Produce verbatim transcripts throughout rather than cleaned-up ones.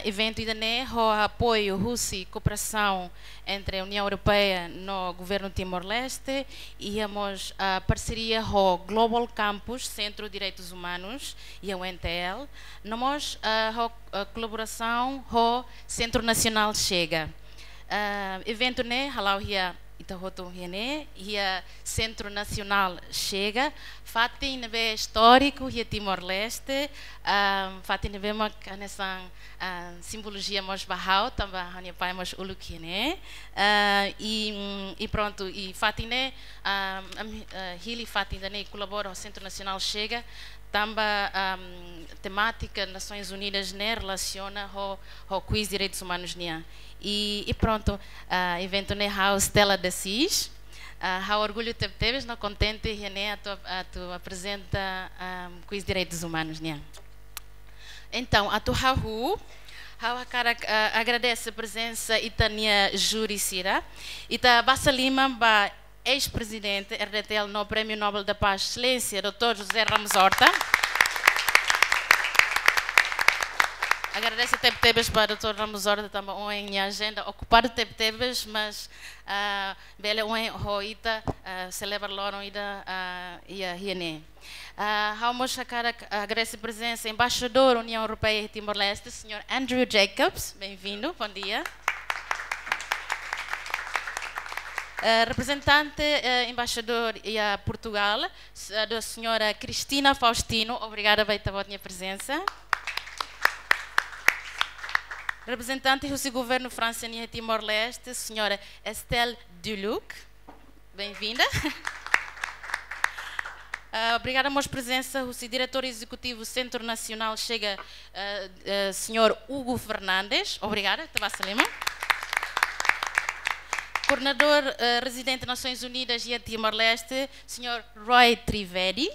eventu ida-ne'e ho apoiu husi kooperasaun entre Uniaun Europeia no Governu Timor-Leste, iha mós, ah, parseria ho Global Campus Sentru Direitus Umanus, iha U N T L, no mós, ah, ho, ah, kolaborasaun ho Sentru Nasionál Chega. Ah, eventu ne'e hala'o iha ita hotu iha ne'e, iha Sentru Nasionál Chega, fatin ne'ebé istóriku iha Timor-Leste, ah, fatin ne'ebé mak hanesan, ah, simbolojia mós ba ha'u, tanba ha'u-nia pai mós uluk iha ne'e. Ah, i, mm, i prontu, i fatin ne'e, ah, ami, ah, hili fatin ida-ne'e kolabora ho Sentru Nasionál Chega, tanba, ah, temátika Nasoins Unidas ne'e relasiona ho, ho kuiz direitus umanus nian. I, i prontu, ah, eventu ne'e ha'u Stella de Assis. Ah, ha'u orgullu tebetebes no kontente iha ne'e atu, atu aprezenta, ah, kuiz direitus umanus nian. Entaun, atu hahú, ha'u hakarak, ah, agradese prezensa ita-nia júri sira. Ita basa liman ba eis-prezidente R D T L no Prémiu Nobel da Paz, Exelénsia doutór José Ramos Horta. Agradese tebetebes ba doutór Ramos Horta, tanba ohin nia ajenda okupadu tebetebes, mas, ah, bele ohin ho ita, ah, selebra loron ida, ah, iha, iha ne'e. Ah, ha'u mós hakarak agradese prezensa Embaixadór Uniaun Europeia iha Timor-Leste, señór Andrew Jacobs. Bem-vindo, bom dia. Eh, reprezentante, eh, embaixadór iha Portugal, s-, eh, da señora Cristina Faustino, obrigada ba ita-boot nia prezensa. Reprezentante husi Governu Fransa iha Timor-Leste, señora Estelle Duluc. Bem-vinda. Ah, obrigada mós prezensa husi Diretór Ezekutivu Sentru Nasionál Chega, ah, ah, señór Hugo Fernandes. Obrigada, ita basa liman. Koordenadór, ah, rezidente Nasoins Unidas iha Timor-Leste, señór Roy Trivedi.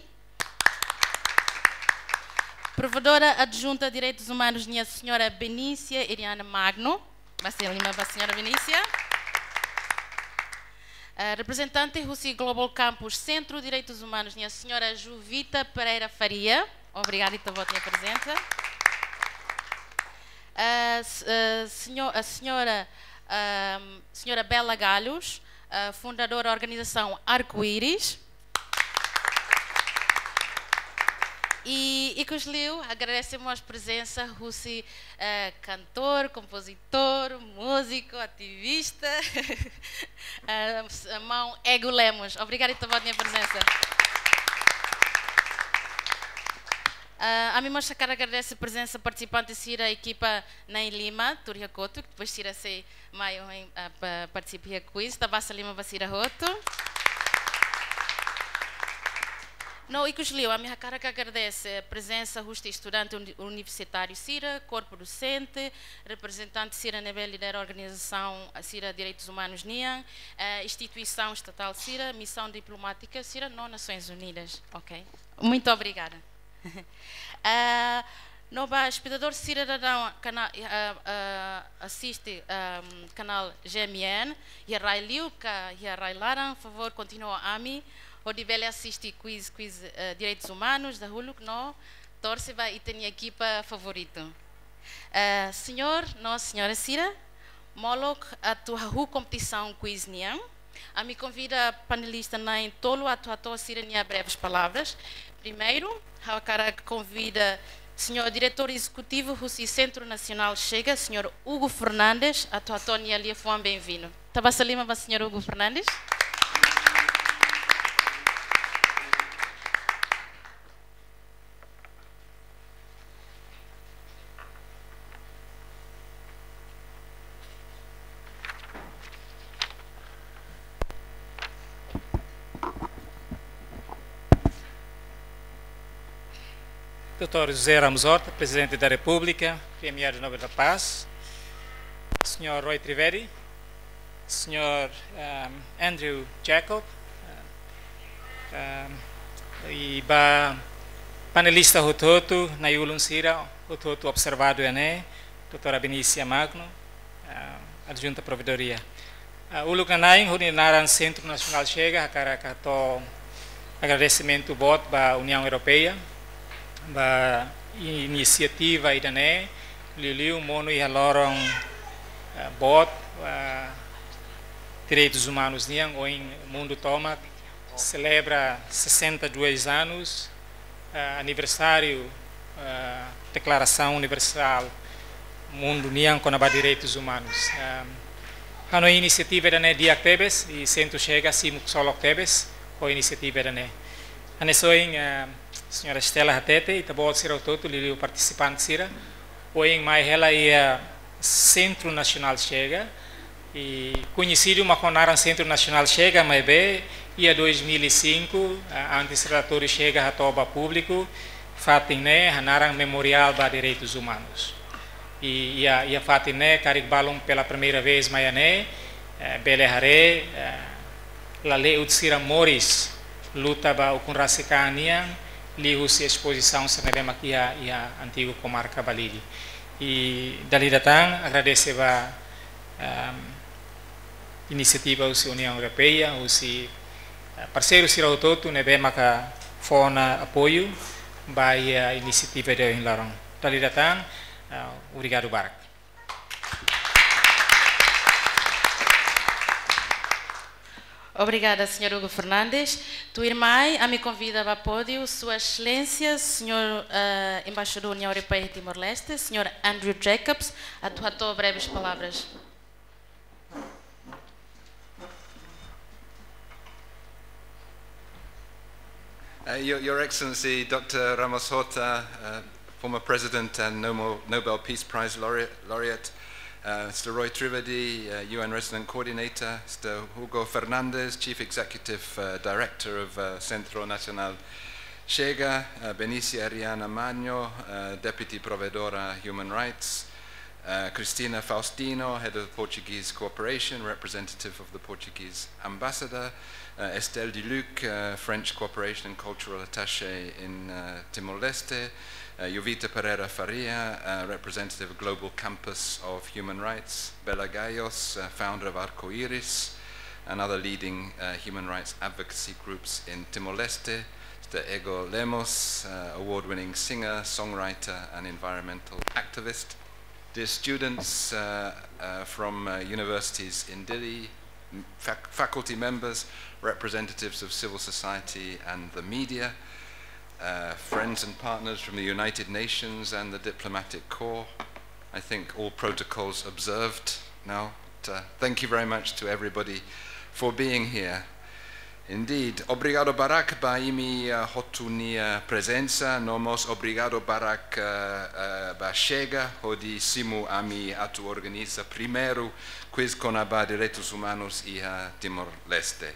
Provokadora Adjunta Direitus Umanus nian, señora Benícia Eliana Magno. Basa liman ba señora Benícia. Eh, reprezentante husi Global Campus Sentru Direitus Umanus nian, señora Juvita Pereira Faria. Obrigada ita-boot nia prezensa. Eh, s-, eh, seño-, a señora, ahm, señora Bela Galhos, eh, fundadora da organizasaun Arco-Íris. I, ikusliu, agradese mós prezensa husi, eh, kantór, kompozitór, múziku, ativista, eh, s-, maun Ego Lemos. Obrigada ita-boot nia prezensa. Ah, ami mós hakarak agradese prezensa partisipante sira, ekipa na'in lima, tuur iha kotuk, depois sira sei mai ohin, ah, pa-, partisipa iha quiz, ita basa liman ba sira hotu. No ikusliu, ami hakarak agradese prezensa husi estudante uni-, universitáriu sira, korpu dosente, reprezentante sira ne'ebé lidera organizasaun, ah, sira direitus umanus nian, eh, instituisaun estatál sira, misaun diplomátika sira, no Nasoins Unidas. Ok. Muito obrigada. Ah, no ba espetadór sira daudaun kana-, ah, ah, asiste, ah, kanál G M N, iha rai liu ka iha rai laran, favór kontinua ami, hodi bele asiste quiz, quiz, eh, direitus umanus dahuluk no torse ba ita-nia ekipa favoritu. Eh, señór no señora sira, molok atu hahú kompetisaun quiz nian, ami konvida panelista na'in tolu atu hato'o sira-nia breves palavras. Primeiru, ha'u hakarak konvida señór Diretór Ezekutivu husi Sentru Nasionál Chega, señór Hugo Fernandes, atu hato'o nia liafuan bem-vindo. Ita basa liman ba señór Hugo Fernandes. Doutór José Ramos Horta, Presidente da República, Premiado Nobel da Paz, señór Roy Trivedi, señór, ehm, Andrew Jacob, ehm, i ba panelista hotu-hotu, na'i-ulun sira hotu-hotu observadór iha ne'e, doutora Benícia Magno, ehm, adjunta provedoria. Ah, uluk nanain, hodi naran Sentru Nasionál Chega, hakarak hato'o agradesimentu boot ba Uniaun Europeia, ba inisiativa ida-ne'e, Liuliu monu iha loron, eh, boot, eh, direitus umanus nian, ohin mundu tomak selebra sessenta e dois anos, eh, aniversáriu, eh, Deklarasaun Universál Mundu nian kona-ba direitus umanus. Eh, hanoin inisiativa ida-ne'e di'ak tebes, i Sentru Chega simu ksolok tebes ho inisiativa ida-ne'e. Hanesan ohin, eh, Señora Estela hatete, ita-boot sira hotu-hotu, liuliu partisipante sira, ohin mai hela iha Sentru Nasionál Chega, i koñesidu mak ho naran Sentru Nasionál Chega, maibé iha dois mil e cinco, ah, antes relatóriu Chega hato'o ba públiku, fatin ne'e hanaran Memoriál ba Direitus Umanus. I iha, iha fatin ne'e, karik balun pela primeira vez mai iha ne'e, eh, bele haree, eh, lale'ut sira moris luta ba ukun rasik an nian, liuhusi espozisaun sira ne'ebé mak iha, iha antigu komarka Balide. I dala ida tan agradese ba, ehm, inisiativa husi Uniaun Europeia, husi, eh, parseiru sira hotu-hotu ne'ebé maka fó ona apoiu ba iha inisiativa ida ohin loron. Dala ida tan, eh, obrigadu barak. Obrigada, señór Hugo Fernandes. Tuirmai, ami konvida ba pódiu Sua Exelénsia, señór, eh, Embaixadór Uniaun Europeia Timor-Leste, señór Andrew Jacobs, atu hato'o breves palavras. Uh, Your, Your Excellency, Doctor Ramos Horta, uh, former President and Nomo-, Nobel Peace Prize laureate, laureate, uh, Mister Roy Trivedi, uh, U N Resident Coordinator, Mister Hugo Fernandes, Chief Executive, uh, Director of, uh, Centro Nacional Chega, uh, Benicia Ariana Maño, uh, Deputy Provedora Human Rights, uh, Cristina Faustino, Head of Portuguese Cooperation, representative of the Portuguese Ambassador, uh, Estelle Duluc, uh, French Cooperation and Cultural Attaché in, uh, Timor-Leste, uh, Jovita Pereira Faria, uh, representative of Global Campus of Human Rights, Bela Gayos, uh, founder of Arco-Iris, and other leading, uh, human rights advocacy groups in Timor-Leste, Mister Ego Lemos, uh, award-winning singer, songwriter, and environmental activist. Dear students, uh, uh, from, uh, universities in Dili, m-, fac-, faculty members, representatives of civil society and the media, uh, friends and partners from the United Nations and the diplomatic corps. I think all protocols observed now. But, uh, thank you very much to everybody for being here. Indeed, obrigadu barak ba imi, uh, hotu nia prezensa, no mós obrigadu barak, uh, uh, ba Chega, hodi simu ami atu organiza primeiru quiz kona-ba direitus umanus iha Timor-Leste.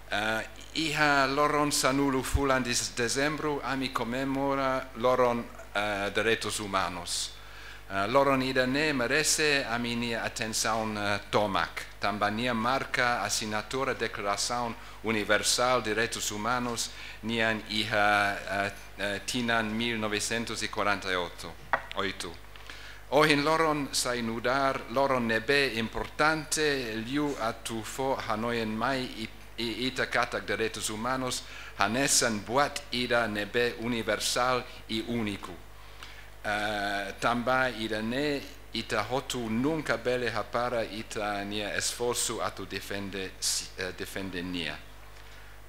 Uh, iha loron sanulu fulan de dezembru, ami komemora loron, uh, direitus umanus. Uh, loron ida-ne'e merese ami-nia atensaun, uh, tomak, tanba nia marka asinatura Deklarasaun Universál Direitus Umanus nian iha, uh, uh, tinan mil novecentos e quarenta e oito, oito. Ohin loron sai nu'udar loron ne'ebé importante liu atu fó hanoin mai i-, i-, ita katak direitus umanus hanesan buat ida ne'ebé universál i úniku. Eh, tanba ida-ne'e ita hotu nunka bele hapara ita-nia esforsu atu defende si-, eh, defende nia.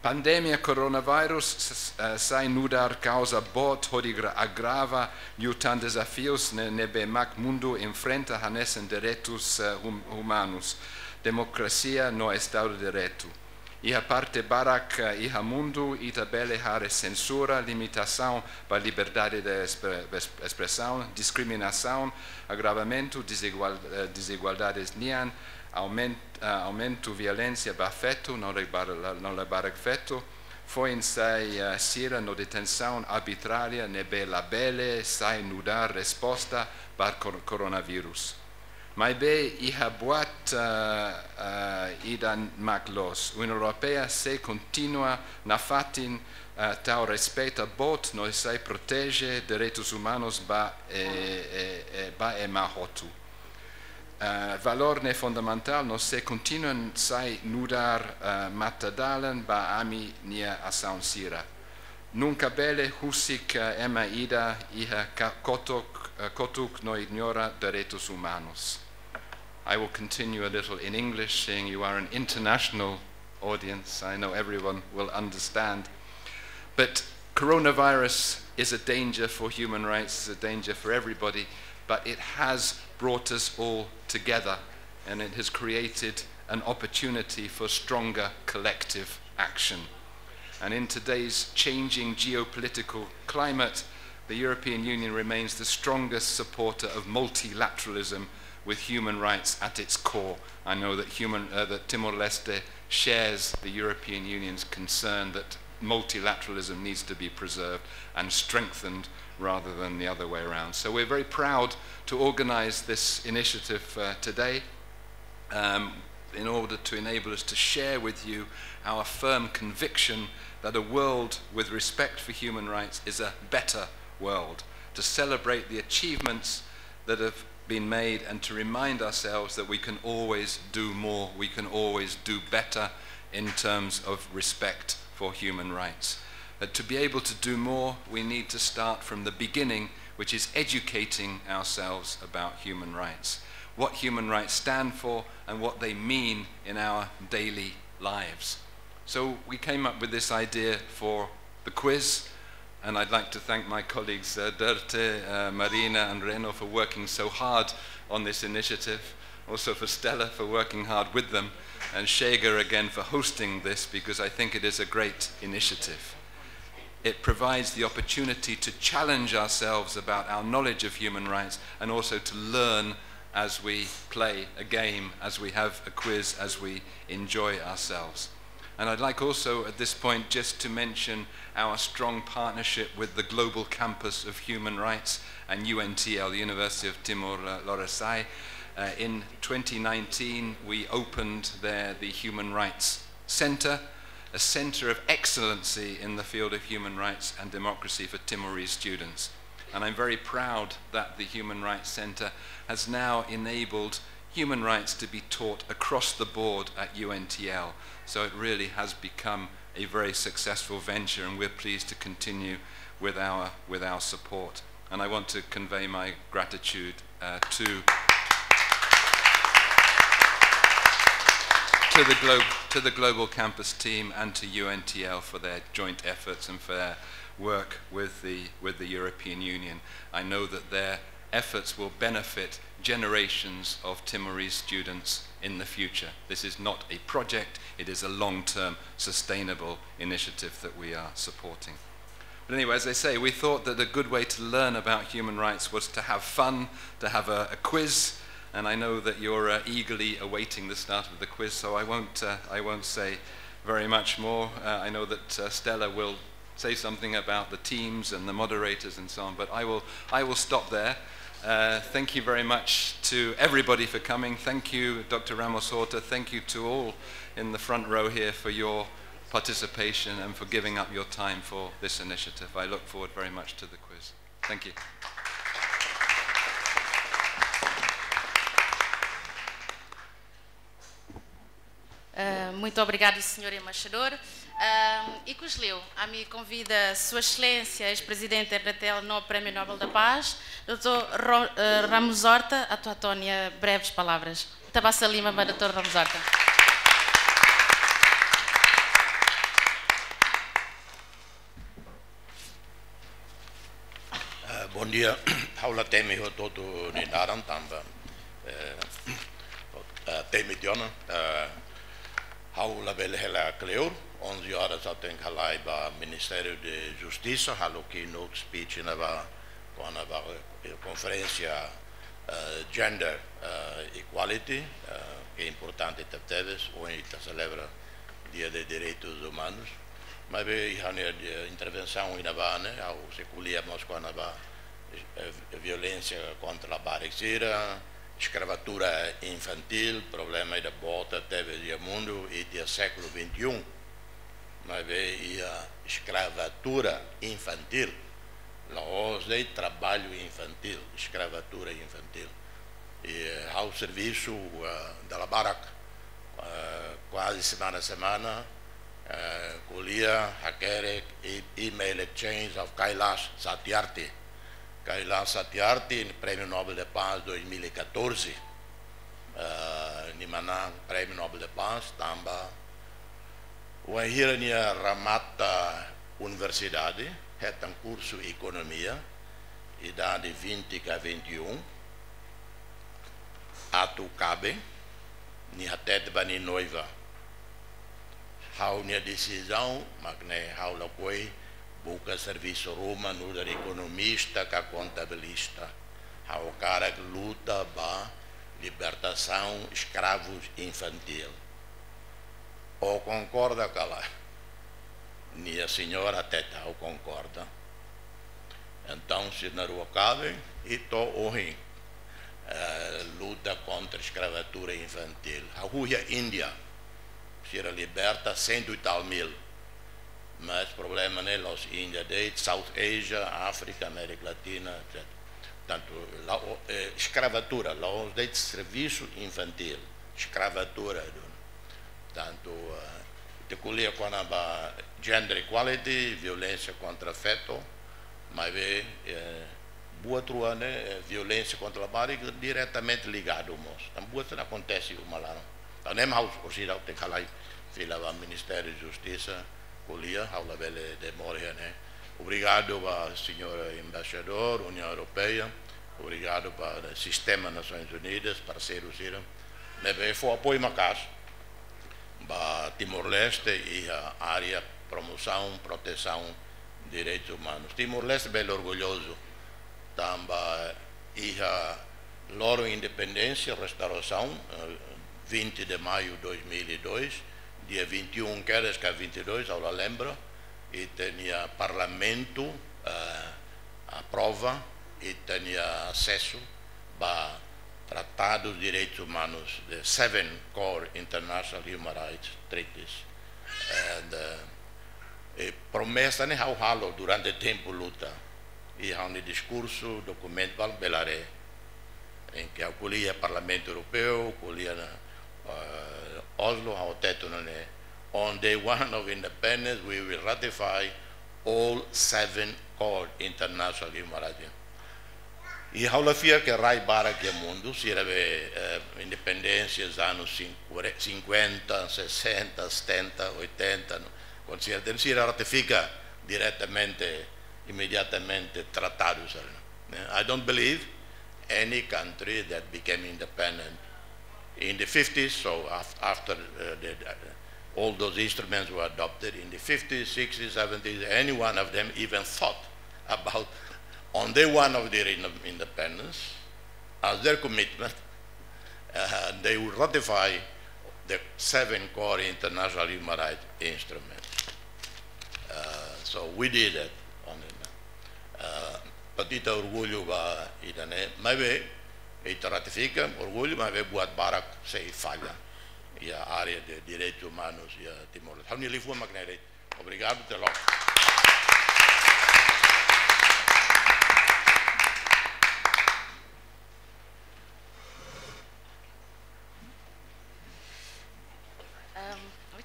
Pandemia coronavirus s-, s-, eh, sai nu'udar kauza boot hodi gra-, agrava liután dezafius ne-, ne'ebé mak mundu enfrenta hanesan direitus, eh, hum-, umanus, demokrasia no Estadu de Direitu. Iha parte barak, eh, iha mundu, ita bele haree sensura, limitasaun ba liberdade de espre-, es-, espresaun, diskriminasaun, agravamentu dezigual-, eh, dezigualdades nian, aumen-, eh, aumentu violénsia ba feto no labarik, no labarik feto, foin-sa'e, eh, sira no detensaun arbitrária ne'ebé labele sai nu'udar resposta ba kor-, koronavírus. Maibé iha buat, eh, eh, ida mak loos. Uniaun Europeia sei kontinua nafatin, eh, tau respeita boot no sei proteje direitus umanus ba, eh, eh, eh, ba ema hotu. Eh, valór ne'e fundamentál no sei kontinua sai nu'udar, eh, matadalan ba ami-nia asaun sira. Nunka bele husik, eh, ema ida iha ka-, kotuk, eh, kotuk no ignora direitus umanus. I will continue a little in English, seeing you are an international audience. I know everyone will understand. But coronavirus is a danger for human rights, is a danger for everybody, but it has brought us all together, and it has created an opportunity for stronger collective action. And in today's changing geopolitical climate, the European Union remains the strongest supporter of multilateralism, with human rights at its core. I know that human, uh, that Timor-Leste shares the European Union's concern that multilateralism needs to be preserved and strengthened rather than the other way around. So we're very proud to organize this initiative, uh, today, um, in order to enable us to share with you our firm conviction that a world with respect for human rights is a better world, to celebrate the achievements that have been made and to remind ourselves that we can always do more, we can always do better in terms of respect for human rights. But to be able to do more, we need to start from the beginning, which is educating ourselves about human rights, what human rights stand for and what they mean in our daily lives. So we came up with this idea for the quiz, and I'd like to thank my colleagues, uh, Dörte, uh, Marina, and Reno for working so hard on this initiative, also for Stella for working hard with them, and Chega again for hosting this, because I think it is a great initiative. It provides the opportunity to challenge ourselves about our knowledge of human rights and also to learn as we play a game, as we have a quiz, as we enjoy ourselves. And I'd like also at this point just to mention our strong partnership with the Global Campus of Human Rights and U N T L, University of Timor, uh, Lorosai. Uh, in twenty nineteen, we opened there the Human Rights Center, a center of excellency in the field of human rights and democracy for Timorese students. And I'm very proud that the Human Rights Center has now enabled human rights to be taught across the board at U N T L. So it really has become a very successful venture, and we're pleased to continue with our, with our support. And I want to convey my gratitude, uh, to, to the Glo-, to the Global Campus team and to U N T L for their joint efforts and for their work with the, with the European Union. I know that their efforts will benefit generations of Timorese students in the future. This is not a project, it is a long-term sustainable initiative that we are supporting. But anyway, as I say, we thought that a good way to learn about human rights was to have fun, to have a, a quiz, and I know that you're, uh, eagerly awaiting the start of the quiz, so I won't, uh, I won't say very much more. Uh, I know that, uh, Stella will say something about the teams and the moderators and so on, but I will, I will stop there. Uh, thank you very much to everybody for coming. Thank you, Doctor Ramos Horta. Thank you to all in the front row here for your participation and for giving up your time for this initiative. I look forward very much to the quiz. Thank you. Ah, muito obrigado, senhor embaixador. Ah, ikus liu, ami konvida Sua Exelénsia, eis-prezidente R D T L no Prémiu Nobel da Paz, doutor Ro-, ah, Ramos Horta, atu hato'o nia breves palavras. Ita basa liman ba doutor Ramos Horta. Eh, bondia. Ha'u la temi hotu-hotu nia naran tanba, eh, eh, temi tiha ona, eh, ha'u labele hela kleur, onze horas ha'u tenke halai ba Ministério de Justiça, halo keynote speech ne'ebá, kona-ba, eh, konferénsia, eh, gender, eh, equality, eh, ke importante tebetebes, ohin ita selebra Dia de Direitos Humanos. Maibé iha ha'u-nia, eh, intervensaun iha ne'ebá ne'e, ha'u sei ko'alia mós kona-ba, eh, violénsia kontra labarik sira, eskravatura infantíl, problema ida boot tebes iha mundu, ita iha século vinte e um. Maibé iha eskravatura infantíl. La'ós de'it trabalho infantil, eskravatura infantíl. I, eh, ha'u servisu, eh, dala barak, eh, kuaze semana-semana, eh, ko'alia, hakerek, e-, email exchange of Kailash Satyarthi. Kayla Satyarthi, Prémiu Nobel da Paz dois mil e catorze. Eh, nia manán Prémiu Nobel da Paz tanba wainhira nia remata universidade, hetan kursu ekonomia, idade vinte ka vinte e um, atu kaben, nia hatete ba nia noiva: Ha'u-nia desizaun mak ne'e, ha'u lakohi buka servisu ruma nu'udar ekonomista ka kontabilista. Ha'u hakarak luta ba libertasaun eskravu infantíl. Ó konkorda ka lae? Nia señora hatete: Ha'u konkorda. Entaun sira na'in-rua kaben i to'o ohin, eh, luta kontra eskravatura infantíl. Hahú iha Índia, sira liberta cento e tal mil. Mas problema ne'e la'ós Índia de'it, South Asia, Áfrika, Amérika Latina, etcétera. Tantu la'o-, eh, eskravatura, la'ós de'it servisu infantíl, eskravatura duni. Tantu, eh, ita ko'alia kona-ba gender equality, violénsia kontra feto, maibé, eh, buat rua ne'e, eh, violénsia kontra labarik diretamente ligadu mós. Tanba buat sira akontese uma laran. Tan ne'e mak ha'u orsida ha'u tenke halai fila ba Ministériu Justisa, ko'alia, ha'u labele demora iha ne'e. Obrigadu ba señór Embaixadór Uniaun Europeia, obrigadu ba Sistema Nasoins Unidas, parseiru sira ne'ebé fó apoiu maka'as ba Timor-Leste iha área promosaun, protesaun direitus umanus. Timor-Leste bele orgullozu, tanba iha loron independénsia, restaurasaun, eh, vinte de maio dois mil e dois, dia vinte e um kedas ka vinte e dois, ha'u la lembra, ita-nia Parlamentu, eh, aprova ita-nia asesu ba tratadus direitus umanus, the seven core international human rights treaties. And, eh, e promesa ne'e ha'u halo durante tempu luta. I ha'u-nia diskursu, dokumentu balu bele haree. Em que ha'u ko'alia Parlamentu Europeu, ko'alia iha, eh, Oslo, ha'u hatete nune'e: On day one of independence, we will ratify all seven core international human rights. I ha'u la fiar ke rai barak iha mundu, sira be, eh, independénsia iha anu cinquenta, sessenta, setenta, oitenta, no? Kuandu sira, sira ratifika diretamente, imediatamente tratadu sira. Eh, I don't believe any country that became independent in the fifties, so af-, after, uh, the, uh, all those instruments were adopted in the fifties, sixties, seventies, any one of them even thought about, on day one of their in-, independence, as their commitment, uh, they will ratify the seven core international human rights instruments. Uh, so we did it on it. Uh, patita orgullu ba ida-ne'e, maibé ita ratifika, orgullu, maibé buat barak sei falla iha área de direitus umanus iha Timor. Ha'u-nia liafuan mak ne'e de'it. Obrigadu, até logo. Ahm, oi?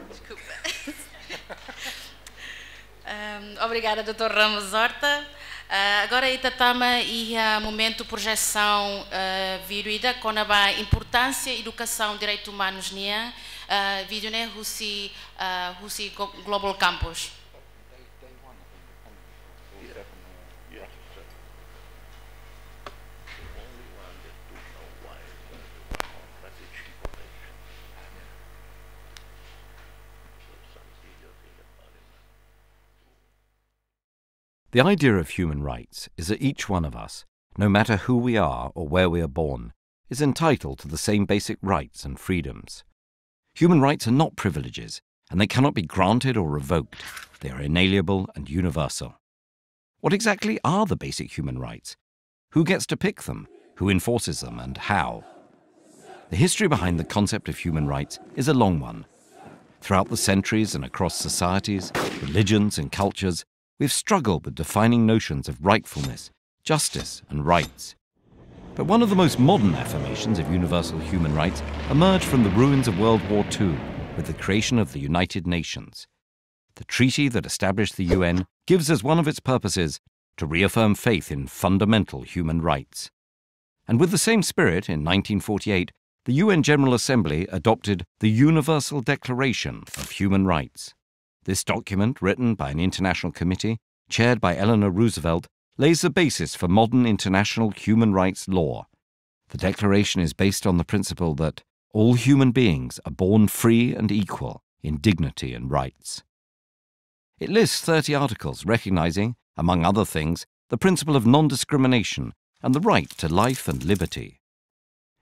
Desculpa. Ahm, obrigada, doutor Ramos Horta. Ah, agora ita tama iha momentu projesaun, ah, vídeo ida kona-ba importánsia edukasaun direitus umanus nian, ah, vídeo ne'e husi, ah, husi Go-, Global Campus. The idea of human rights is that each one of us, no matter who we are or where we are born, is entitled to the same basic rights and freedoms. Human rights are not privileges, and they cannot be granted or revoked. They are inalienable and universal. What exactly are the basic human rights? Who gets to pick them? Who enforces them, and how? The history behind the concept of human rights is a long one. Throughout the centuries and across societies, religions, and cultures, we've struggled with defining notions of rightfulness, justice, and rights. But one of the most modern affirmations of universal human rights emerged from the ruins of World War Two with the creation of the United Nations. The treaty that established the U N gives as one of its purposes to reaffirm faith in fundamental human rights. And with the same spirit, in nineteen forty-eight, the U N General Assembly adopted the Universal Declaration of Human Rights. This document, written by an international committee, chaired by Eleanor Roosevelt, lays the basis for modern international human rights law. The declaration is based on the principle that all human beings are born free and equal in dignity and rights. It lists thirty articles recognizing, among other things, the principle of non-discrimination and the right to life and liberty.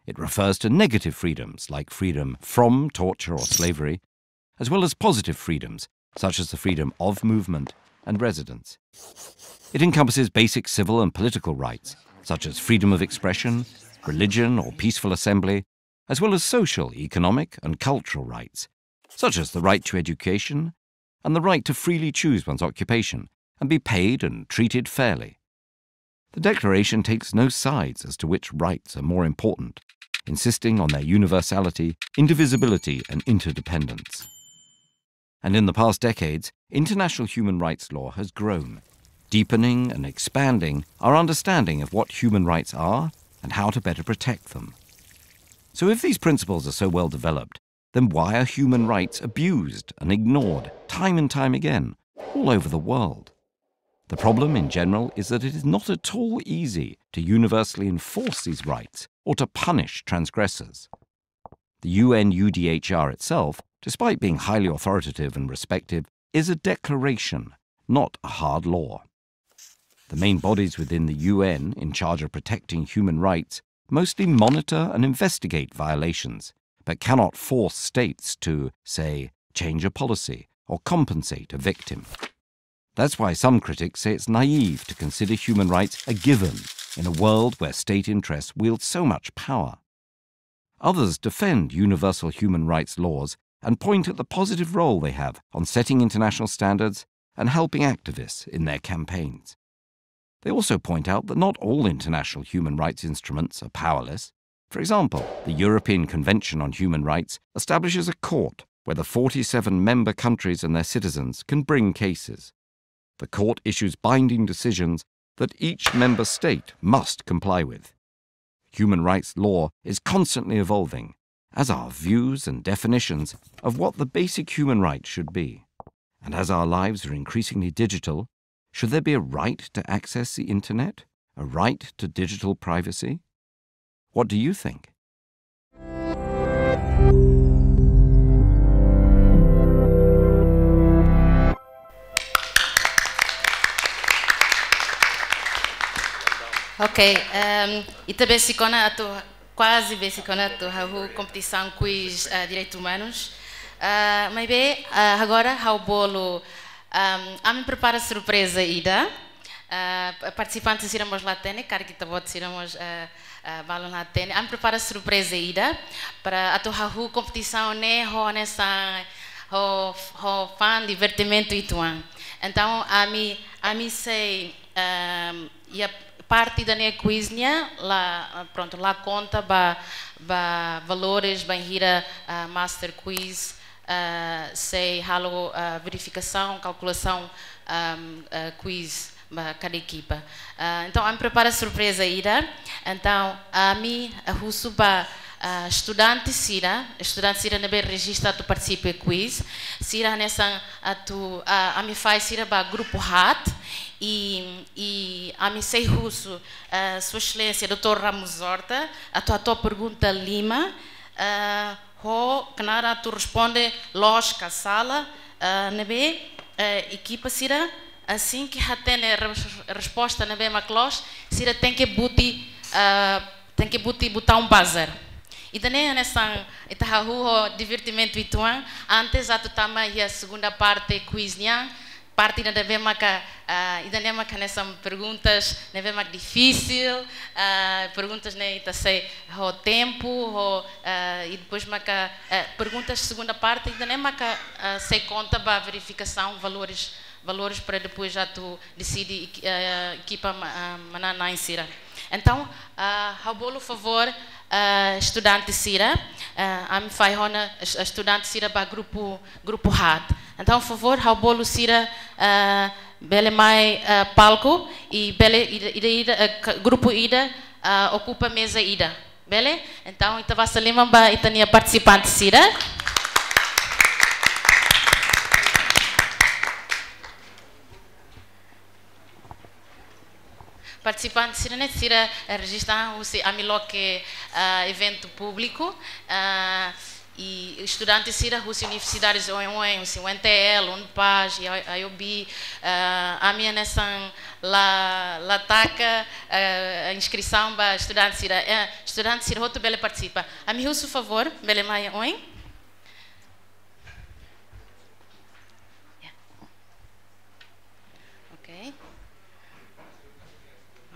It refers to negative freedoms like freedom from torture or slavery, as well as positive freedoms such as the freedom of movement and residence. It encompasses basic civil and political rights, such as freedom of expression, religion, or peaceful assembly, as well as social, economic, and cultural rights, such as the right to education and the right to freely choose one's occupation and be paid and treated fairly. The Declaration takes no sides as to which rights are more important, insisting on their universality, indivisibility, and interdependence. And in the past decades, international human rights law has grown, deepening and expanding our understanding of what human rights are and how to better protect them. So if these principles are so well developed, then why are human rights abused and ignored time and time again all over the world? The problem in general is that it is not at all easy to universally enforce these rights or to punish transgressors. The U N U D H R itself, despite being highly authoritative and respective, is a declaration, not a hard law. The main bodies within the U N in charge of protecting human rights mostly monitor and investigate violations, but cannot force states to, say, change a policy or compensate a victim. That's why some critics say it's naive to consider human rights a given in a world where state interests wield so much power. Others defend universal human rights laws and point at the positive role they have on setting international standards and helping activists in their campaigns. They also point out that not all international human rights instruments are powerless. For example, the European Convention on Human Rights establishes a court where the forty-seven member countries and their citizens can bring cases. The court issues binding decisions that each member state must comply with. Human rights law is constantly evolving, as are views and definitions of what the basic human rights should be. And as our lives are increasingly digital, should there be a right to access the internet? A right to digital privacy? What do you think? Ok, ehm, ita besik ona atu, kuaze besik ona atu hahú kompetisaun quiz, eh, direitus umanus. Eh, maibé, eh, agora ha'u bolu, ehm, ami prepara surpreza ida. Ah, pa-, partisipante sira mós la hatene, karik ita-boot sira mós, ah, ah, balun la hatene. Ami prepara surpreza ida para atu hahú kompetisaun ne'e ho hanesan, ho, ho fun, divertimentu uitoan. Entaun, ami, ami sei, ah, iha parte ida-ne'e quiz nian, la, ah, prontu, la konta ba, ba valores, bainhira, ah, master quiz, ah, sei halo, ah, verifikasaun, kalkulasaun, ah, ah, quiz ba kada ekipa. Ah, entaun, ami prepara surpreza ida. Entaun, ami, ah, husu ba, ah, estudante sira, estudante sira ne'ebé rejista atu partisipa quiz. Sira hanesan atu, ah, ami fahe sira ba grupu haat, i, i ami sei husu, ah, Sua Exelénsia doutór Ramos Horta, atu hato'o pergunta lima, ah, ho knaar atu responde loos ka sala, ah, ne'ebé, eh, ekipa sira, asin ke hatene res-, resposta ne'ebé mak loos, sira tenke buti, ah, tenke buti butaun buzzer. Ida-ne'e hanesan ita hahú ho divertimentu uitoan, antes atu tama iha segunda parte quiz nian, parte ida ne'ebé maka, ah, ida-ne'e maka hanesan perguntas ne'ebé mak difisil, ah, perguntas ne'e ita sei ho tempu, ho, ah, i depois maka, eh, perguntas segunda parte, ida-ne'e maka, ah, sei konta ba verifikasaun valores, valores para depois atu deside equi-, eh, ekipa ma-, ah, manán-na'in sira. Entaun, ah, ha'u bolu favór, ah, estudante sira, ah, ami fahe ona es-, estudante sira ba grupu, grupu haat. Entaun, favór, ha'u bolu sira, ah, bele mai, ah, palku, i bele ida, ida, ida, eh, ka-, grupu ida, ah, okupa meza ida. Bele? Entaun, ita basa liman ba ita-nia partisipante sira. Partisipante sira-ne'e, sira, eh, rejista husi ami loke, ah, eventu públiku, ah, i estudante sira husi universidades oioin, husi U N T L, UNPAZ, i I O B, ah, ami hanesan la, la taka, eh, inskrisaun ba estudante sira, eh, estudante sira hotu bele partisipa. Ami husu favór, bele mai oin. Ya. Ok.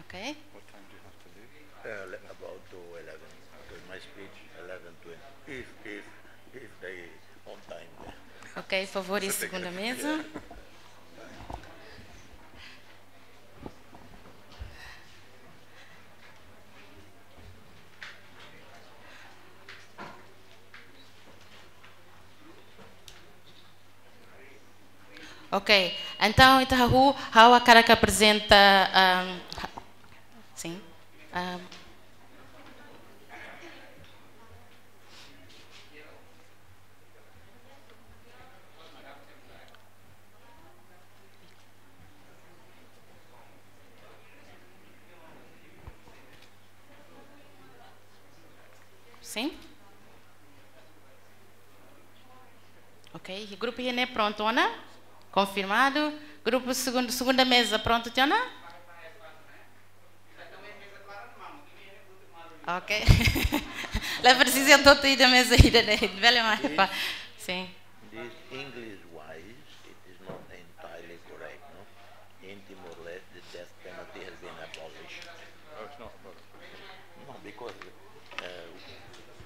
Ok. What time do you have to leave? Uh, le-, about to eleven, because my speech eleven twenty. If, if, if they on time there. Ok, favór, i segunda meza. Yeah. Ok, entaun, ita hahú, ha'u hakarak aprezenta, ahm, ha-, sin, ahm, sin? Ok, grupu ida-ne'e prontu ona? Konfirmadu. Grupu segundu, segunda meza prontu tiha ona? Ok. La presiza atu ida meza ida-ne'e. Bele mai. Sin. This English wise, it is not entirely correct, no? In Timor-Leste, the death penalty has been abolished. No, it's not abolished. No, because, uh,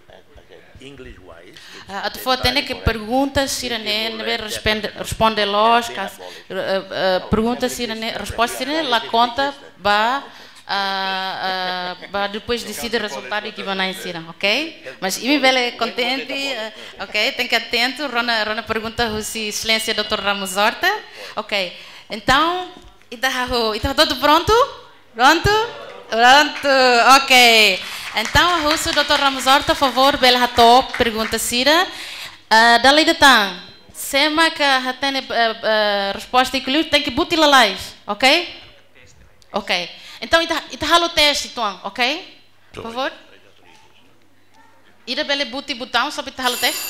as, as I said, English wise, it's entirely correct. Ah, atu fó-hatene katak pergunta sira-ne'e, ne'ebé responde, responde loos, ka, eh, eh, pergunta sira-ne'e, resposta sira-ne'e la konta ba, ah, ah, ba depois deside rezultadu iha kbiit-na'in sira, ok? Mas imi bele kontente, eh, ok? Tenke atentu, rona, rona pergunta husi Exelénsia doutór Ramos Horta. Ok. Entaun, ita hahú, ita hotu prontu? Prontu? Prontu. Ok. Entaun, ha'u husu doutór Ramos Horta, favór, bele hato'o pergunta sira. Ah, dala ida tan, sé mak hatene, eh, eh, resposta iha li'ur, tenke buti lalais, ok? Ok. Entaun, ita, ita halo teste uitoan, ok? Favór? Ida bele buti butaun, só para ita halo teste?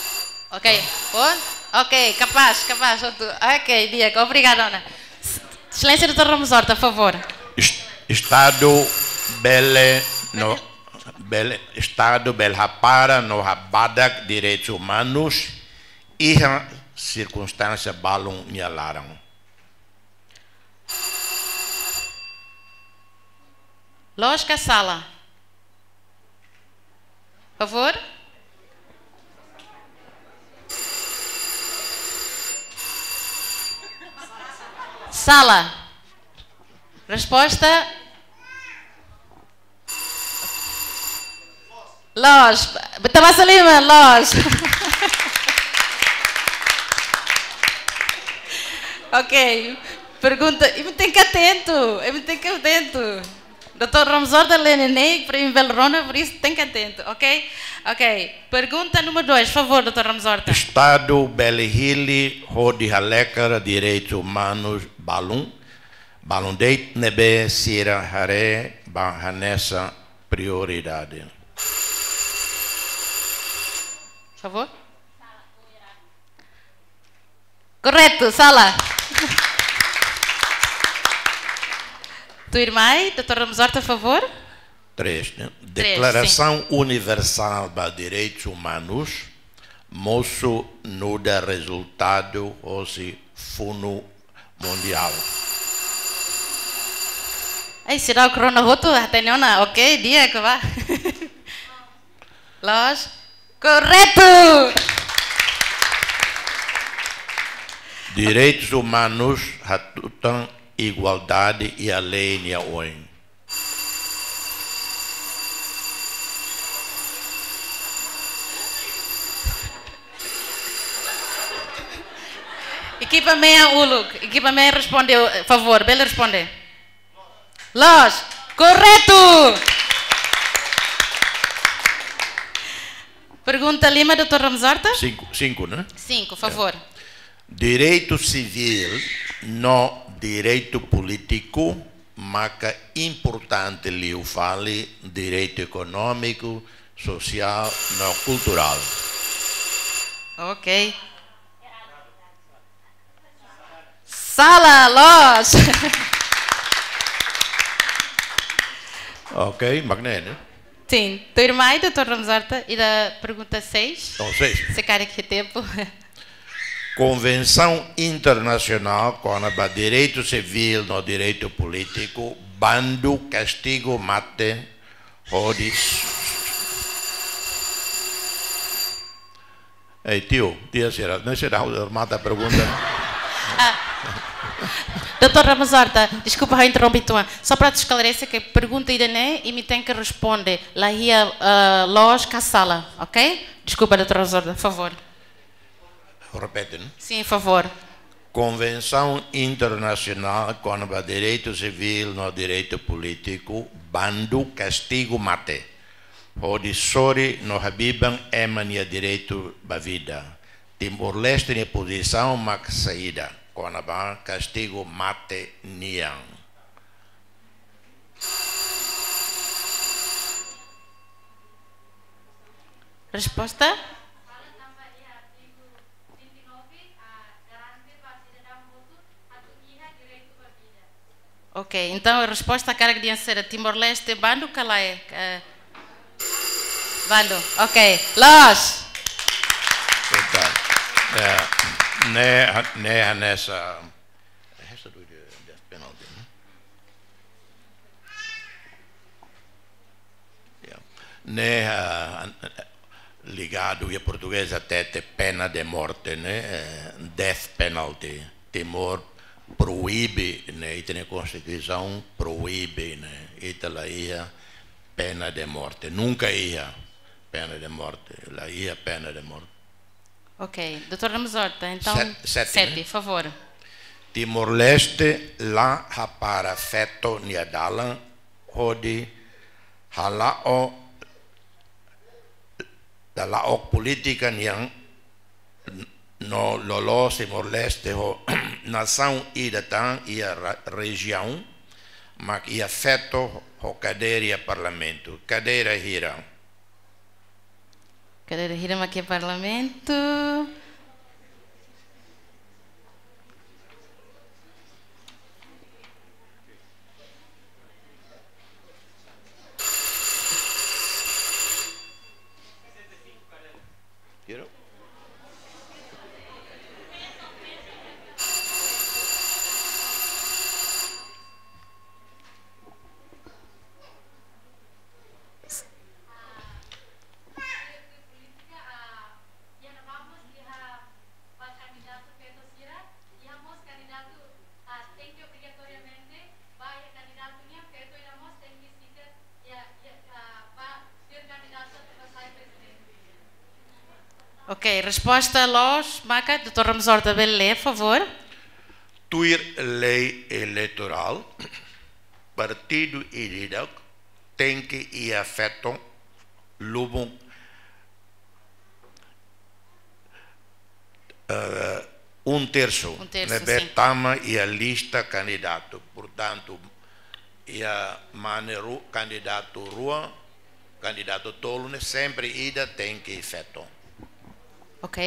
Ok. Por? Ok, kapás, kapás, hotu. Ok, di'ak, obrigada, ona. Exelénsia doutór Ramos Horta, favór. Est-, Estadu bele no, bele, Estadu bele hapara no habadak direitus umanus iha sirkunstánsia balun nia laran. Loos ka sala? Favór? Sala. Resposta? Loos. Ita basa liman, loos. Ok. Pergunta, imi tenke atentu, imi tenke atentu. Doutór Ramos Horta lee neineik, para imi bele rona, por isso tenke atentu, ok? Ok. Pergunta númeru dois, favór, doutór Ramos Horta. Estadu bele hili hodi halekar direitus umanus balun, balun de'it ne'ebé sira haree ba hanesan prioridade. Favór? Korretu, sala. Tuirmai, doutór Ramos Horta, favór. Três, né? Três, sin. Deklarasaun Universál ba Direitus Umanus mosu nu'udar rezultadu hosi funu mundiál. Ai, seidauk rona hotu, hatene ona, ok, di'ak ka lae? Loos. Korretu! Direitus umanus hatutan igualdade iha lei nia oin. Ekipa mean uluk, ekipa mean responde, favór, bele responde. Loos, korretu! Pergunta lima, doutór Ramos Horta? Cinco, cinco, né? Cinco, favór. Direitu sivíl no direitu polítiku maka importante liu fali direitu ekonómiku, sosiál no kulturál. Ok. Sala, loos. Ok, mak ne'e, né? Sin, tuirmai, doutór Ramos Horta, ida pergunta seis. Oh, seis. Se karik iha tempu. Konvensaun internasionál kona-ba direitu sivíl no direitu polítiku bandu kastigu mate hodi... Ei, tiu, tia sira, ne'e sira ha'u remata pergunta. Ah, doutór Ramos Horta, deskulpa, ha'u interrompe uitoan. Só para atu esklarese katak pergunta ida-ne'e, imi tenke responde, la iha, ah, loos ka sala, ok? Deskulpa, doutór Ramos Horta, favór. Repete, né? Sin, favór. Konvensaun internasionál kona-ba direitu sivíl no direitu polítiku bandu kastigu mate hodi sorin no habiban ema nia direitu ba vida. Timor-Leste nia pozisaun mak saida kona-ba kastigu mate nian? Resposta? Ok, entaun resposta karik dehan saida, Timor-Leste bandu ka lae? Eh, bandu. Ok, loos. Entaun, eh, ne'e ha-, ne'e hanesan, eh, esta do dia, dia penalti, né? Ya. Ne'e, ah, an-, ligadu iha portugés hatete pena de morte, né? Eh, death penalty. Timor proibe, né? Ita-nia konstituisaun proibe, né? Ita la iha pena de morte. Nunka iha pena de morte. La iha pena de morte. Ok, doutór Ramos Horta, entaun, sete, sete, né? Favór. Timor-Leste la hapara feto nia dalan hodi hala'o, hala'o polítika nian no loloos Timor-Leste ho nasaun ida tan iha ra-, rejiaun mak iha feto ho kadeira iha parlamentu. Kadeira hira? Kadeira hira mak iha parlamentu? Ok, resposta loos, maka, doutór Ramos Horta, bele lee, favór. Tuir lei eleitorál, partidu ida-idak tenke iha feto lubuk, eh, um terço. Um terço, ne'ebé sin. Tama iha lista kandidatu. Portantu, iha mane ru-, kandidatu rua, kandidatu tolu ne'e sempre ida tenke feto. Ok.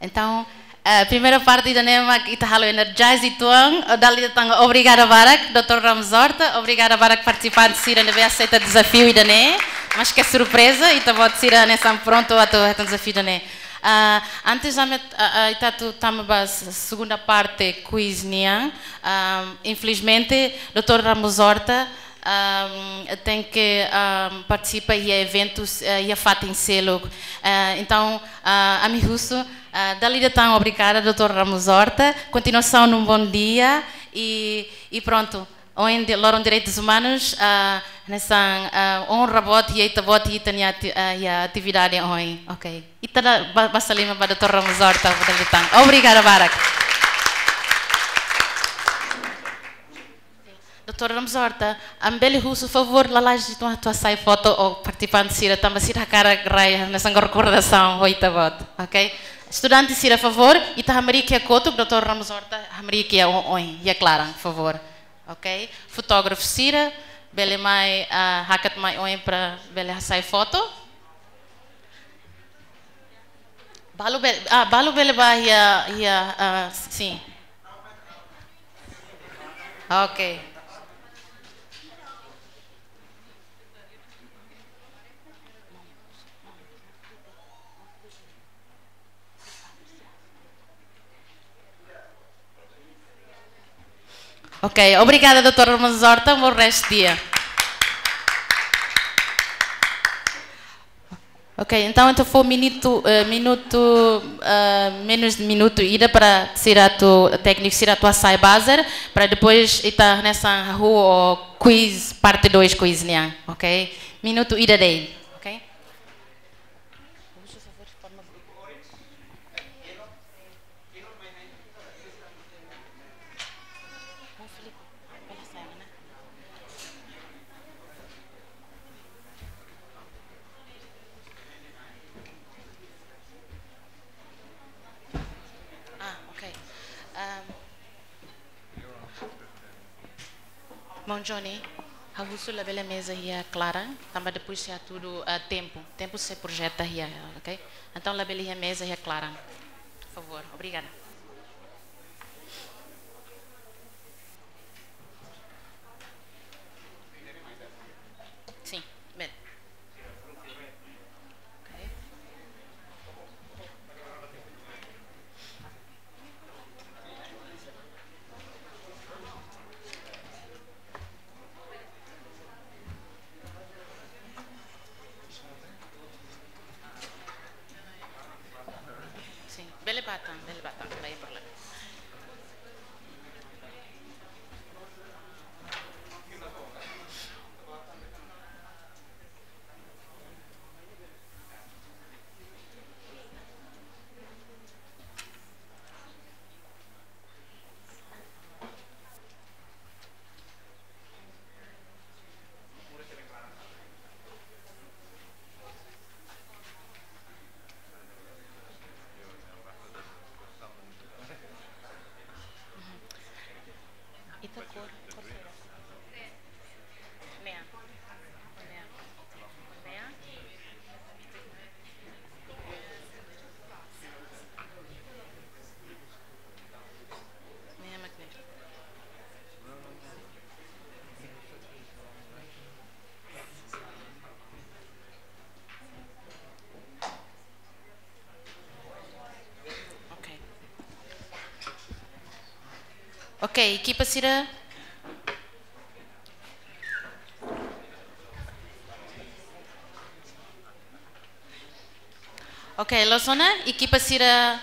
Entaun, eh, primeira parte ida-ne'e mak ita halo energize uitoan, eh, dala ida tan obrigada barak, doutór Ramos Horta, obrigada barak partisipante sira ne'ebé aseita dezafiu ida-ne'e, maske surpreza, ita-boot sira hanesan prontu atu hetan dezafiu ida-ne'e. Ah, antes ami, ah, ah, ita atu tama ba s-, segunda parte quiz nian, ah, infelizmente, doutór Ramos Horta, ahm, tenke, ahm, partisipa iha eventus, eh, iha fatin seluk. Eh, entaun, ah, ami husu, ah, dala ida tan obrigada, doutór Ramos Horta. Kontinuasaun de um bom dia. I, i prontu. Ohin di-, loron direitus umanus, ah, hanesan, ah, onra boot iha ita-boot iha ita-nia ati-, ah, iha atividade ohin. Ok. Ita da ba-, basa liman ba doutór Ramos Horta, dala ida tan. Obrigada barak. Doutór Ramos Horta, ami bele husu favór lalais ita atu hasai foto ho partisipante sira tanba sira hakarak rai hanesan rekordasaun ho ita-boot, ok? Estudante sira favór, ita hamriik iha kotuk, doutór Ramos Horta hamriik iha o-, oin, iha klaran, favór, ok? Fotógrafu sira, bele mai, ah, hakat mai oin para bele hasai foto. Balu bele, ah, balu bele bá iha, iha, ah, sin. Ok. Ok, obrigada, doutór Ramos Horta, um bom resto de dia. Ok, entaun, entaun fó minutu, eh, minutu, eh, menus de minutu ida para sira atu, tékniku sira atu hasai buzzer, para depois ita hanesan hahú ho quiz, parte dois quiz nian, ok? Minutu ida de'it, ok? Ah, ok. Ahm, Maun Johnny, ha'u husu labele meza iha klaran, tanba depois sei hatudu, ah, tempu. Tempu sei projeta iha, ok? Entaun labele iha meza iha klaran. Favór, obrigada. Sin, bele. Ok. Sin, bele bá tan, bele bá tan, la iha problema. Ita kór, kór saida? Mean. Mean. Mean. Mean mak ne'e. Ok. Ok, ekipa sira. Ok, loos ona, ekipa sira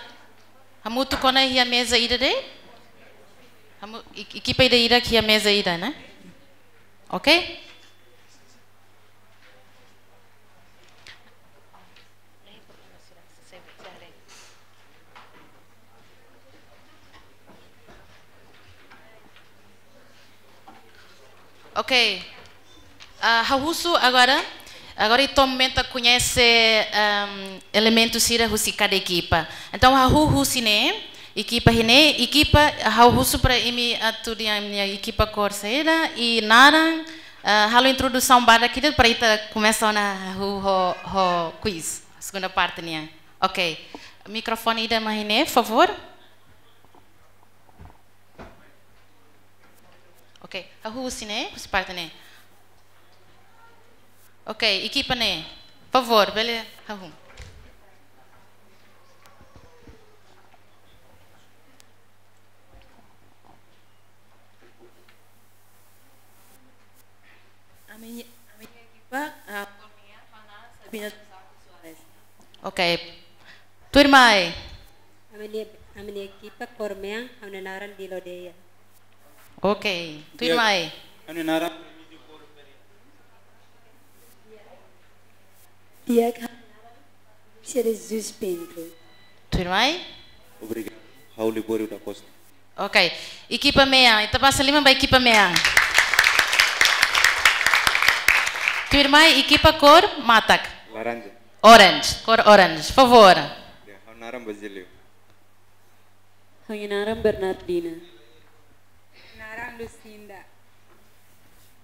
hamutuk ona iha meza ida de'it? Hamu-, e-, ekipa ida-idak iha meza ida, ne'e? Ok? Ok. Ah, ha'u husu agora, agora ita komenta koñese, ehm, elementu sira husi kada ekipa. Entaun, ha'u husu ne'e, ekipa ne'e, ekipa, ha'u husu para imi atu dehan imi-nia ekipa kór saida, i naran, ah, halo introdusaun badak ida para ita komesa ona hahú ho, ho quiz, segunda parte nian. Ok. Mikrofone ida mai ne'e, favór. Ok, ha'u husi ne'e, husi parte ne'e. Ok, ekipa ne'e, favór, bele hahú. Ami-nia, ami-nia ekipa, ah, Sabina Soares. Ok. Tuirmai. Ami-nia, ami-nia ekipa kór mean, ha'u-nia naran Dilo Deia. Ok. Tuirmai. Ha'u-nia naran Diak, ha'u-nia naran Lúcia de Jesus Pinto. Tuirmai. Obrigadu. Ha'u Libório da Costa. Ok. Ekipa mean. Ita basa liman ba ekipa mean. Tuirmai, ekipa kór matak. Laranja. Orange, kór orange, favór. Ya, ha'u naran Basilio. Ha'u-nia naran Bernardina. Naran Lucinda.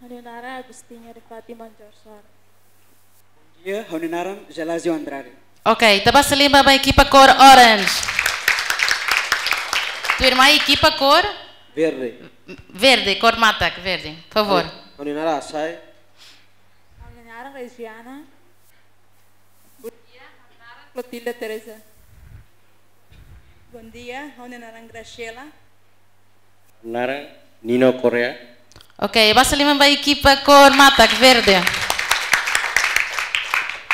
Ha'u-nia naran Agostinha de Fátima Jorsar. Bom dia, ha'u-nia naran Gelásio Andrade. Ok, ita basa liman ba ekipa kór orange. Tuirmai, ekipa kór? Verde. Verde, kór matak, verde, favór. Ha'u-nia naran Asai. Ha'u-nia naran Regiana. Bom dia, ha'u-nia naran Clotilda Teresa. Bom dia, ha'u-nia naran Graciela. Naran Nino Correa. Ok, basa liman ba ekipa kór matak, verde.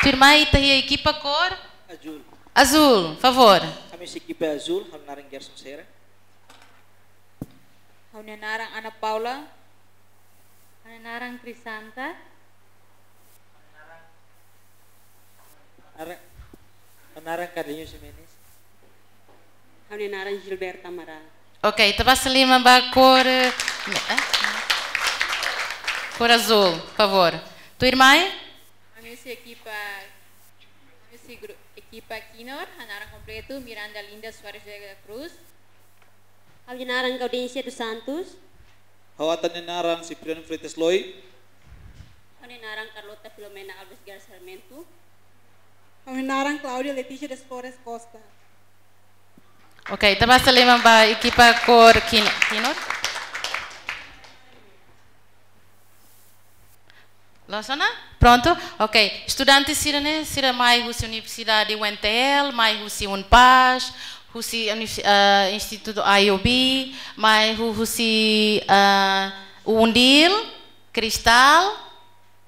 Tuirmai, ita iha ekipa kór? Azul. Azul, favór. Ami husi ekipa azul, ha'u-nia naran Gerson Sera. Ha'u-nia naran Ana Paula. Ha'u-nia naran Crisanta. Naran, naran Carlinhos Jimenez. Ha'u-nia naran Gilberta Amaral. Ok, ita basa liman ba kór, eh, kór azul, favór. Tuirmai? Ami husi ekipa, ami husi gru-, ekipa Kinor, ha'u-nia naran kompletu Miranda Linda Soares da Cruz. Ha'u-nia naran Gaudência dos Santos. Ha'u atan nia naran Cipriano Freitas Loi. Ha'u-nia naran Carlota Filomena Alves Garcia Sarmento. Ha'u-nia naran Cláudia Letícia das Flores Costa. Ok, ita basa liman ba ekipa kór Kin-, Kinor. Loos ona? Prontu? Ok. Estudante sira ne'e, sira mai husi Universidade U N T L, mai husi UNPAZ, husi Univers-, ah, Instituto I O B, mai hu-, husi, ah, UNDIL, Cristal,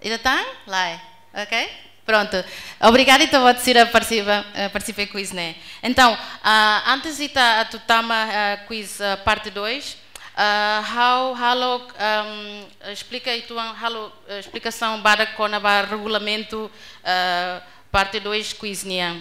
ida tan? Lae. Ok? Prontu. Obrigada ita-boot sira partisipa, eh, partisipa iha quiz ne'e. Entaun, ah, antes ita atu tama, ah, quiz, ah, parte dois, ah, ha'u halo, ahm, esplika uitoan, halo, eh, esplikasaun badak kona-ba regulamentu, eh, parte dois quiz nian.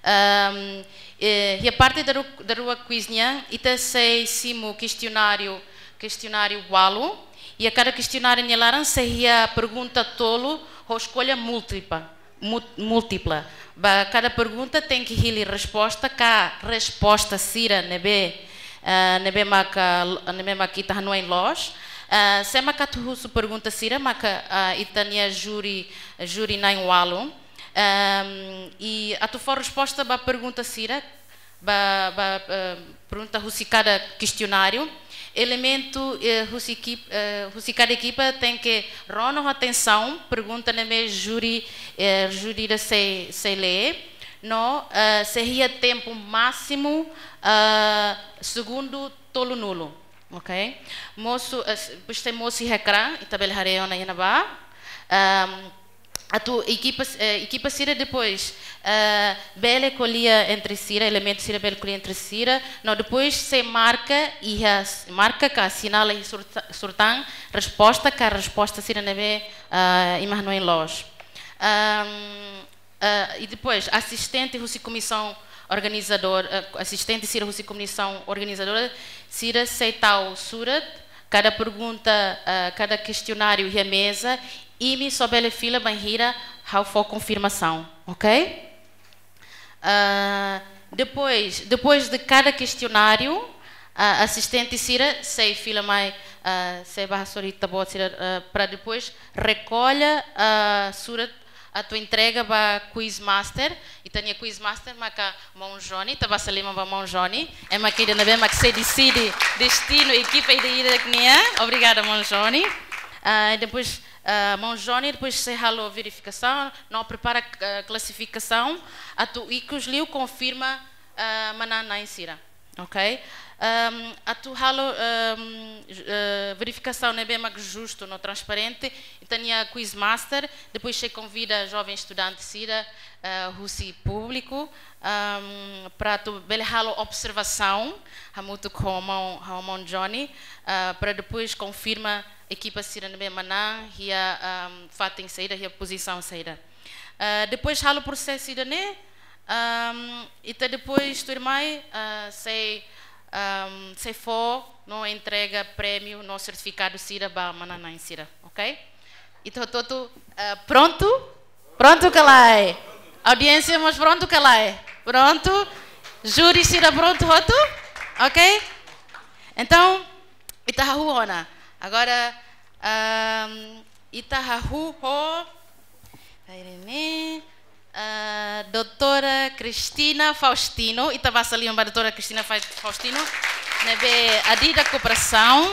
Ahm, eh, iha parte daru-, daruak quiz nian, ita sei simu kestionáriu, kestionáriu ualu, iha kada kestionáriu nia laran sei iha pergunta tolu ho eskolha múltipla. Mú-, múltipla. Ba kada pergunta tenke hili resposta ka resposta sira ne'ebé, eh, ne'ebé maka, ne'ebé maka ita hanoin loos. Eh, sé maka atu husu pergunta sira maka, eh, ita-nia júri, júri na'in ualu. Ehm, i atu fó resposta ba pergunta sira, ba, ba, eh, pergunta husi kada kestionáriu. Elementu, eh, husi ekip-, eh, husi kada ekipa tenke rona ho atensaun pergunta ne'ebé júri, eh, júri ida sei, sei lee. No, eh, sei iha tempu másimu, eh, segundu tolunulu. Ok? Mosu, eh, s-, depois sei mosu iha ekrán, ita bele haree ona iha ne'ebá. Ehm, atu ekipa, eh, ekipa sira depois, eh, bele ko'alia entre sira, elementu sira bele ko'alia entre sira, no depois sei marka iha s-, marka ka sinala iha surta-, surtán resposta ka resposta sira ne'ebé, eh, ema hanoin loos. Ahm, eh, i depois asistente husi komisaun organizador, eh, asistente sira husi komisaun organizadora, sira sei tau surat, kada pergunta, eh, kada kestionáriu iha meza, imi só bele fila bainhira ha'u fó konfirmasaun, ok? Ah, depois, depois de kada kestionáriu, ah, asistente sira sei fila mai, ah, sei bá hasoru ita-boot sira, ah, para depois rekolla, ah, surat atu entrega ba quiz master. Ita-nia quiz master maka maun Johnny, ita basa liman ba maun Johnny. Ema ida ne'ebé mak sei deside destinu ekipa ida-idak nian. Obrigada, maun Johnny. Ah, depois, ah, maun Johnny depois sei halo verifikasaun, no prepara, ah, klasifikasaun, atu ikus liu konfirma, ah, manán-na'in sira. Ok? Ahm, atu halo, ahm, ju-, eh, verifikasaun ne'ebé mak justu no transparente, ita-nia quiz master depois sei konvida joven estudante sira, eh, husi públiku, ahm, para atu bele halo observasaun hamutuk ho maun, ho maun Johnny, eh, para depois konfirma ekipa sira ne'ebé manán iha, ahm, fatin saida, iha pozisaun saida. Eh, depois halo prosesu ida-ne'e, ahm, ita depois tuirmai, ah, sei, ahm, sei fó no entrega prémiu no sertifikadu sira ba manán-na'in sira, ok? Ita hotu-hotu, eh, prontu? Prontu ka lae? Audiénsia mós prontu ka lae? Prontu? Júri sira prontu hotu? Ok? Entaun, ita hahú ona. Agora, ahm, ita hahú ho, pera ne'e, ah, doutora Cristina Faustino, ita basa liman ba doutora Cristina Fa-, Faustino, ne'ebé adida kooperasaun,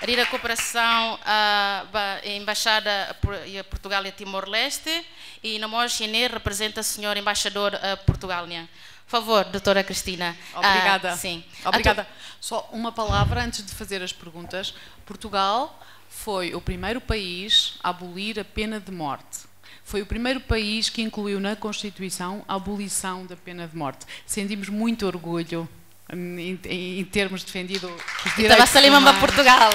adida kooperasaun, ah, ba Embaixada Por-, iha Portugal iha Timor-Leste, i no mós nia reprezenta señór embaixadór, ah, Portugal nian. Favór, doutora Cristina. Ah, obrigada. Sim. Obrigada. Atu- Só uma palavra antes de fazer as perguntas. Portugal foi o primeiro país a abolir a pena de morte. Foi o primeiro país que incluiu na Constituição a abolição da pena de morte. Sentimos muito orgulho em, em, em termos defendido os direitos humanos. Ita basa liman ba Portugal.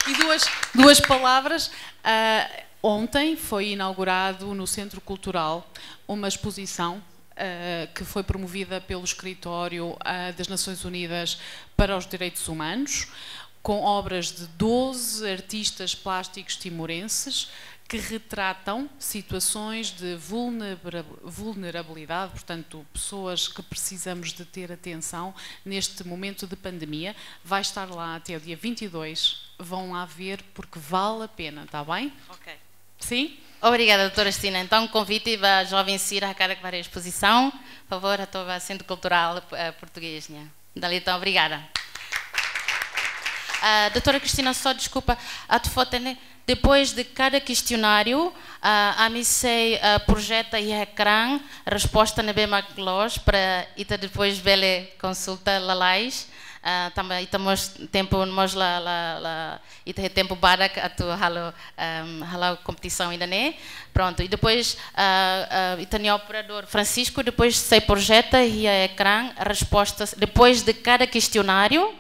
E duas, duas palavras. Ah, ontem foi inaugurado no Centro Cultural uma exposição, ah, que foi promovida pelo Escritório, ah, das Nações Unidas para os Direitos Humanos, com obras de doze artistas plásticos timorenses que retratam situações de vulnera-, vulnerabilidade, portanto, pessoas que precisamos de ter atenção neste momento de pandemia. Vai estar lá até o dia vinte e dois. Vão lá ver porque vale a pena, tá bem? Ok. Sim? Obrigada, doutora Cristina. Entaun, konvite ba joven sira hakarak bá haree espozisaun, favór, atu bá Centro Cultural, eh, Português nian. Dala ida, obrigada. Ah, doutora Cristina, só deskulpa, atu fó-hatene, depois de cada questionário, ah, ami sei, ah, projeta iha ekrán resposta ne'ebé mak loos para ita depois bele konsulta lalais. Ah, tanba ita mós tempu mós la, la, la, ita iha tempu badak atu halo, ehm, halo kompetisaun ida-ne'e. Prontu, i depois, ah, ah, ita-nia operadór Francisco depois sei projeta iha ekrán respostas, depois de cada questionário,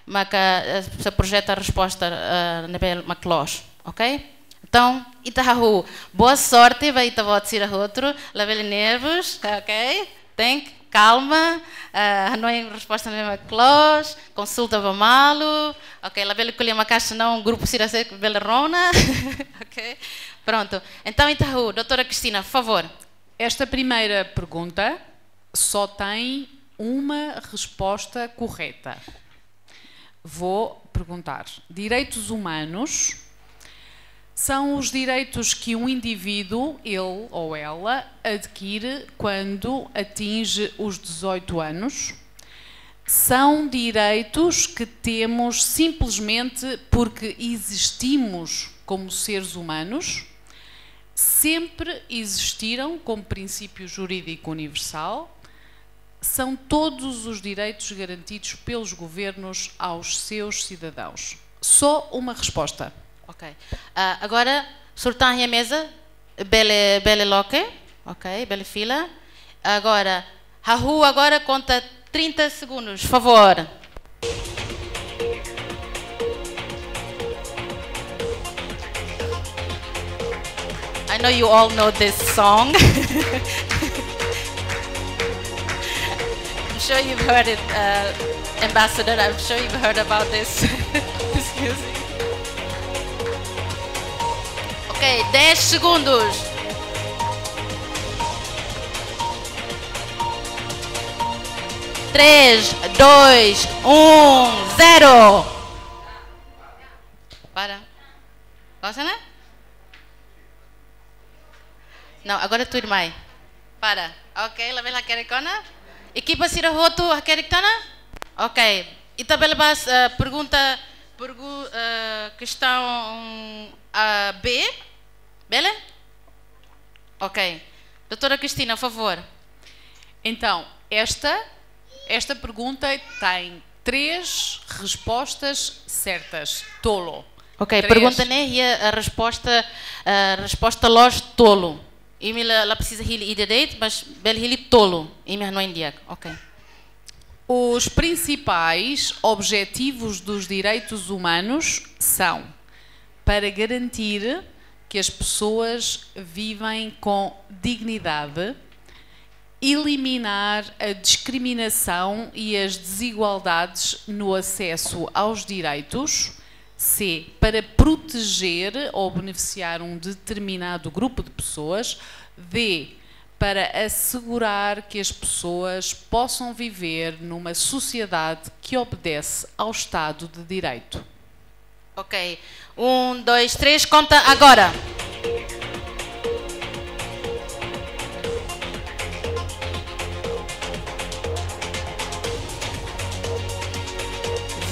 maka, eh, sei projeta resposta, eh, ne'ebé mak loos, ok? Entaun, ita hahú. Boa sorte ba ita-boot sira hotu, labele nervous, ok? Tenke kalma, eh, hanoin resposta ne'ebé mak loos, konsulta ba malu, ok? Labele ko'alia maka'as, senão grupu sira sei bele rona, ok? Prontu. Entaun, ita hahú, doutora Cristina, favór. Esta primeira pergunta só tem uma resposta correta. Vou perguntar: direitos humanos são os direitos que um indivíduo, ele ou ela, adquire quando atinge os dezoito anos? São direitos que temos simplesmente porque existimos como seres humanos? Sempre existiram como princípio jurídico universal? São todos os direitos garantidos pelos governos aos seus cidadãos? Só uma resposta. Ok. Ah, agora, sorteia a mesa. Bele, bele loke. Ok, bele fila. Agora, hahú agora konta trinta segundos, favór. I know you all know this song. I'm sure you've heard it, uh, Ambassador. I'm sure you've heard about this, this music. Ok, dez segundos. Três, dois, um, zero. Para. Pausa, né? Não, agora tudo mais. Para. Ok, labele hakerek ona. Ekipa sira hotu hakerek tiha ona? Ok. Ita bele bá, eh, pergunta, pergu-, eh, questão, ah, B. Bele? Ok. Doutora Cristina, favór. Então, esta, esta pergunta tem três respostas certas. Tolu. Ok, três. Pergunta ne'e iha, eh, resposta, eh, resposta loos tolu. Imi la, la presiza hili ida de'it, mas bele hili tolu. Imi hanoin di'ak. Ok. Os principais objetivos dos direitos humanos são: para garantir que as pessoas vivem com dignidade, eliminar a discriminação e as desigualdades no acesso aos direitos, C, para proteger ou beneficiar um determinado grupo de pessoas. D, para assegurar que as pessoas possam viver numa sociedade que obedece ao Estado de Direito. Ok. Um, dois, três, conta agora.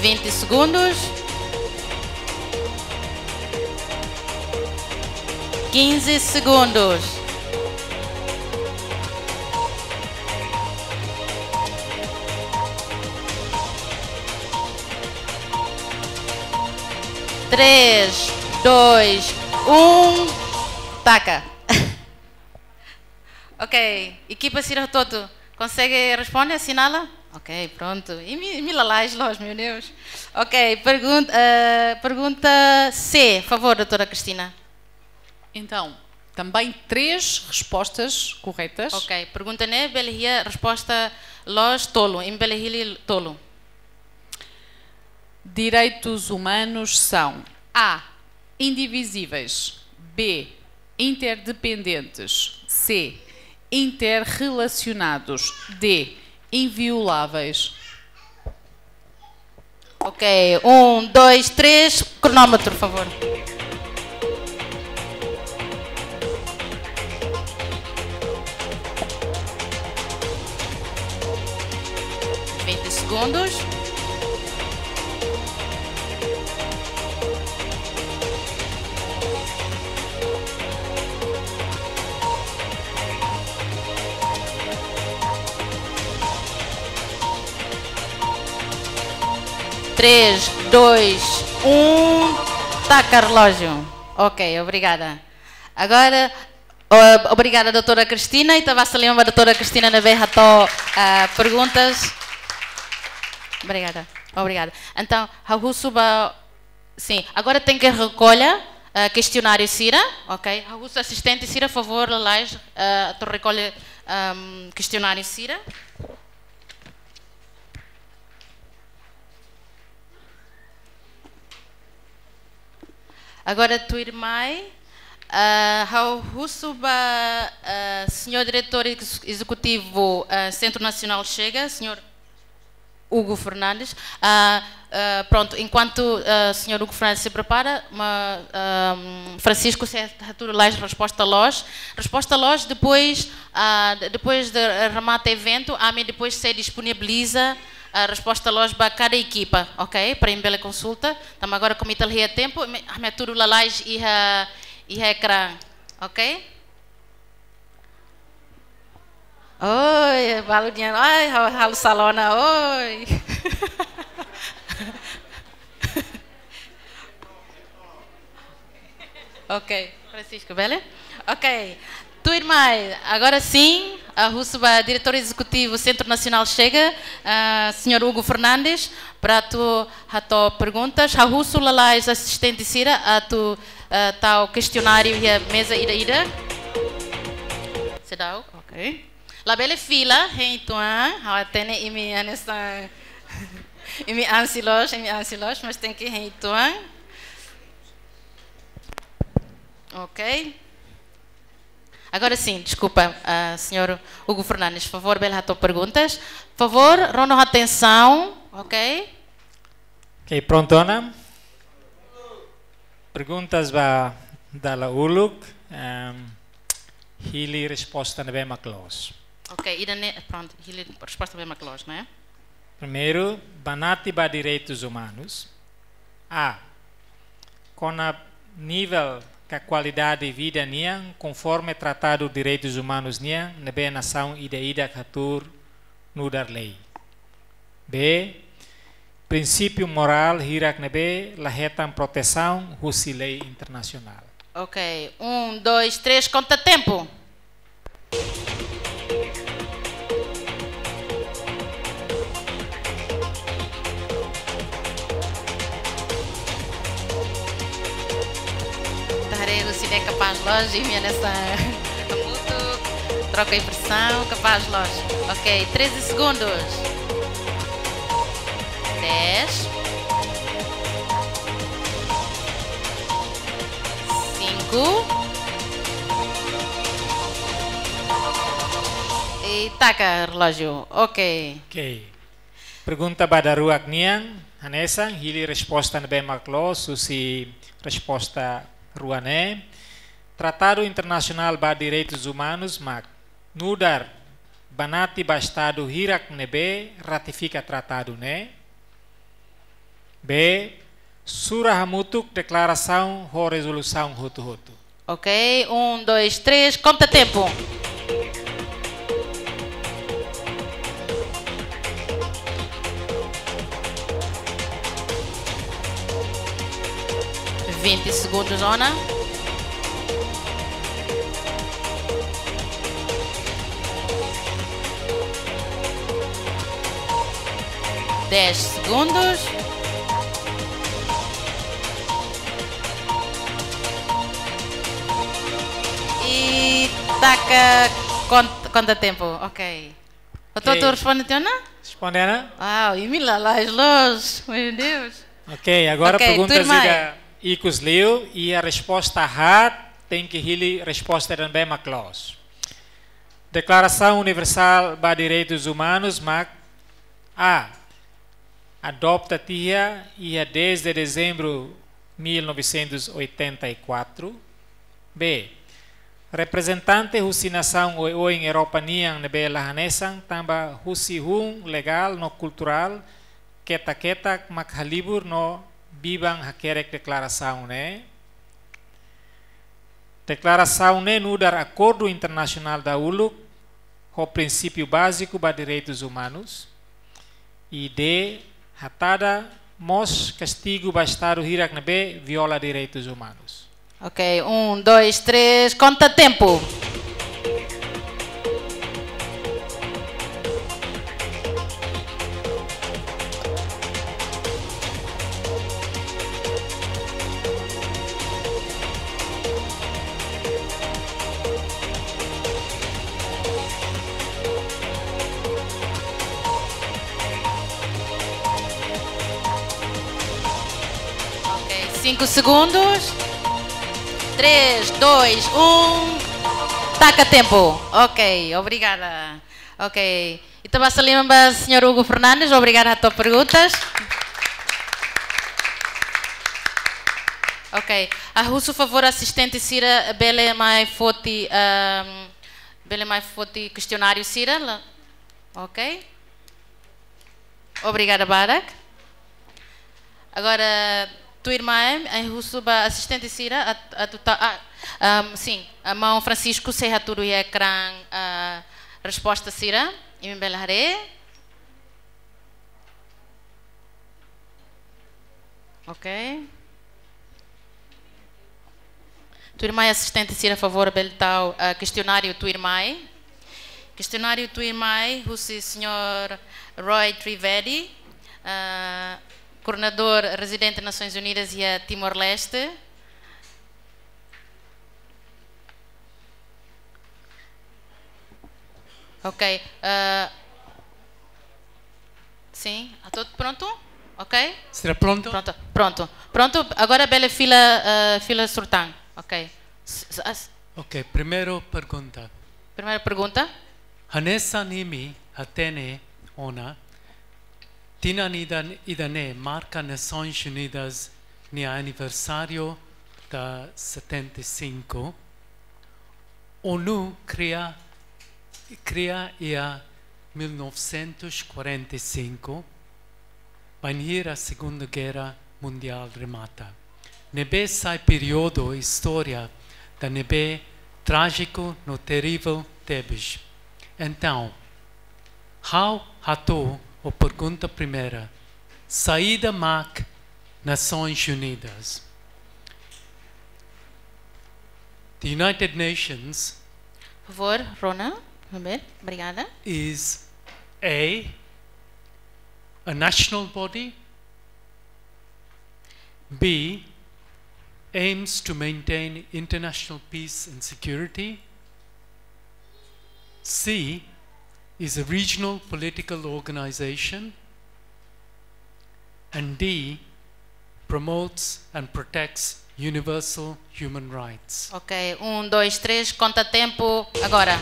Vinte segundos. Quinze segundos. Três, dois, um. Taka. Ok, ekipa sira hotu-hotu konsege responde, assinala? Ok, prontu. Imi, imi lalais loos, meu Deus. Ok, pergunta, eh, pergunta C, favor, doutora Cristina. Então, também três respostas corretas. Ok, pergunta ne'e bele iha resposta loos tolu, imi bele hili tolu. Direitos humanos são: A, indivisíveis. B, interdependentes. C, interrelacionados. D, invioláveis. Ok, um, dois, três, cronómetro, por favor. Vinte segundos. Três, dois, um, taka relógio. Ok, obrigada. Agora, o-, obrigada, doutora Cristina, ita basa liman ba doutora Cristina ne'ebé hato'o, ah, perguntas. Obrigada, obrigada. Entaun, ha'u husu ba, sim, agora tenke rekolla, ah, kestionáriu sira, ok? Ha'u husu asistente sira, favór, lalais, ah, atu rekolla, ahm, kestionáriu sira. Agora, tuirmai, ah, ha'u husu ba, ah, señór diretór ex-, ezekutivu, ah, Sentru Nasionál Chega, señór Hugo Fernandes. Ah, ah, prontu, enkuantu, ah, señór Hugo Fernandes se prepara, ma, ahm, Francisco sei hatudu lalais resposta loos. Resposta loos, depois, ah, de-, depois de remata eventu, ami depois sei disponibiliza, ah, resposta loos ba kada ekipa, ok? Para imi bele konsulta. Entaun agora, komu ita la iha tempu, ami, ami hatudu lalais iha, iha ekrán, ok? Oi, balu nian, ai, ha'u, ha'u sala ona, oi. Ok, Francisco, bele? Ok, tuirmai, agora sim, ha'u husu ba diretór ezekutivu Sentru Nasionál Chega, ah, señór Hugo Fernandes, para atu hato'o perguntas. Ha'u husu lalais asistente sira atu, ah, tau kestionáriu iha meza ida-ida. Seidauk, ok. Labele fila, hein, tuan, ha'u hatene imi hanesan, imi ansi loos, imi ansi loos, mas tenke hein tuan. Ok. Agora sim, deskulpa, ah, señór Hugo Fernandes, favór, bele hato'o perguntas. Favór, rona atensaun, ok? Ok, prontu ona. Perguntas ba dala uluk, ehm, hili resposta ne'ebé mak loos. Ok, ida-ne'e, prontu, hili resposta ne'ebé mak loos, ne'e? Primeiru, banati ba direitus umanus. A. Kona-ba nivel ka kualidade vida nian konforme Tratadu Direitus Umanus nian ne'ebé nasaun ida-idak hatuur nu'udar lei. B. Prinsípiu morál hirak ne'ebé la hetan protesaun husi lei internasionál. Ok, um, dois, três, konta tempu. Ita haree husi ne'e kapás loos, imi hanesan hamutuk, troka impresaun, kapás loos. Ok, treze segundos. Dez. I taka relójiu. Ok. Ok. Pergunta ba daruak nian, hanesan, hili resposta ne'ebé mak loos, husi resposta rua ne'e. Tratadu internasionál ba direitus umanus mak nu'udar banati ba estadu hirak ne'ebé ratifika tratadu ne'e. B, sura hamutuk deklarasaun ho rezolusaun hotu-hotu. Ok, um, dois, três, conta tempo. Vinte segundos, Ona. Dez segundos. I taka, kont-, konta tempu. Ok. Oto, ok, oto responde tiha ona? Responde ona? Wow, imi lalais loos. Meu Deus. Ok, agora, ok, pergunta tuirmai. Ida ikus liu, i a resposta haat tenke hili resposta ida ne'ebé mak loos. Deklarasaun Universál ba Direitus Umanus mak A, adopta tiha iha dez de dezembro mil novecentos e oitenta e quatro. B, reprezentante husi nasaun oioin Europa nian ne'ebé la hanesan tanba husi hun legál no kulturál ketak-ketak mak halibur no biban hakerek deklarasaun ne'e. Deklarasaun ne'e nu'udar akordu internasionál dahuluk ho prinsípiu báziku ba direitus umanus. I D, hatada mós kastigu ba estadu hirak ne'ebé viola direitus umanus. Ok, um, dois, três, conta tempo. Ok, cinco segundos. Três, dois, um. Taka tempu. Ok, obrigada. Ok. Ita basa liman ba señór Hugo Fernandes, obrigada hato'o perguntas. Ok. Ha'u husu favór asistente sira bele mai foti, ahm, bele mai foti kestionáriu sira la. Ok. Obrigada barak. Agora, tuirmai, ha'u husu ba asistente sira, atu, atu ta, ah, ahm, sin, maun Francisco sei hatudu iha ekrán, ah, resposta sira, imi bele haree. Ok. Tuirmai asistente sira favór bele tau, ah, kestionáriu tuirmai. Kestionáriu tuirmai, husi señór Roy Trivedi, ah, koordenadór rezidente Nasoins Unidas iha Timor-Leste. Ok, ah, sin, atu prontu? Ok? Sira prontu? Prontu, prontu. Prontu, agora bele fila, ah, fila sortan. Ok. S-, s-, as- Ok, primeira pergunta. Primeira pergunta. Hanesan imi hatene ona, tinan ida, ida-ne'e marka Nasoins Unidas nia aniversáriu da setenta e cinco. ONU kria, kria iha mil novecentos e quarenta e cinco, bainhira Segunda Guerra Mundiál remata. Ne'ebé sai períodu istória ida ne'ebé trájiku no terível tebes. Entaun, ha'u hato'o pergunta primeira. Saida mak Nasoins Unidas? The United Nations Por favor, Rona, Mabel, obrigada. Is A, a national body. B, aims to maintain international peace and security. C, is a regional political organization. And D, promotes and protects universal human rights. Ok, um, dois, três, conta tempo agora.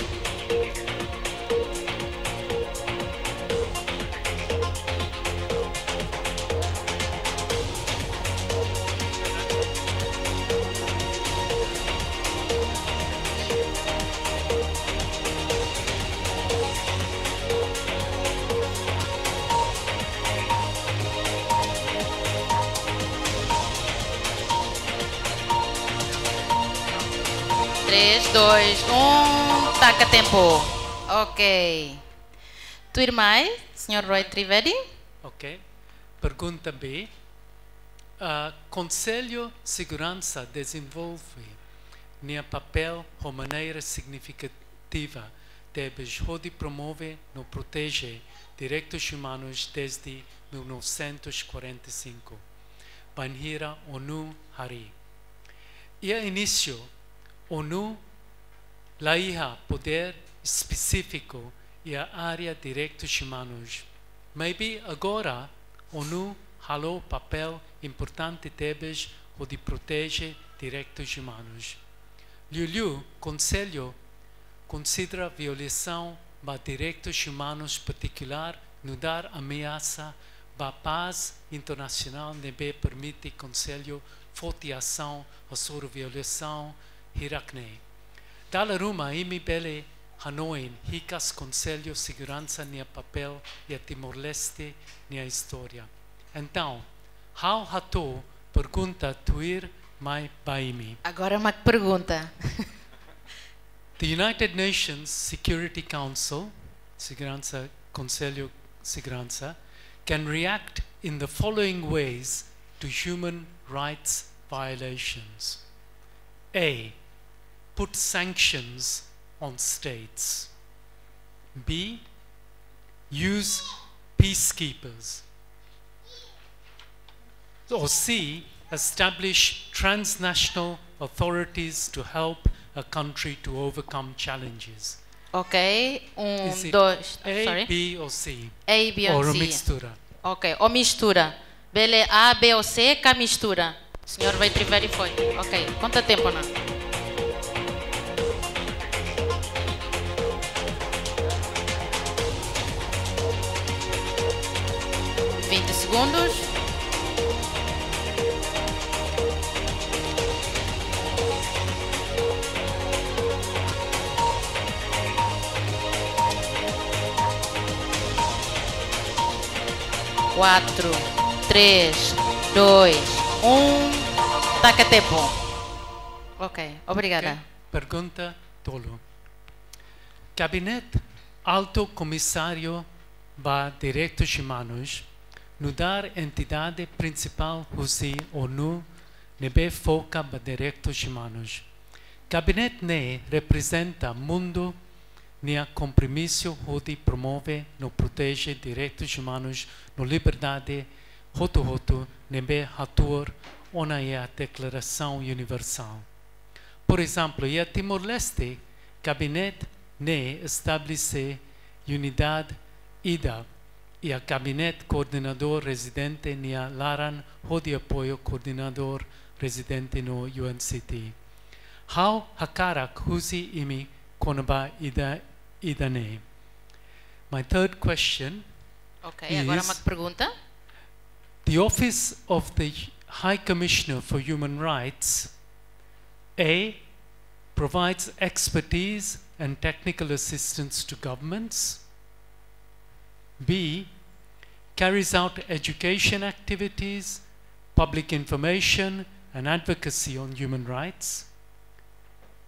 Três, dois, um, taka tempu. Ok. Tuirmai, señór Roy Trivedi. Ok. Pergunta B. Ah, Konsellu Seguransa dezenvolve nia papél ho maneira signifikativa tebes hodi promove no proteje direitus umanus dezde mil novecentos e quarenta e cinco, bainhira ONU harii. Iha inísiu, ONU la iha podér espesífiku iha área direitus umanus. Maibé agora, ONU halo papél importante tebes hodi proteje direitus umanus. Liuliu, Konsellu konsidera violasaun ba direitus umanus partikulár nu'udar ameasa ba pás internasionál ne'ebé permite Konsellu foti asaun hasoru violasaun hirak-ne'e. Dala ruma imi bele hanoin hikas Konsellu Seguransa nia papél iha Timor-Leste nia istória. Entaun, ha'u hato'o pergunta tuirmai ba imi. Agora mak pergunta. The United Nations Security Council, Seguransa, Konsellu Seguransa, can react in the following ways to human rights violations. A. Put sanctions on states. B. Use peacekeepers. Or C. Establish transnational authorities to help a country to overcome challenges. Ok, um, Is it dois, A, sorry. B or C? A, B or Or C. Mistura? Ok, ou mistura. Bele A, B ou C, ka mistura. Señór Roy Trivedi foin. Ok, konta tempu ona. Vinte segundos. Quatro, três, dois, um. Taka tempu. Ok, obrigada. Ok, pergunta tolu. Gabinete Altu Komisáriu ba Direitus Umanus, nu'udar entidade prinsipál husi ONU ne'ebé foka ba direitus umanus. Gabinete ne'e reprezenta mundu nia kompromisu hodi promove no proteje direitus umanus no liberdade hotu-hotu ne'ebé hatuur ona iha Deklarasaun Universál. Por ezemplu, iha Timor-Leste, gabinete ne'e estabelese unidade ida iha Gabinete Koordenadór Rezidente nia laran hodi apoiu Koordenadór Rezidente no U N C T. Ha'u hakarak husu imi kona-ba ida, ida-ne'e. My third question Ok, agora is mak pergunta. The Office of the High Commissioner for Human Rights, A, provides expertise and technical assistance to governments. B, carries out education activities, public information, and advocacy on human rights.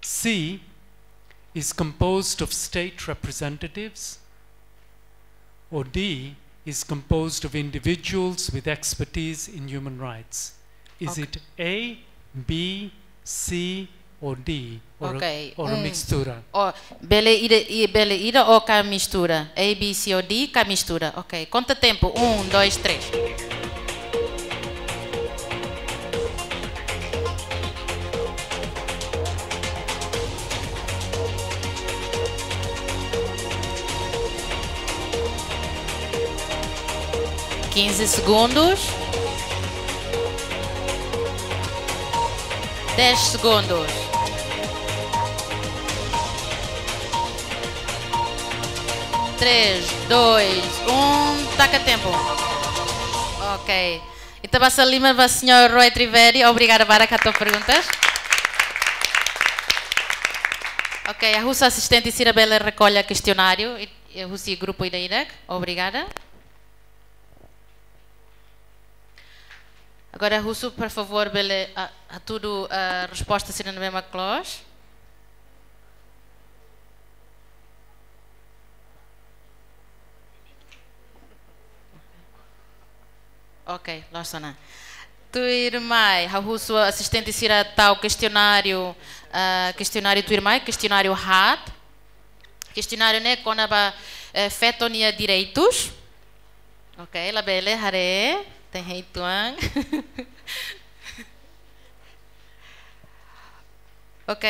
C, is composed of state representatives. Or D, is composed of individuals with expertise in human rights. Is Ok. it A, B, C, or D, or a, Ok, or a um, mistura? Ou bele ida, i bele ida ou ka mistura. A, B, C ou D ka mistura. Ok, konta tempu. Um, dois, três. Quinze segundos. Dez segundos. Três, dois, um, taka tempu. Ok. Ita basa liman ba señór Roy Trivedi, obrigada barak hato'o perguntas. Ok, ha'u husu asistente sira bele rekolla kestionáriu, i, i husi grupu ida-idak. Obrigada. Agora, husu, por favór, bele, ah, hatudu, ah, resposta sira ne'ebé mak loos. Ok, loos ona. Tuirmai, ha'u husu asistente sira tau kestionáriu, ah, kestionáriu tuirmai, kestionáriu haat. Kestionáriu ne'e kona-ba, eh, feto nia direitus. Ok, labele haree, tenke hein uitoan. Ok,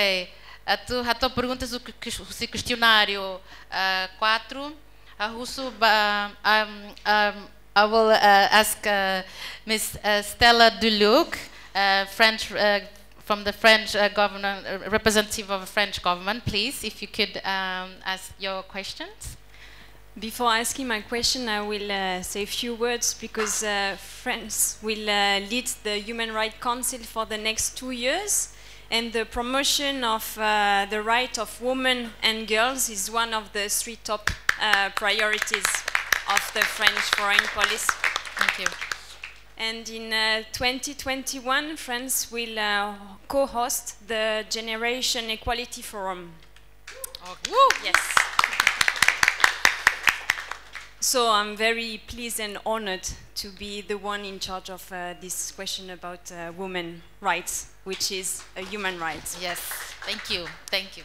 atu hato'o perguntas husi kes-, husi kestionáriu, ah, quatro. Ha'u husu ba, um, um, I will, uh, ask, uh, Miss, uh, Stella Duluc, uh, French, uh, from the French, uh, government, uh, representative of the French government, please, if you could, um, ask your questions. Before asking my question, I will, uh, say a few words because, uh, France will, uh, lead the Human Rights Council for the next two years, and the promotion of, uh, the right of women and girls is one of the three top, uh, priorities of the French foreign policy. Thank you. And in, uh, twenty twenty-one, France will, uh, co-host the Generation Equality Forum. Okay. Yes. So I'm very pleased and honored to be the one in charge of, uh, this question about, uh, women rights, which is a human right. Yes. Thank you. Thank you.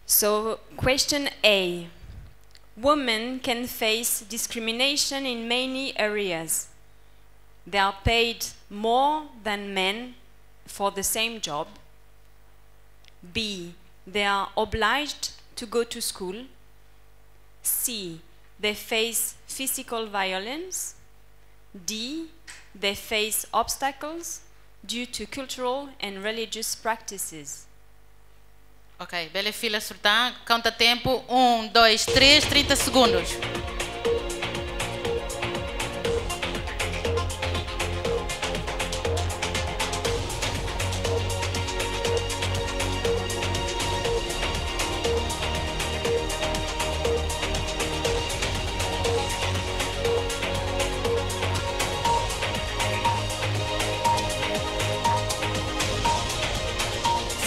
So, question A. Women can face discrimination in many areas. They are paid more than men for the same job. B. They are obliged to go to school. C. They face physical violence. D. They face obstacles due to cultural and religious practices. Ok, bele fila sira tan, konta tempu, um, dois, três, trinta segundos.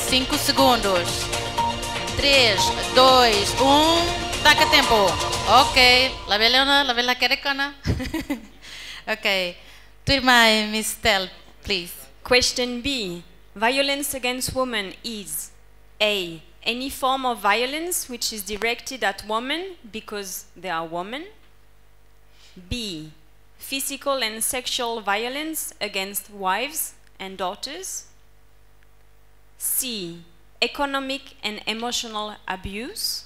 Cinco segundos. Três, dois, um. Taka tempu. Ok. Labele ona, labele hakerek ona. Ok. Tuirmai, Miss Stella, please. Question B. Violence against women is A. Any form of violence which is directed at women because they are women. B. Physical and sexual violence against wives and daughters. C. Economic and emotional abuse.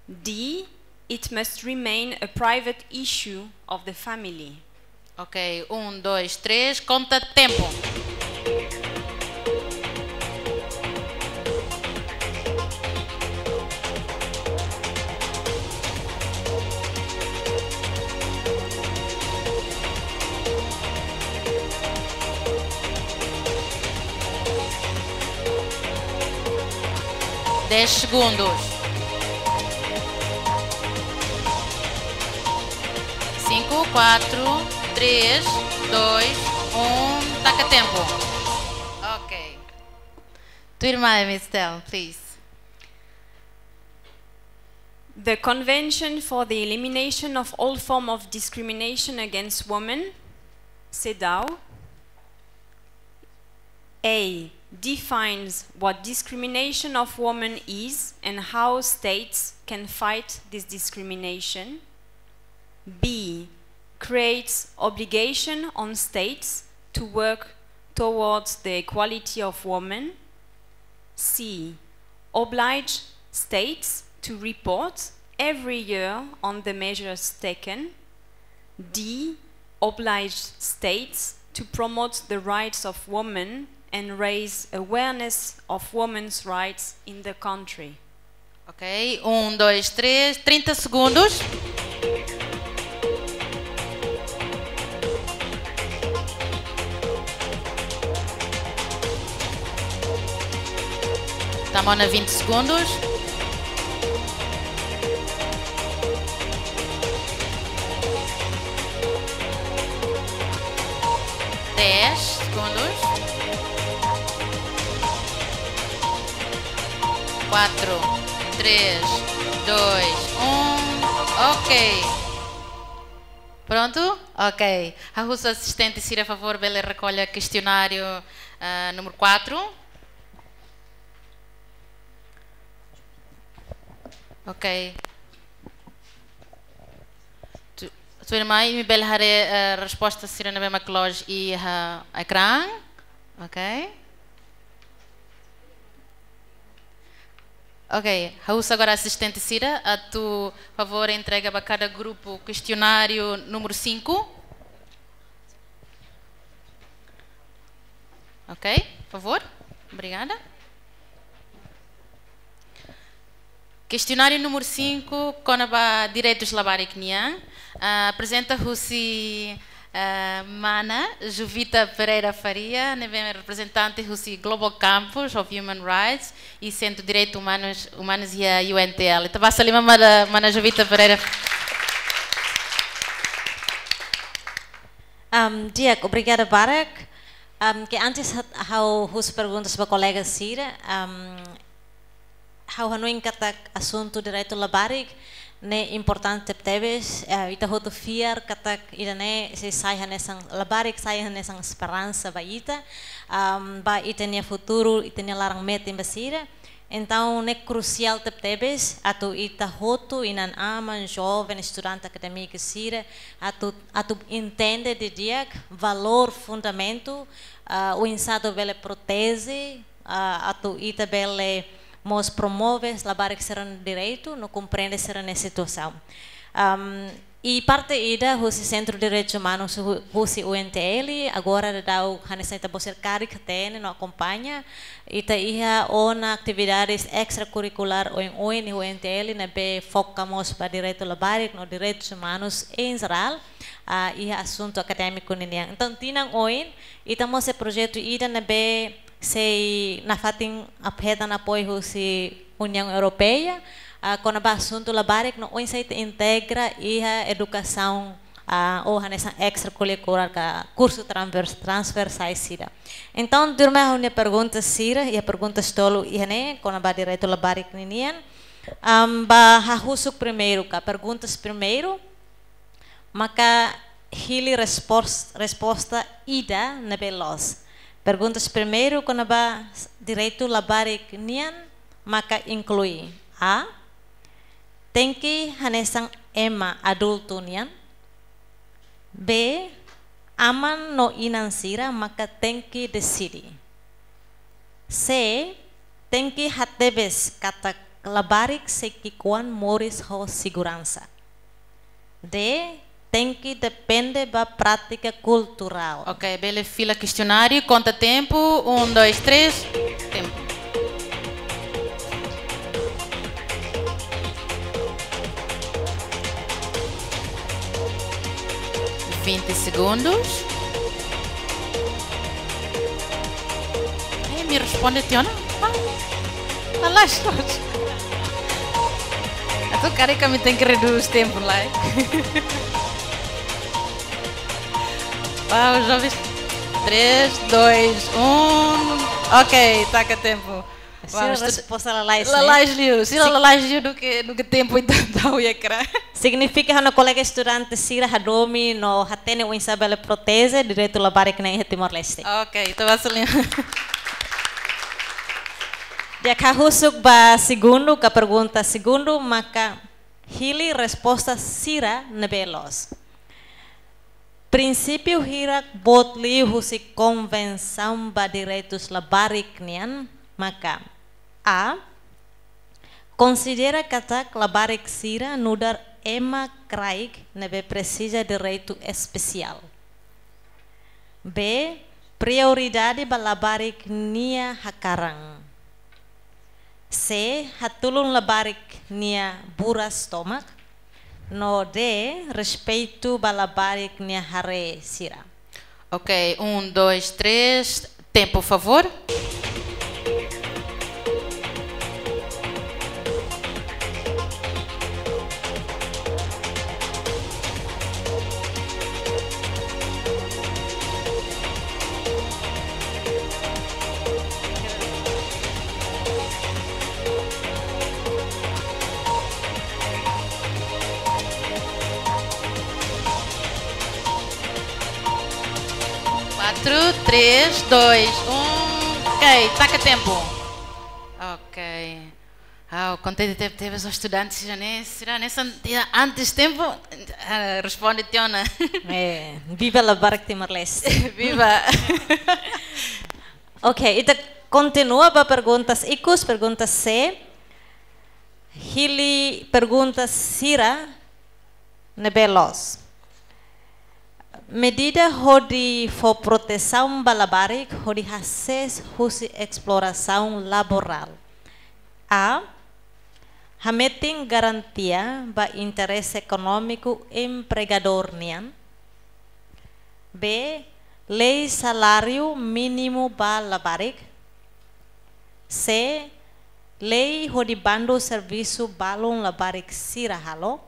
D. It must remain a private issue of the family. Ok, um, dois, três, konta tempu. Dez segundos. Cinco, quatro, três, dois, um. Taka tempu. Ok. Tuirmai, Miss Stella, please. The Convention for the Elimination of All Form of Discrimination Against Women, CEDAW, A. Defines what discrimination of women is and how states can fight this discrimination. B. Creates obligation on states to work towards the equality of women. C. Oblige states to report every year on the measures taken. D. Oblige states to promote the rights of women and raise awareness of women's rights in the country. Ok, um, dois, três, trinta segundos. Tamo na vinte segundos. Dez segundos. Quatro, três, dois, um. Ok. Pronto? Ok. Ha'u husu asistente sira, favór, bele rekolla kestionáriu, ah, número quatro. Ok. Tu, tuirmai, imi bele haree, eh, resposta sira ne'ebé mak loos iha ekrán. Ok. Ok, ha'u husu agora asistente sira, atu favór entrega ba kada grupu kestionáriu número cinco. Ok, favór. Obrigada. Kestionáriu número cinco, kona-ba direitus labarik nian. Ah, aprezenta husi, ah, mana Jovita Pereira Faria, ne'ebé reprezentante husi Global Campus of Human Rights i Sentru Direitus Umanus, Umanus iha U N T L. Ita basa liman ba mana Jovita Pereira. Am, di'ak, obrigada barak. Am, ke antes hat-, ha'u husu perguntas ba kolega sira, am, ha'u hanoin katak asuntu direitu labarik ne'e importante tebes, eh, ita hotu fiar katak ida-ne'e sei sai hanesan labarik, sai hanesan esperansa ba ita, am, ba ita-nia futuru, ita-nia laran-metin ba sira. Entaun, ne'e krusiál tebetebes atu ita hotu, inan-aman, joven, estudante, akadémiku sira, atu, atu entende didi'ak valór, fundamentu, ah, oinsá atu bele proteje, ah, atu ita bele mós promove labarik sira-nia direitu, no komprende sira-nia situasaun. Am, I parte ida husi Sentru Direitus Umanus hu-, husi U N T L, agora daudaun hanesan ita-boot sira karik hatene no akompaña, ita iha ona atividades estrakurrikulár oioin iha U N T L ne'ebé foka mós ba direitu labarik no direitus umanus em geral, ah, iha asuntu akadémiku ninian. Entaun, tinan oin, ita mós iha projetu ida ne'ebé sei nafatin ap-, hetan apoiu husi Uniaun Europeia, ah, kona-ba asuntu labarik no oinsá ita integra iha edukasaun, ah, ou hanesan estrakurrikulár ka kursu transvers-, transversál sira. Entaun, tuirmai ha'u-nia pergunta sira, iha perguntas tolu iha ne'e, kona-ba direitu labarik ninian. Am, ba hahusuk primeiru ka perguntas primeiru, maka hili respos-, resposta ida ne'ebé loos. Perguntas primeiru kona-ba direitu labarik nian maka inklui: A, tenke hanesan ema adultu nian. B, aman no inan sira maka tenke deside. C, tenke hatebes katak labarik sei ki'ikoan moris ho seguransa. D, tenke depende ba prátika kulturál. Ok, bele fila kestionáriu, konta tempu, um, dois, três, tempu. Vinte segundos. Eh, imi responde tiha ona? Ah, lalais loos. Entaun, karik ami tenke redús tempu lai. Uau, jovens. Três, dois, um. Ok, taka tempu. Uau, sira estu-, resposta lalais, ne'e? Lalais liu. Sira lalais liu duké, duké tempu, entaun, tau ya kra. Signifika ha'u-nia kolega estudante sira hadomi no hatene oinsá bele proteje direitu labarik nian iha Timor-Leste. Ok, ita basa liu. Di'ak, hahusuk ba segundu, ka pergunta segundu, maka hili resposta sira ne'ebé loos. Prinsípiu hirak boot liu husi Konvensaun ba Direitus Labarik nian maka: A, konsidera katak labarik sira nu'udar ema kraik ne'ebé presiza direitu espesiál. B, Prioridade ba labarik nia hakaran. C, hatulun labarik nia buras tomak. No D, respeitu ba labarik nia haree sira. Ok, um, dois, três. Tempo, por favor. Quatro, três, dois, um. Ok, taka tempu. Ok. Ah, kontente tebes, tebes ho estudante sira-ne'e, sira-ne'e hanesan tiha antes tempu, ah, responde tiha ona. Eh, viva labarik Timor-Leste. Viva. Ok, ita kontinua ba perguntas ikus, pergunta C. Hili pergunta sira ne'ebé loos. Medida hodi fó protesaun ba labarik hodi hasees husi esplorasaun laborál. A, hametin garantia ba interese ekonómiku empregadór nian. B, lei saláriu mínimu ba labarik. C, lei hodi bandu servisu balun labarik sira halo.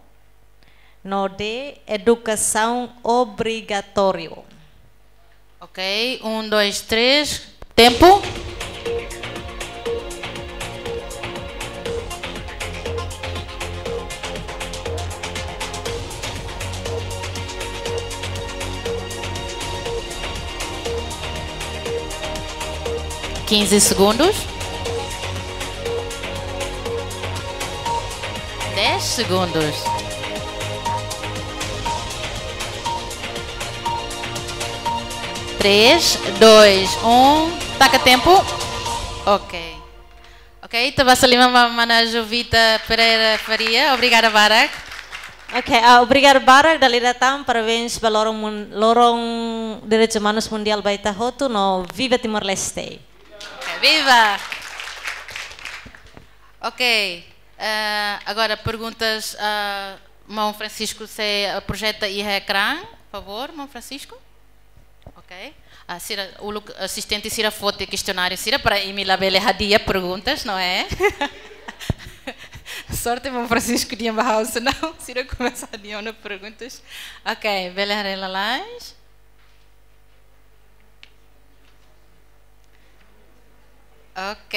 No D, edukasaun obrigatóriu. Ok, um, dois, três. Tempu. Quinze segundos. Dez segundos. Três, dois, um. Taka tempu. Ok. Ok, ita basa liman ba mana Jovita Pereira Faria. Obrigada barak. Ok, ah, obrigada barak, dala ida tan, parabéns ba loron mun-, loron direitus umanus mundiál ba ita hotu, no viva Timor-Leste. Ok, viva! Ok, eh, agora perguntas, ah, maun Francisco, se, ah, projeta iha ekrán, por favor, maun Francisco. Ok. Ah, sira, uluk asistente sira foti kestionáriu sira para imi labele hadi'a perguntas, não é? Sorte maun Francisco dehan ba ha'u, senão sira komesa hadi'a ona perguntas. Ok, bele haree lalais. Ok.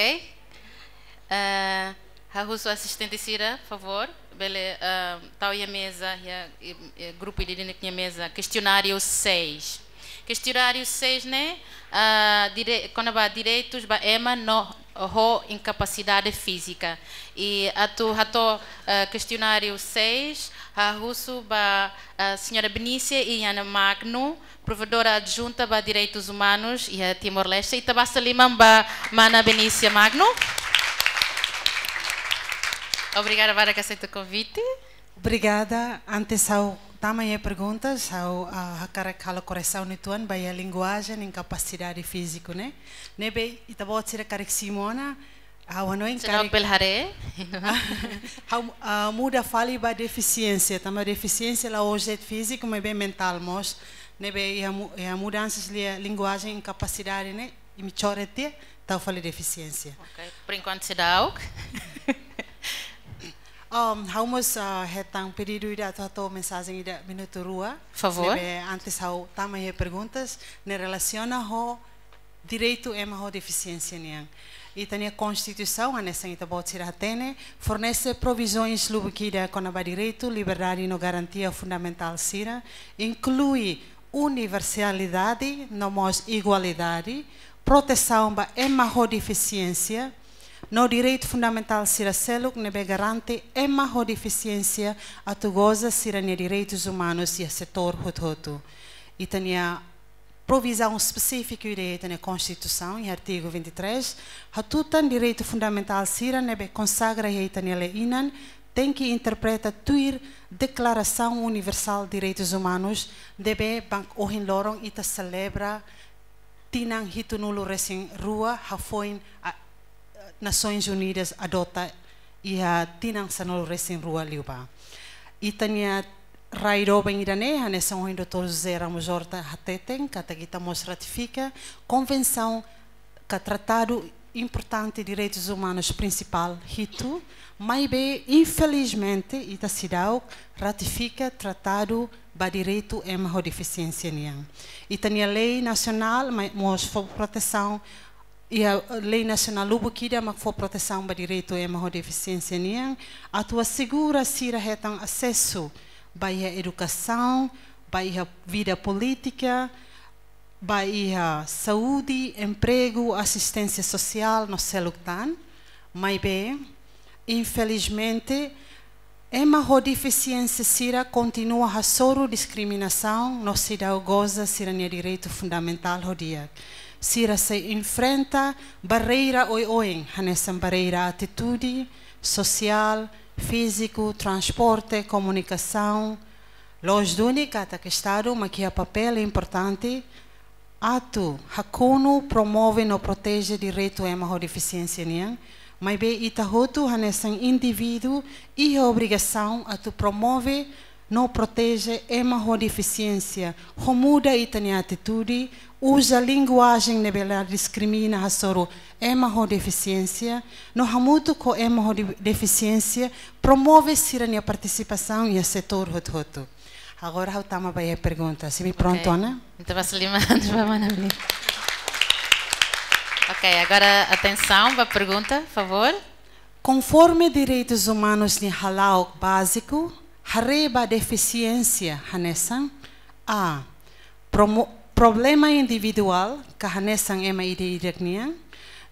Eh, ha'u husu asistente sira, favór, bele, eh, tau iha meza, iha, eh, eh, grupu ida-idak nia meza, kestionáriu seis. Kestionáriu seis ne'e, ah, dire-, kona-ba direitus ba ema no ho inkapasidade fízika. I atu hato'o, eh, kestionáriu seis, ha'u husu ba, eh, señora Benícia i Ana Magno, provokadora adjunta ba direitus umanus iha Timor-Leste, ita basa liman ba mana Benícia Magno. Obrigada barak aseita konvite. Obrigada. Antes ha'u tama iha perguntas, ha'u, ah, hakarak halo korresaun uitoan ba iha linguajen inkapasidade fíziku ne'e. Ne'ebé ita-boot sira karik simu ona, ha'u hanoin karik bele haree. Ha'u, ah, muda fali ba defisiénsia, tanba defisiénsia la'ós de'it fíziku, maibé mentál mós. Ne'ebé iha mu-, iha mudansa liu linguajen inkapasidade ne'e, imi coret tiha, tau fali defisiénsia. Ok, por enquanto seidauk. Um, ha'u mós, ah, hetan pedidu ida atu hato'o mensajen ida minutu rua. Favór. Ne'ebé antes ha'u tama iha perguntas, ne'e relasiona ho direitu ema ho defisiénsia nian. Ita-nia Konstituisaun, hanesan ita-boot sira hatene, fornese provizoens lubuk ida kona-ba direitu, liberdade no garantia fundamentál sira, inklui universalidade no mós igualdade, protesaun ba ema ho defisiénsia, no direitu fundamentál sira seluk ne'ebé garante ema ho defisiénsia atu goza sira-nia direitus umanus iha setór hotu-hotu. Ita-nia provizaun espesífiku iha ita-nia Konstituisaun, iha artigu vinte e três, hatutan direitu fundamentál sira ne'ebé konsagra iha ita-nia lei-inan, tenke interpreta tuir Deklarasaun Universál Direitus Umanus, ne'ebé bank ohin loron ita selebra tinan hitunulu resin rua hafoin a-, Nasoins Unidas adota iha tinan sanulu resin rua liubá. Ita-nia rai doben ida-ne'e, hanesan ohin doutór José Ramos Horta hateten, katak ita mós ratifika konvensaun ka tratadu importante direitus umanus prinsipál hitu, maibé, infelizmente, ita seidauk ratifika tratadu ba direitu ema ho defisiénsia nian. Ita-nia lei nasionál, mai, mós fó protesaun, iha lei nasionál lubuk ida mak fó protesaun ba direitu ema ho defisiénsia nian, atu asegura sira hetan asesu ba iha edukasaun, ba iha vida polítika, ba iha saúde, empregu, asisténsia sosiál no seluk tan. Maibé, infelizmente, ema ho defisiénsia sira kontinua hasoru diskriminasaun no seidauk goza sira-nia direitu fundamentál ho di'ak. Sira sei enfrenta barreira oioin, hanesan barreira atitude, sosiál, fíziku, transporte, komunikasaun. Loos duni katak Estadu mak iha papél importante atu hakonu, promove no proteje direitu ema ho defisiénsia nian, maibé ita hotu hanesan indivíduu iha obrigasaun atu promove no proteje ema ho defisiénsia, ho muda ita-nia atitude, uza linguajen ne'ebé la diskrimina hasoru ema ho defisiénsia, no hamutuk ho ema ho de-, defisiénsia, promove sira-nia partisipasaun iha setór hotu-hotu. Agora ha'u tama ba iha pergunta. Se imi prontu, ok, Ana? Entaun, basa liman ba mana Avelina. Ok, agora atensaun ba pergunta, favór. Konforme direitus umanus nia hala'ok báziku, haree ba defisiénsia hanesan: A. Promo-, problema individuál, ka hanesan ema ida-idak nian.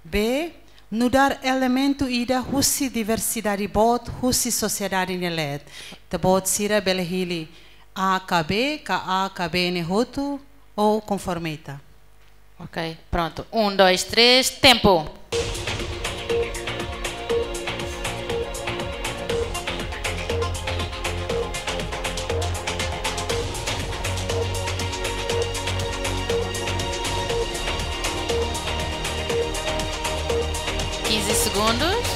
B. Nu'udar elementu ida husi diversidade boot husi sosiedade nia leet. Ita-boot sira bele hili A ka B, ka A ka B ne'e hotu, ou konforme ita. Ok, prontu. Um, dois, três, tempu. Quinze segundos.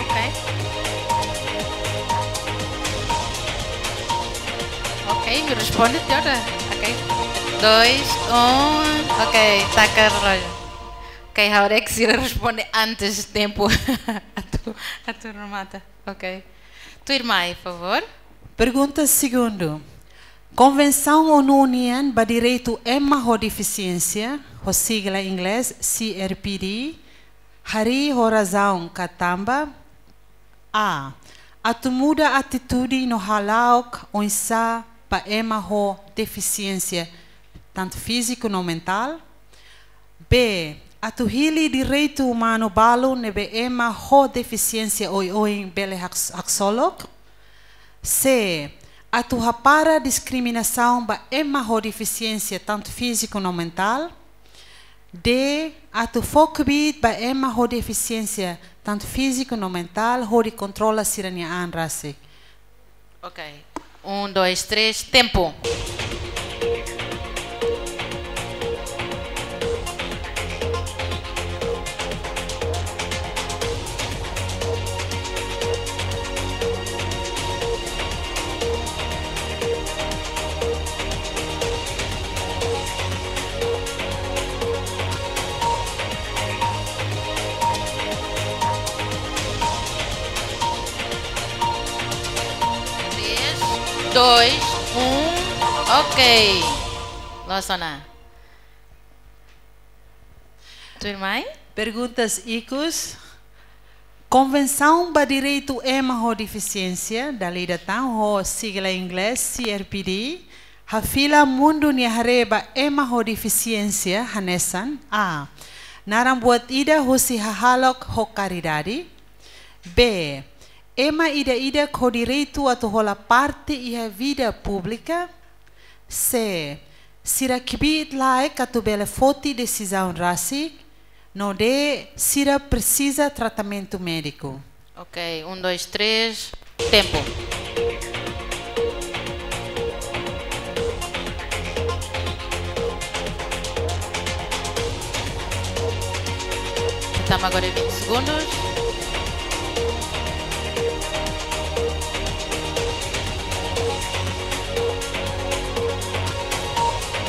Ok. Ok, responde, Teodora. Ok. Dois, um. Ok, taka relójiu. Ok, ha'u haree katak sira responde antes tempu atu, atu remata. Ok. Tuirmai, favór. Pergunta segundu. Konvensaun ONU nian ba direitu ema ho defisiénsia, ho sigla inglés C R P D, harii ho razaun ka tanba: A. Atu muda atitude no hala'ok oinsá ba ema ho defisiénsia, tantu fíziku no mentál. B. Atu hili direitu umanu balu ne'ebé ema ho defisiénsia oioin bele hak-, haksolok. C. Atu hapara diskriminasaun ba ema ho defisiénsia, tantu fíziku no mentál. D. Atu fó kbiit ba ema ho defisiénsia, tantu fíziku no mentál, hodi kontrola sira-nia an rasik. Ok. Um, dois, três, tempu. Três, dois, um, ok. Loos ona. Tuirmai? Perguntas ikus. Konvensaun ba Direitu Ema ho Defisiénsia, dala ida tan, ho sigla inglés C R P D, hafila mundu nia haree ba ema ho defisiénsia hanesan: A. Naran buat ida husi hahalok ho karidade. B. Ema ida-idak ho direitu atu hola parte iha vida públika. C. Sira kbiit-laek atu bele foti desizaun rasik. No D. Sira presiza tratamentu médiku. Ok, um, dois, três, tempu. Tama agora vinte segundos.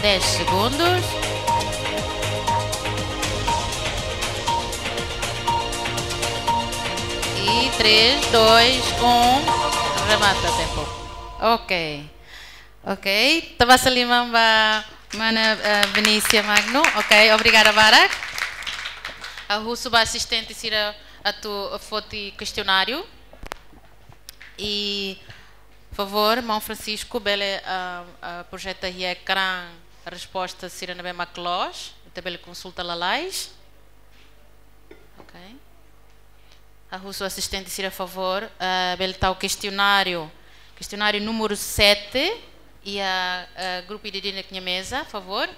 Dez segundos. E três, dois, um. Remata tempu. Ok. Ok. Ita basa liman ba mana, eh, Venícia Magno. Ok, obrigada barak. Ha'u husu ba asistente sira atu foti kestionáriu. I, favór, maun Francisco, bele, ah, ah, projeta iha ekrán resposta sira ne'ebé mak loos, ita bele konsulta lalais. Ok. Ha'u husu asistente sira, favór, ah, bele tau kestionáriu. Kestionáriu númeru sete, iha, ah, grupu ida-idak nia meza, favór.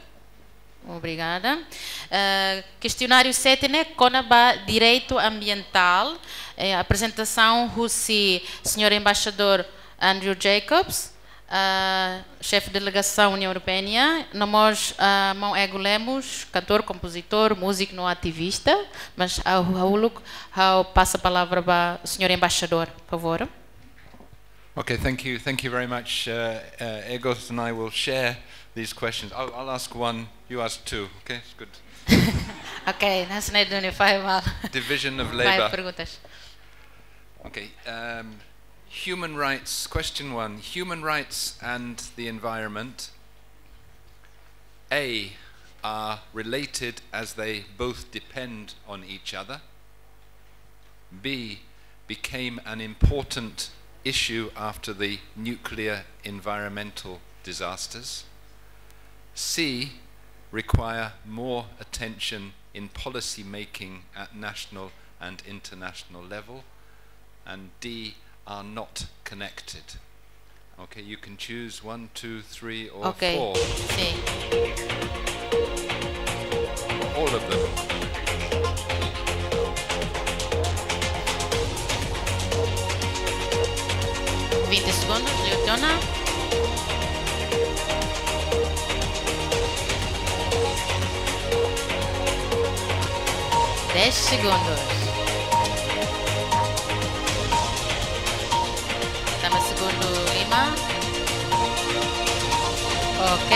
Obrigada. Eh, kestionáriu sete ne'e kona-ba direitu ambientál. Eh, aprezentasaun husi señór embaixadór Andrew Jacobs, eh, xefe delegasaun União Europeia nian, no mós, eh, maun Ego Lemos, kantór, kompozitór, múziku no ativista, mas ha'u, ha'u uluk, ha'u pasa palavra ba señór embaixadór, favór. Okay, thank you. Thank you very much. Uh, uh, Egos and I will share these questions. I'll, I'll ask one, you ask two. Okay, it's good. Ok, nós ne'e duni fai mal. Division of labor. Fai perguntas. Okay, um, human rights, question one. Human rights and the environment, A, are related as they both depend on each other. B, became an important issue after the nuclear environmental disasters. C, require more attention in policy making at national and international level. And D, are not connected. Okay, you can choose one, two, three, or Ok, four. Sim. All of them. Vinte segundos, Leotiona. Dez segundos. Tama segundu lima. Ok,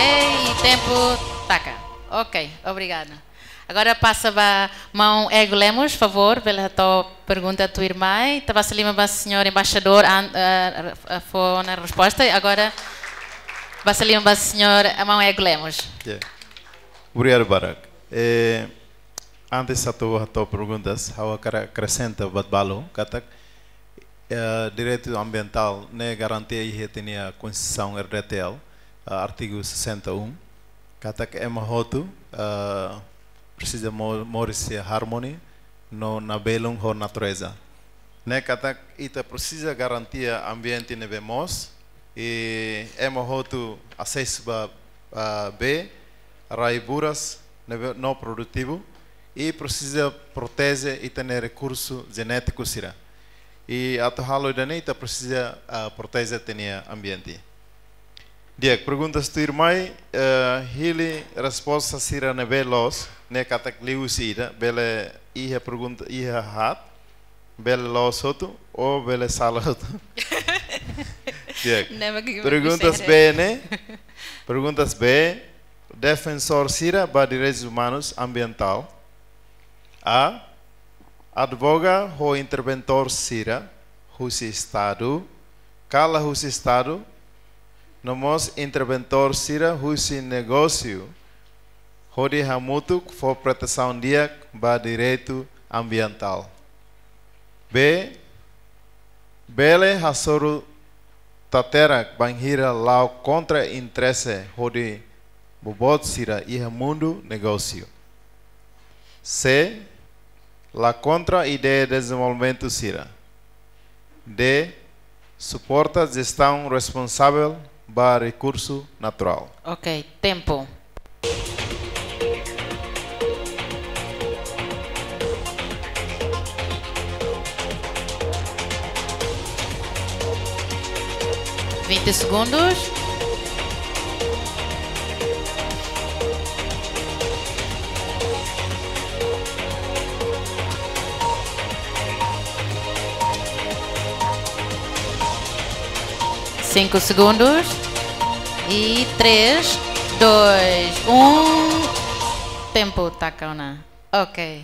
tempu taka. Ok, obrigada. Agora pasa ba maun Ego Lemos, favór, bele hato'o pergunta tuirmai. Ita basa liman ba señór embaixadór, an-, eh, eh, fó ona resposta. Agora basa liman ba señór, eh, maun Ego Lemos. Ya. Obrigadu barak. Eh, antes atu hato'o perguntas, ha'u hakarak akresenta buat balu, katak, eh, direitu ambientál ne'e garantia iha ita-nia Konstituisaun R D T L, eh, artigu sessenta e um. Katak ema hotu, eh, presiza mo-, moris iha harmonia no nabelun ho natureza. Ne'e katak ita presiza garantia ambiente ne'ebé moos, i ema hotu asesu ba, ah, bee, rai-buras ne'ebé no produtivu, i presiza proteje ita-nia rekursu jenétiku sira. I atu halo ida-ne'e ita presiza, ah, proteje ita-nia ambiente. Di'ak, perguntas tuirmai, eh, hili resposta sira ne'ebé loos, ne'e katak liuhusi ida, bele iha pergunta, iha haat, bele loos hotu, ou bele sala hotu. Di'ak. Ne'e mak imi Perguntas bisa B ne'e, perguntas B, defensór sira ba direitus umanus ambientál. A, advoga ho interventór sira husi Estadu, ka la husi Estadu, no mós interventór sira husi negósiu, hodi hamutuk fó protesaun di'ak ba direitu ambientál. B, bele hasoru taterak bainhira la'o kontra interese hodi boboot sira iha mundu negósiu. C, la kontra ideia dezenvolvimentu sira. D, suporta jestaun responsavel ba rekursu naturál. Ok, tempu. Vinte segundos. Cinco segundos. E três, dois, um. Tempu taka ona. Ok.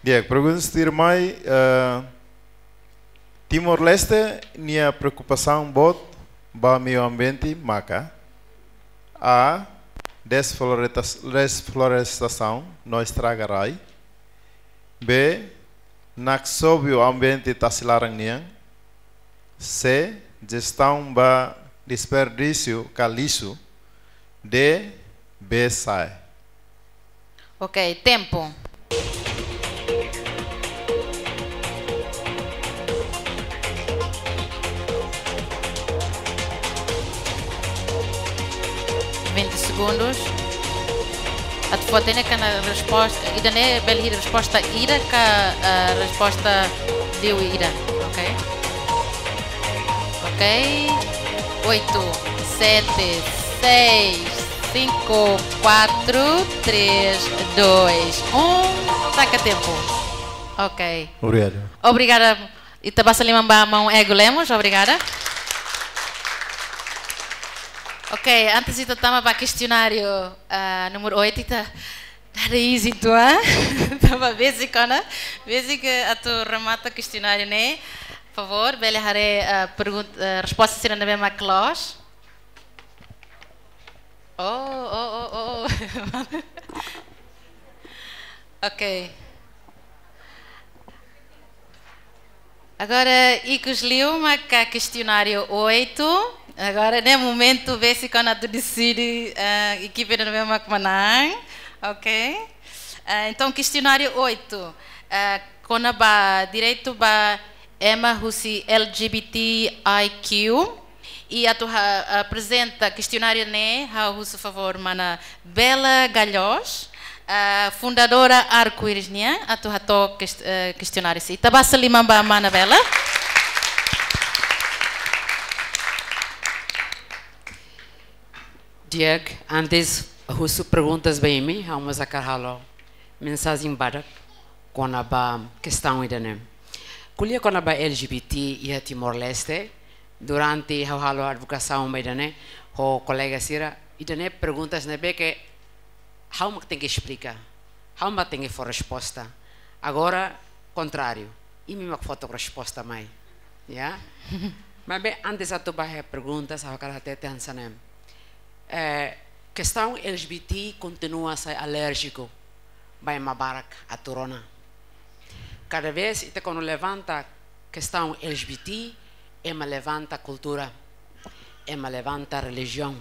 Di'ak, pergunta tuirmai, eh, Timor-Leste nia preokupasaun boot ba meiu ambiente maka: A, desfloresta-, desflorestasaun no estraga rai. B, naksobu ambiente tasi laran nian. C, jestaun ba desperdísiu ka lixu. D, B, C. Ok, tempu. Vinte segundos. Atu fó-hatene katak resposta, ida-ne'e bele iha resposta ida ka, ah, resposta liu ida, ok? Ok. Oito, sete, seis, cinco, quatro, três, dois, um. Taka tempu. Ok. Obrigado. Obrigada. Ita basa liman ba maun Ego Lemos. Obrigada. Ok, antes ita tama ba kestionáriu, ah, número oito, ita nada easy tu, ah? Tama basic ona. Basic, eh, atu remata kestionáriu ne'e. Favór, bele haree, ah, pergun-, ah, resposta sira ne'ebé mak loos. Oh, oh, oh, oh. Ok. Agora, ikus liu maka kestionáriu oito. Agora, ne'e momentu besik ona atu deside, ah, ekipa ida-ne'ebé mak manán. Ok. Ah, entaun, kestionáriu oito. Ah, kona-ba direitu ba ema husi L G B T I Q. I atu ha-, aprezenta kestionáriu ne'e, ha'u husu favór mana Bela Galhos, ah, fundadora Arco-Íris nian, atu hato'o kest-, eh, kestionáriu sira. Ita basa liman ba mana Bela. Di'ak, antes husu perguntas ba imi, ha'u mós hakarak halo mensajen badak kona-ba kestaun ida-ne'e. Ko'alia kona-ba L G B T iha Timor-Leste, durante ha'u halo advokasaun ba ida-ne'e ho kolega sira, ida-ne'e perguntas ne'ebé ke ha'u mak tenke esplika, ha'u mak tenke fó resposta. Agora, kontráriu, imi mak fó took resposta mai. Ya? Maibé antes atu bá iha perguntas, ha'u hakarak hatete hanesan ne'e. Eh, kestaun L G B T kontinua sai alérjiku ba ema barak atu rona. Kada vez ita kuandu levanta kestaun L G B T, ema levanta kultura, ema levanta relijiaun.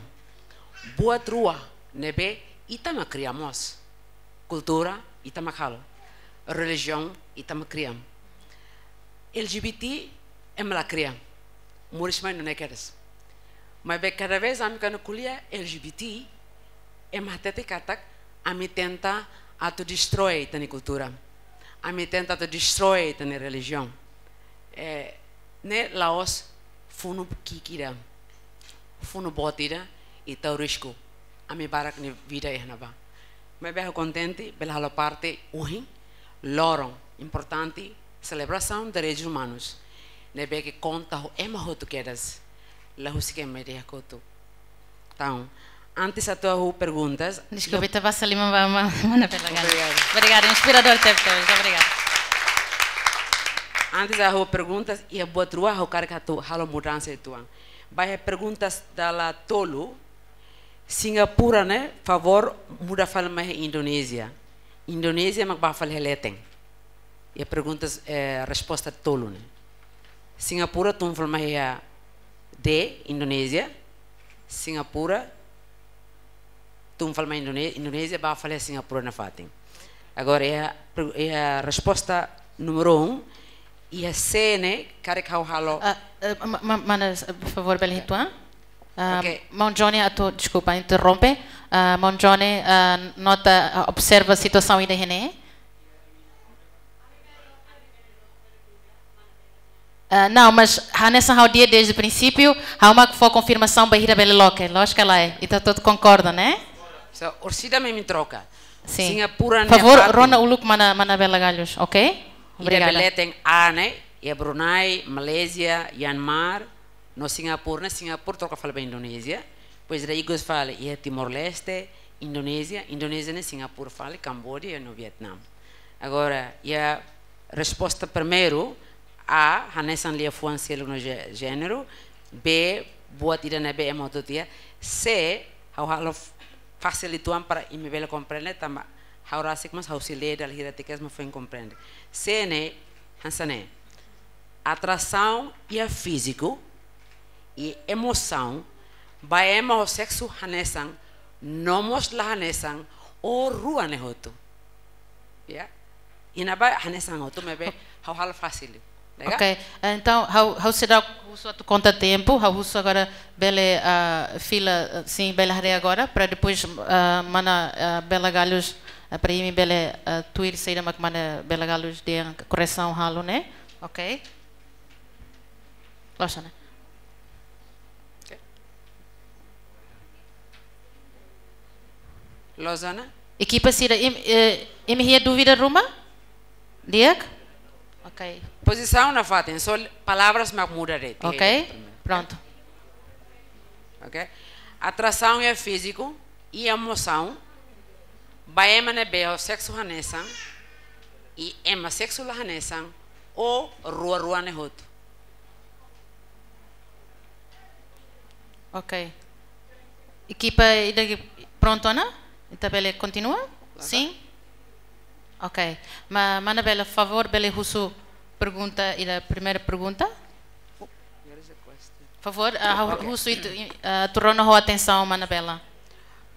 Buat rua ne'ebé ita mak kria mós. Kultura, ita mak halo. Relijiaun, ita mak kria. L G B T, ema la kria. Moris mai nune'e kedas. Maibé kada vez ami kuandu ko'alia L G B T, ema hatete katak ami tenta atu destrói ita-nia kultura. Ami tenta atu destrói ita-nia relijiaun. Eh, ne'e la'ós funu ki'ik ida, funu boot ida, i tau risku ami barak nia vida iha ne'ebá. Maibé ha'u kontente bele halo parte ohin, loron importante, selebrasaun direitus umanus, ne'ebé ke konta ho ema hotu kedas, la husik ema ida iha kotuk. Entaun, antes atu ha'u perguntas, deskulpa, ita basa liman ba ma-, mana Bela Galhos. Obrigadu. Obrigada, inspiradór tebes, obrigada. Antes ha'u perguntas, iha buat rua ha'u hakarak atu halo mudansa uitoan. Ba iha perguntas dala tolu, Singapura ne'e, favór muda fali mai Indonézia. Indonézia mak bá fali iha leten. Iha perguntas, eh, resposta tolu ne'e. Singapura tun fali mai iha D, Indonézia. Singapura tun fali mai Indone-, Indonézia, bá fali iha Singapura nafatin. Agora, iha, iha resposta número um, iha C ne'e, karik ha'u halo. Ah, eh, ma-, ma-, mana, eh, favór, bele uitoan. Ah, ok. Maun Johnny atu, deskulpa, interrompe. Ah, maun Johnny, ah, nota, ah, observa situasaun ida iha ne'e. Ah, não, mas hanesan ha'u dehan desde o princípio, ha'u mak fó konfirmasaun bainhira bele loke, lójika lae, ita hotu konkorda, né? So, orsida mak imi troka. Sim. Singapura ne'e favór, fatin. Rona uluk mana, mana Bela Galhos, ok? Ida obrigada. Bele leten A ne'e, iha Brunei, Malázia, Myanmar, No Singapura ne'e, Singapura troka fali ba Indonézia. Depois ida ikus fali iha Timor-Leste, Indonézia, Indonézia ne'e Singapura fali, Kamboja no Vietnam. Agora, iha resposta primeiru, A, hanesan liafuan seluk no jé-, jéneru, B, buat ida ne'ebé ema hotu tiha, C, ha'u halo f-, fasil uitoan para imi bele komprende, tanba ha'u rasik mós ha'u sei lee dala hira tiha kedas mak foin komprende. C ne'e, hanesan ne'e. Atrasaun iha fíziku i emosaun ba ema ho seksu hanesan, no mós la hanesan, ou rua ne'e hotu. Ya. Iha ne'ebá hanesan hotu, maibé ha'u halo fasil. Legal? Ok, eh, entaun, ha'u, ha'u seidauk husu atu konta tempu, ha'u husu agora bele, ah, fila, ah, sin, bele haree agora, para depois, ah, mana, ah, Bela Galhos, ah, para imi bele, ah, tuir saida mak mana Bela Galhos dehan korresaun halo ne'e. Ok. Loos ona. Ok. Loos ona. Ekipa sira, im-, eh, imi iha dúvida ruma? Di'ak? Ok. Pozisaun nafatin, só palavras mak muda de'it. Ok, pronto. Ok. Atrasaun iha fíziku i emosaun ba ema ne'ebé ho seksu hanesan i ema seksu la hanesan, ou rua-rua ne'e hotu. Ok. Ekipa ida ke prontu ona? Ita bele kontinua? Sin? Ok. Ma, mana Bela, favór, bele husu pergunta, ida primeira pergunta? Favór, ah, hu-, ok, husu atu, ah, atu rona ho atensaun, mana Bela.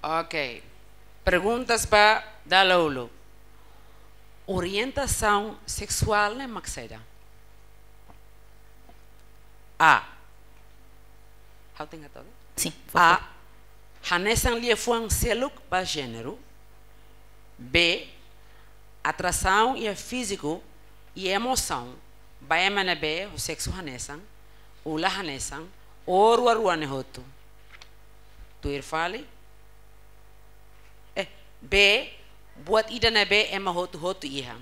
Ok. Perguntas ba dala uluk. Orientasaun seksuál ne'e mak saida? A. Ha'u tenke hato'o? Sin, favór. A. Hanesan liafuan seluk ba jéneru. B. Atrasaun iha fíziku i emosaun ba ema ne'ebé ho seksu hanesan, ou la hanesan, ou rua-rua ne'e hotu. Tuir fali. Eh, B, buat ida ne'ebé ema hotu-hotu iha.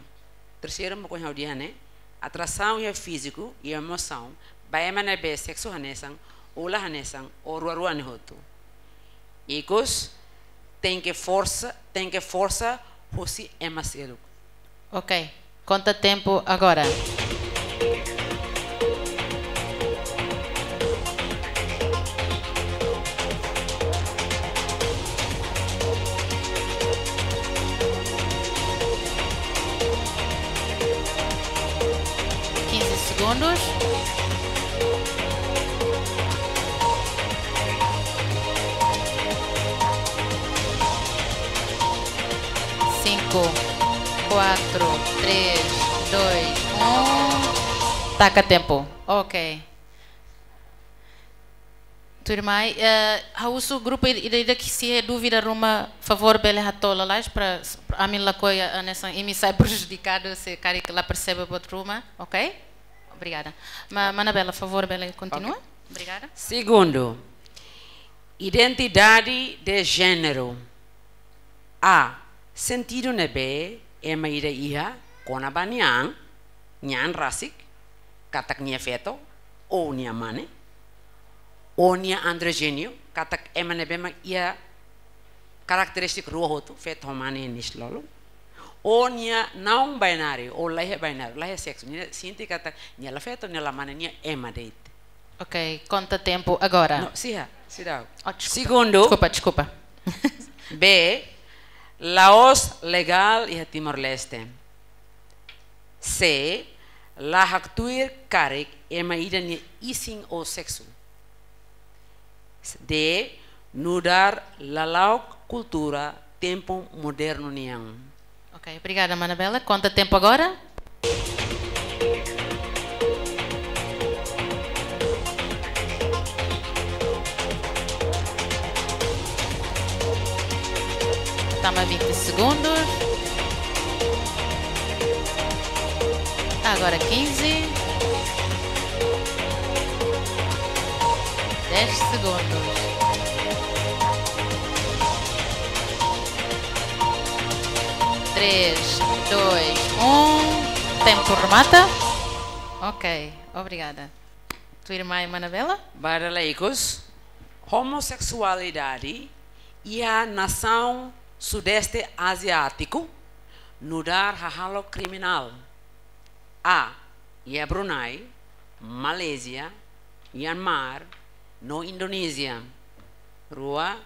Terseiru mak ohin ha'u dehan ne'e, atrasaun iha fíziku i emosaun ba ema ne'ebé seksu hanesan, ou la hanesan, ou rua-rua ne'e hotu. Ikus, tenke forsa, tenke forsa husi ema seluk. Ok, konta tempu agora. Quinze segundos. Cinco, quatro, três, dois, um. Taka tempu. Ok. Tuirmai, eh, ha'u husu grupu ida, ida, ida ke sei iha dúvida ruma, favór bele hato'o lalais para, para ami lakohi, eh, hanesan imi sai prejudikadu se karik la persebe buat ruma, ok? Obrigada. Ma, mana Bela, favór bele kontinua? Ok. Obrigada. Segundu, identidade de género. A, sentidu ne'ebé ema ida iha kona-ba nia an, nia an rasik, katak nia feto, ou nia mane, ou nia andrójinu, katak ema ne'ebé mak iha karakterístika rua hotu, feto ho mane iha nia isin-lolon, ou nia não binário, ou la iha binário, la iha seksu, nia sente katak nia la feto, nia la mane, nia ema de'it. Ok, konta tempu agora. No, siha, seidauk. Oh, deskulpa. Segundu. Deskulpa, deskulpa. B, la'ós legál iha Timor-Leste. C, la haktuir karik ema ida nia isin ou seksu. D, nu'udar lala'ok kultura tempu modernu nian. Ok, obrigada, mana Bela. Konta tempu agora. Tama vinte segundos. Agora quinze. Dez segundos. Três, dois, um. Tempu remata. Ok, obrigada. Tuirmai mana Bela? Ba dala ikus, homoseksualidade iha nasaun Sudeste Aziátiku nu'udar hahalok kriminál. A, iha Brunei, Malázia, Myanmar, no Indonézia. Rua,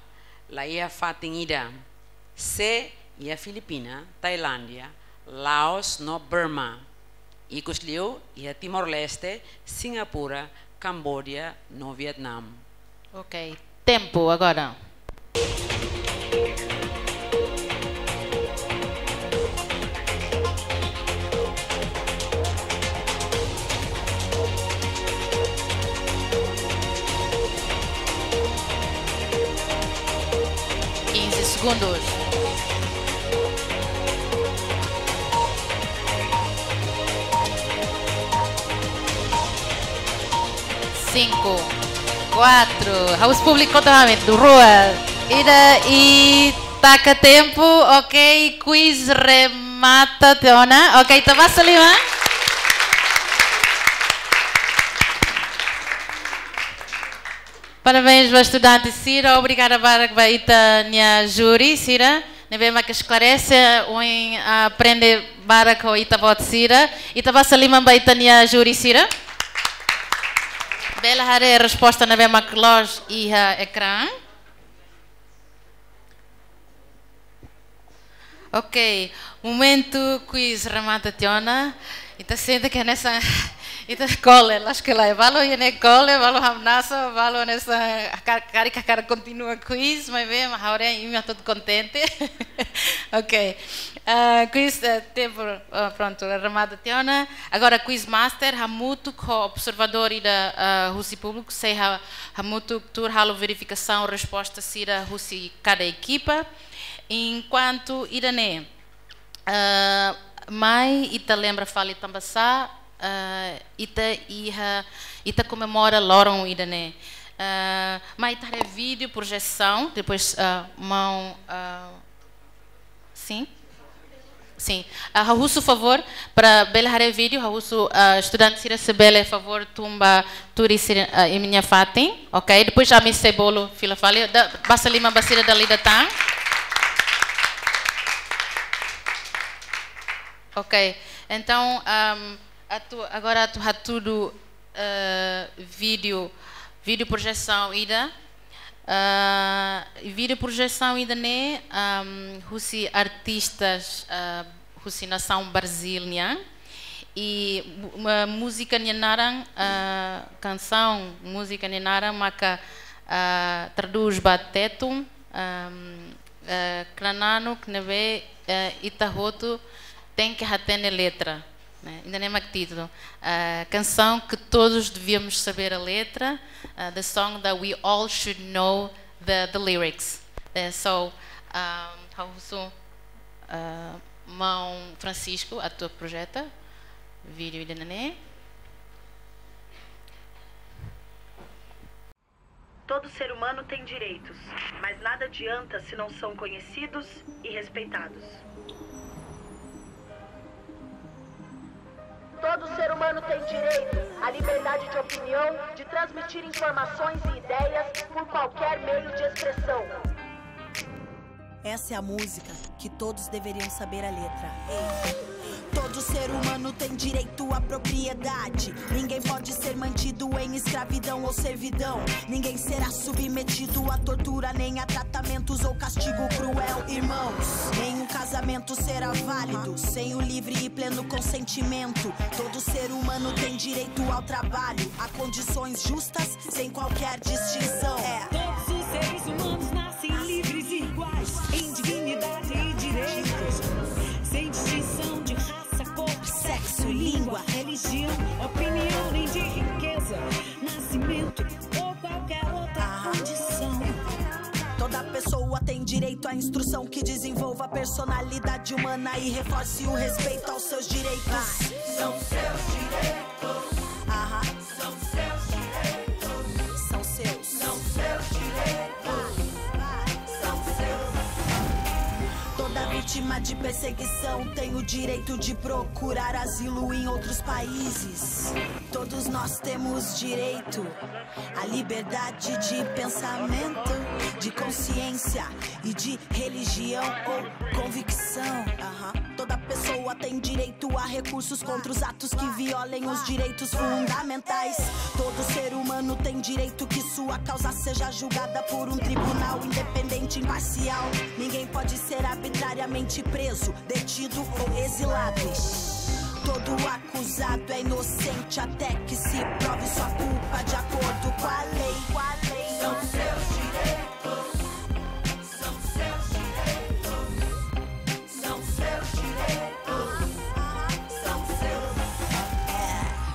la iha fatin ida. C, iha Filipina, Tailándia, Laos no Burma. Ikusliu iha Timor-Leste, Singapura, Cambodia no Vietnam. Ok, tempu agora. Quinze segundos. Cinco, quatro. Ha'u husu públiku to'o ami, rua, ida, i taka tempu. Ok, quiz remata tiha ona. Ok, ita basa liman. Parabéns ba estudante sira, obrigada barak ba ita-nia júri sira ne'ebé mak esklarese, ohin aprende barak ho ita-boot sira. Ita basa liman ba ita-nia júri sira. Bele haree resposta ne'ebé mak loos iha ekrán. Ok, momentu quiz remata tiha ona. Ita sente katak hanesan ita kole, la'ós kole. Balu iha ne'e kole, balu hamnasa, balu hanesan ka-, karik hakarak kontinua quiz, maibé ha'u haree imi hotu kontente. Ok. Ah, quiz, eh, tempu, ah, prontu, remata tiha ona. Agora quiz master, hamutuk ho observadór ida, ah, husi públiku, sei ha-, hamutuk tuur halo verifikasaun resposta sira husi kada ekipa. Enkuantu ida-ne'e, ah, mai ita lembra fali tanbasá, ah, ita iha, ita komemora loron ida-ne'e. Ah, mai ita haree vídeo projesaun, depois, ah, maun, ah, sim? Sim. Ah, ha'u husu favór, para bele haree vídeo, ha'u husu, ah, estudante sira se bele favór tun ba tuur sira, ah, imi-nia fatin, ok? Depois ami sei bolu fila fali, da, basa liman ba sira dala ida tan. Ok, entaun, ahm, atu, agora atu hatudu, eh, vídeo, vídeo projesaun ida. Ah, vídeo projesaun ida-ne'e, ahm, husi artistas, ah, husi nasaun Brazil nian. I mu-, ma-, múzika nia naran, ah, kansaun, múzika nia naran maka, ah, tradús ba Tetun, ahm, eh, Knaar Nanoek ne'ebé, eh, ita hotu tenke hatene letra, ne'e? Ida-ne'e mak títulu. Eh, canção que todos devíamos saber a letra, eh, the song that we all should know the, the lyrics. Eh, so, um, ha'u husu, eh, maun Francisco atu projeta vídeo ida-ne'e. Todo ser humano tem direitos, mas nada adianta se não são conhecidos e respeitados. Todo ser humano tem direito à liberdade de opinião, de transmitir informações e ideias por qualquer meio de expressão. Essa é a música que todos deveriam saber a letra. Ei. Todo ser humano tem direito à propriedade. Ninguém pode ser mantido em escravidão ou servidão. Ninguém será submetido à tortura, nem a tratamentos ou castigo cruel. Irmãos, nenhum casamento será válido sem o livre e pleno consentimento. Todo ser humano tem direito ao trabalho, a condições justas, sem qualquer distinção. É. Todos os seres humanos nascem livres e iguais em dignidade e direitos, sem distinção de raça, cor, sexo, língua, religião, opinião, nem de riqueza, nascimento ou qualquer outra condição. Toda pessoa tem direito à instrução que desenvolva a personalidade humana e reforce o respeito aos seus direitos. São seus direitos. Aham. São seus direitos. São seus. São seus direitos. São seus. Todo Da vítima de perseguição tem o direito de procurar asilo em outros países. Todos nós temos direito à liberdade de pensamento, de consciência e de religião ou convicção. Aham. Toda pessoa tem direito a recursos contra os atos que violem os direitos fundamentais. Todo ser humano tem direito que sua causa seja julgada por um tribunal independente e imparcial. Ninguém pode ser arbitrariamente preso, detido ou exilado. Todo acusado é inocente até que se prove sua culpa de acordo com a lei. São seus direitos. São seus direitos. São seus direitos. São seus. É.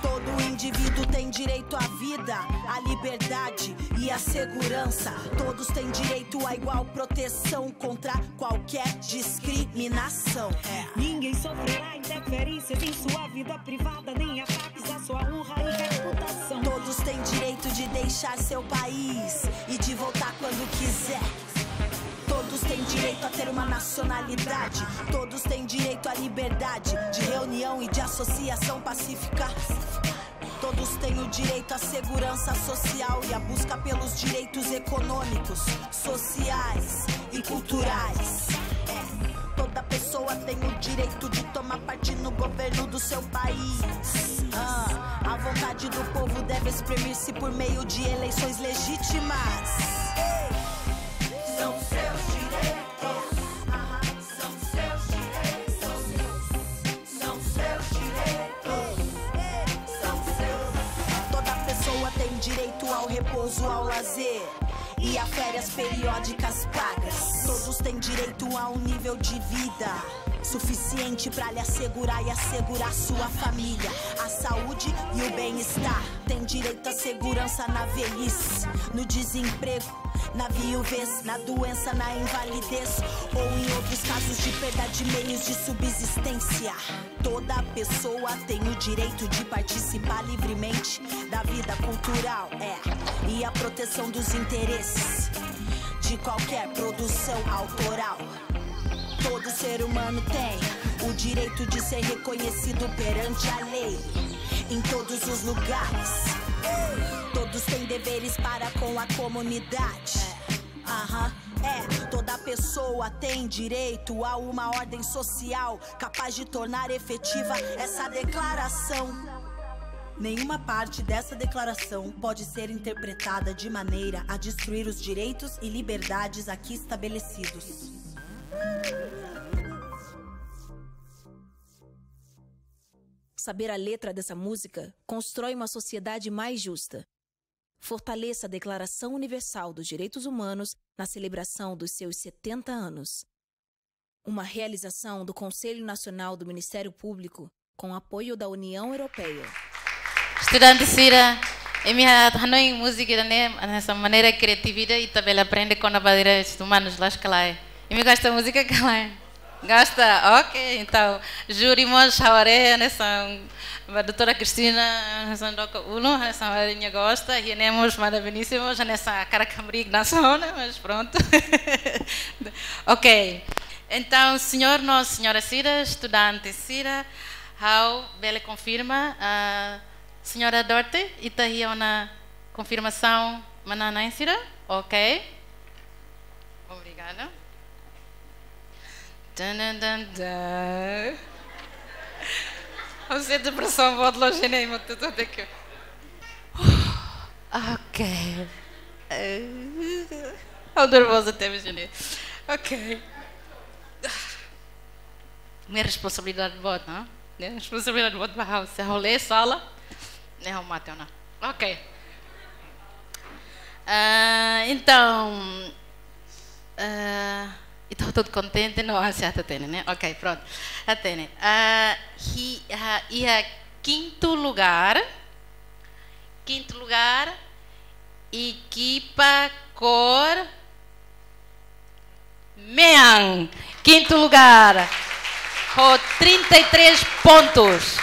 Todo indivíduo tem direito à vida, à liberdade e à segurança. Todos têm direito à igual proteção contra qualquer discriminação. É. Ninguém sofrerá interferências em sua vida privada, nem ataques à sua honra e reputação. Todos têm direito de deixar seu país e de voltar quando quiser. Todos têm direito a ter uma nacionalidade. Todos têm direito à liberdade de reunião e de associação pacífica. Todos têm o direito à segurança social e à busca pelos direitos econômicos, sociais e culturais. É, toda pessoa tem o direito de tomar parte no governo do seu país. Ah, a vontade do povo deve exprimir-se por meio de eleições legítimas. São seus direitos. Aham, são seus direitos. São seus direitos. São seus. Toda pessoa tem direito ao repouso, ao lazer e a férias periódicas pagas. Todos têm direito a um nível de vida suficiente pra lhe assegurar e assegurar sua família, a saúde e o bem-estar. Tem direito à segurança na velhice, no desemprego, na viuvez, na doença, na invalidez ou em outros casos de perda de meios de subsistência. Toda pessoa tem o direito de participar livremente da vida cultural, é, e a proteção dos interesses de qualquer produção autoral. Todo ser humano tem o direito de ser reconhecido perante a lei em todos os lugares. Todos têm deveres para com a comunidade. Aham, é. Toda pessoa tem direito a uma ordem social capaz de tornar efetiva essa declaração. Nenhuma parte dessa declaração pode ser interpretada de maneira a destruir os direitos e liberdades aqui estabelecidos. Saber a letra dessa música constrói uma sociedade mais justa. Fortaleça a Declaração Universal dos Direitos Humanos na celebração dos seus setenta anos. Uma realização do Conselho Nacional do Ministério Público, com apoio da União Europeia. Estudante sira, imi hanoin múzika ida-ne'e hanesan maneira kriativa ita bele aprende kona-ba direitus umanus, loos ka lae? Imi gosta múzika ka lae? Gosta? Ok, entaun, júri mós haree hanesan, ba doutora Cristina hanesan dook ulun, hanesan haree nia gosta, iha ne'e mós Madam Benícia mós hanesan hakarak hamriik hanesan ona, mas prontu. Ok, entaun, señór no señora sira, estudante sira, ha'u bele konfirma, ah, señora Dorte, ita iha ona konfirmasaun manán-na'in sira? Ok. Obrigada. Tan, tan, tan, tan. Ha'u sente presaun boot loos ne'e, mak tutu até ke. Ok. Ha'u nervoza tebes ne'e. Ok. Ne'e responsabilidade boot, ne'e? Ne'e responsabilidade boot ba ha'u. Se ha'u lee sala, ne'e ha'u mate ona. Ok. Ah, entaun, ah, ita hotu kontente, no? Ah, se hatene, ne'e? Ok, prontu. Hatene. Ah, hi-, ah, iha kintu lugár, kintu lugár, ekipa kór mean, kintu lugár, ho trinta e três pontos.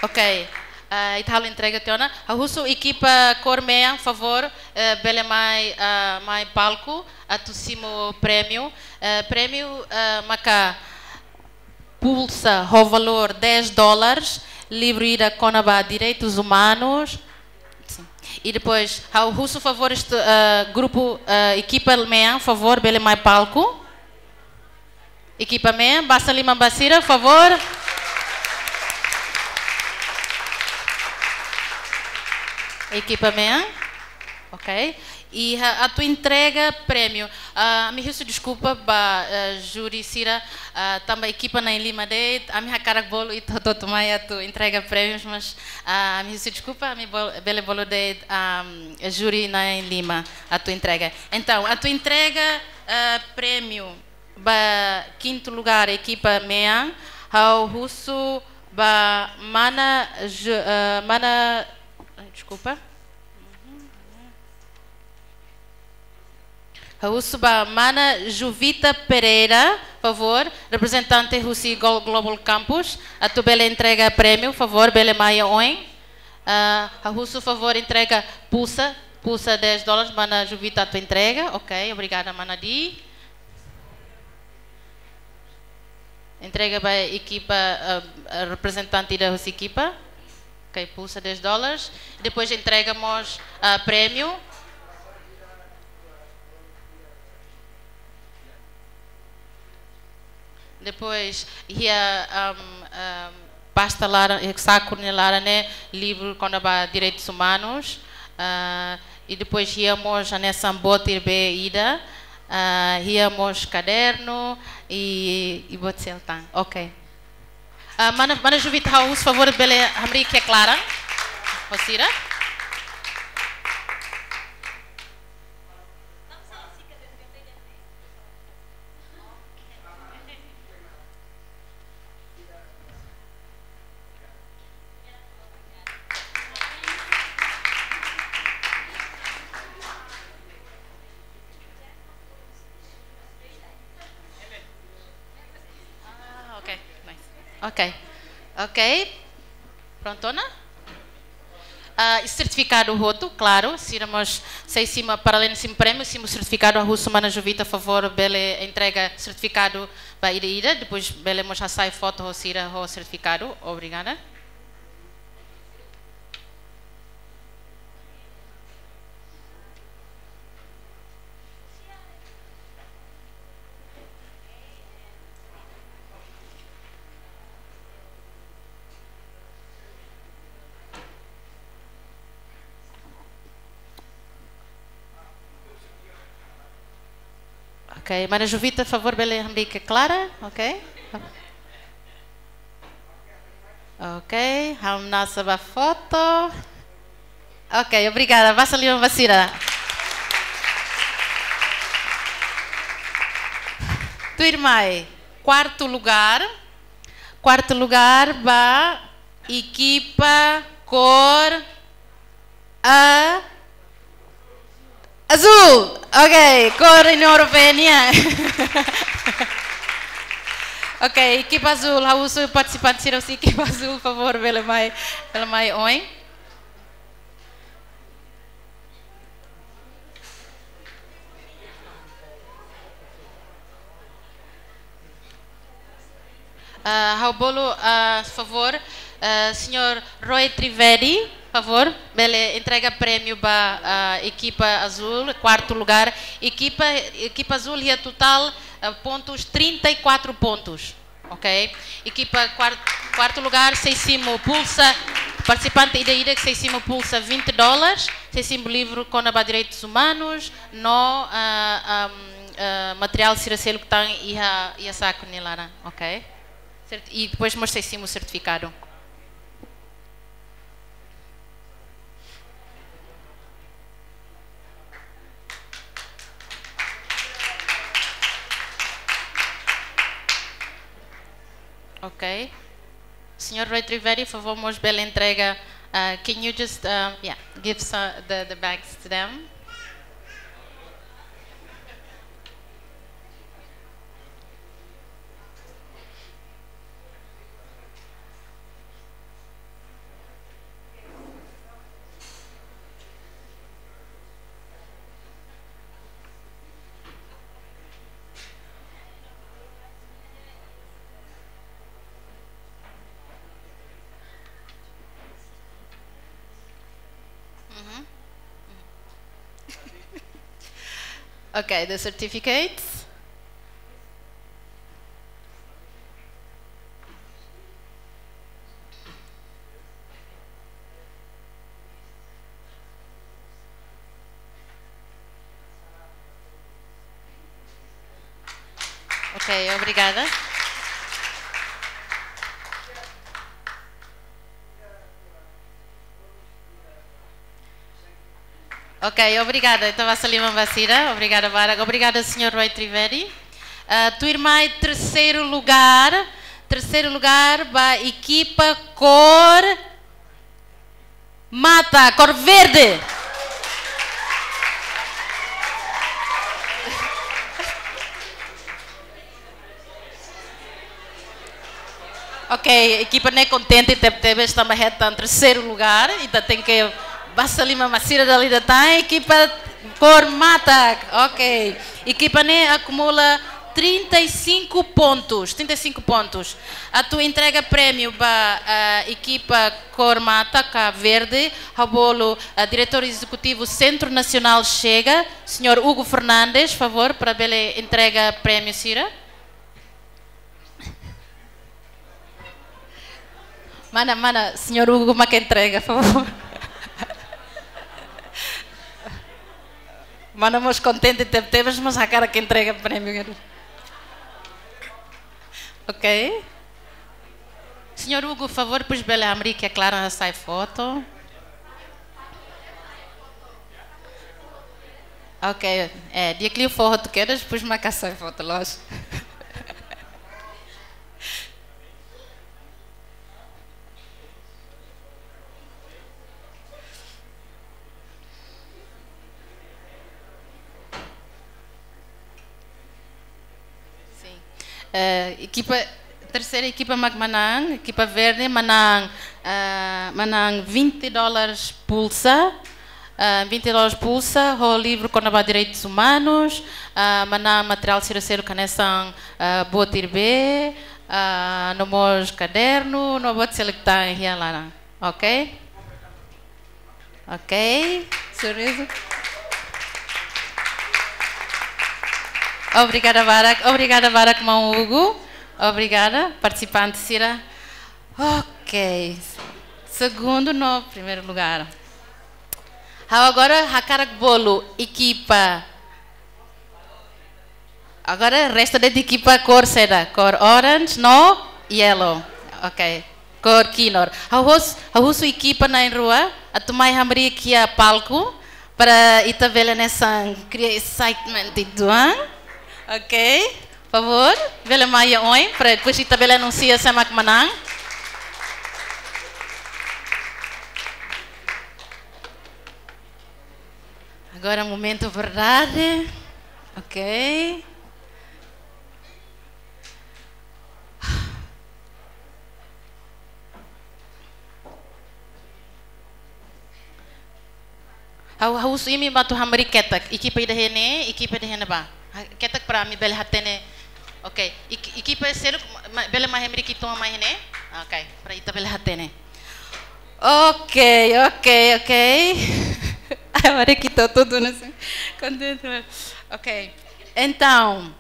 Ok. Ah, ita halo entrega tiha ona. Ha'u husu ekipa kór mean, favór, eh, bele mai, ah, mai palku atu simu prémiu. Eh, prémiu, eh, maka pulsa ho valór dez dólares, livru ida kona-ba direitus umanus. Sin. I depois, ha'u husu favór estu-, eh, grupu, eh, ekipa mean, favór, bele mai palku. Ekipa mean, basa liman ba sira, favór. Ekipa mean. Ok. Iha atu entrega prémiu. Ah, ami husu deskulpa ba, eh, júri sira, ah, tanba ekipa na'in-lima de'it, ami hakarak bolu ita hotu-hotu mai atu entrega prémius, mas, ah, ami husu deskulpa, ami bol-, bele bolu de'it, ah, júri na'in-lima atu entrega. Entaun, atu entrega, eh, prémiu ba kintu lugár ekipa mean, ha'u husu ba mana Ju-, eh, mana, ai, deskulpa. Ha'u husu ba mana Juvita Pereira, favór, reprezentante husi Glo-, Global Campus, atu bele entrega prémiu, favór, bele mai oin. Ah, ha'u husu favór entrega pulsa, pulsa dez dólares, mana Juvita atu entrega. Ok, obrigada, mana Di. Entrega ba ekipa, ah, ah, reprezentante da husi ekipa. Ok, pulsa dez dólares. Depois entrega mós, ah, prémiu. Depois, iha, ahm, ahm, pasta laran, eh, saku nia laran ne'e, livru kona-ba direitus umanus. Ah, i depois iha mós hanesan botir bee ida. Ah, iha mós kadernu i, i botir seltang. Ok. Ah, mana, mana Juvita, ha'u husu favór bele hamriik iha klaran. Ho sira. Ah, ok, nice. Ok, ok. Prontu ona? Ah, i sertifikadu hotu, klaru, sira mós sei simu, para além de simu prémiu, simu sertifikadu, ha'u husu mana Juvita, favór, bele entrega sertifikadu ba ida-idak, depois bele mós hasai foto ho sira ho sertifikadu. Obrigada. Ok, mana Juvita, favór, bele hamriik iha klaran, ok? Ok, hamnasa ba foto. Ok, obrigada. Basa liman ba sira. Tuirmai, kuartu lugár. Kuartu lugár ba ekipa kór a-, azúl. Ok, kór União Europeia nian. Ok, ekipa azúl, ha'u husu partisipante sira husi ekipa azúl, favór, bele mai, bele mai oin. Ah, ha'u bolu, ah, favór, ah, señór Roy Trivedi, favór, bele entrega prémiu ba, ah, ekipa azúl, kuartu lugár. Ekipa, ekipa azúl iha totál, ah, pontus, trinta e quatro pontus. Ok? Ekipa kuar-, kuartu lugár, sei simu pulsa, partisipante ida-idak sei simu pulsa vinte dólares, sei simu livru kona-ba direitus umanus, no, ah, am, ah, materiál sira seluk tan iha, iha saku nia laran, ok? Sert-, i depois mós sei simu sertifikadu. Ok. Señór Roy Trivedi, favór, mós bele entrega, uh, can you just, um, yeah, give some, the, the bags to them? Okay, the certificates. Ok, obrigada. Ok, obrigada. Entaun, basa liman ba sira. Obrigada barak. Obrigada, señór Roy Trivedi. Ah, tuirmai terceiro lugar. Terceiro lugar ba ekipa kór mata, kór verde. Ok, ekipa ne'e kontente tebetebes tanba hetan terceiro lugar, ita tenke basa liman ba sira dala ida tan, ekipa kór mata. Ok, ekipa ne'e akumula trinta e cinco pontos, trinta e cinco pontos. Atu entrega prémiu ba, ah, ekipa kór mata ka verde, ha'u bolu, ah, diretór ezekutivu Centro Nacional Chega, señór Hugo Fernandes, favór, para bele entrega prémiu sira. Mana, mana, señór Hugo mak entrega, favór. Mana mós kontente tebetebes, mas hakarak entrega prémiu. Ok. Señór Hugo, favór, depois bele hamriik iha klaran hasai foto. Ok, eh, di'ak liu fó hotu kedas, depois mak hasai foto, loos. Sin. Eh, ekipa, terseira ekipa mak manán, ekipa verde manán, eh, manán vinte dólares pulsa, eh, vinte dólares pulsa, ho livru kona-ba direitus umanus, eh, manán materiál sira seluk hanesan, eh, buat irbe, eh, no mós kadernu, no buat seluk tan iha laran. Ok? Ok, sorriso. Obrigada barak, obrigada barak, maun Hugo. Obrigada, partisipante sira. Ok, segundu no primeiru lugar. Ha'u agora hakarak bolu ekipa Agora resta de'it ekipa kór saida, kór orange no yellow. Ok. Kór kinur. Ha'u hus-, ha'u husu ekipa na'in-rua atu mai hamriik iha palku para ita bele hanesan kria excitement uitoan. Ok. Favór, bele mai iha oin para depois ita bele anunsia sé mak manán. Agora momentu verdade. Ok. Ha'u, ha'u husu imi atu hamriik ketak. Ekipa ida-ne'e ne'e, ekipa ida-ne'e ne'ebá. Ha, ketak para ami bele hatene. Ok. Ek-, ekipa seluk ma-, ma-, bele mai hamriik uitoan mai ne'e. Ok. Para ita bele hatene. Ok, ok, ok. Agora que estou tudo nesse contente. Ok. Entaun,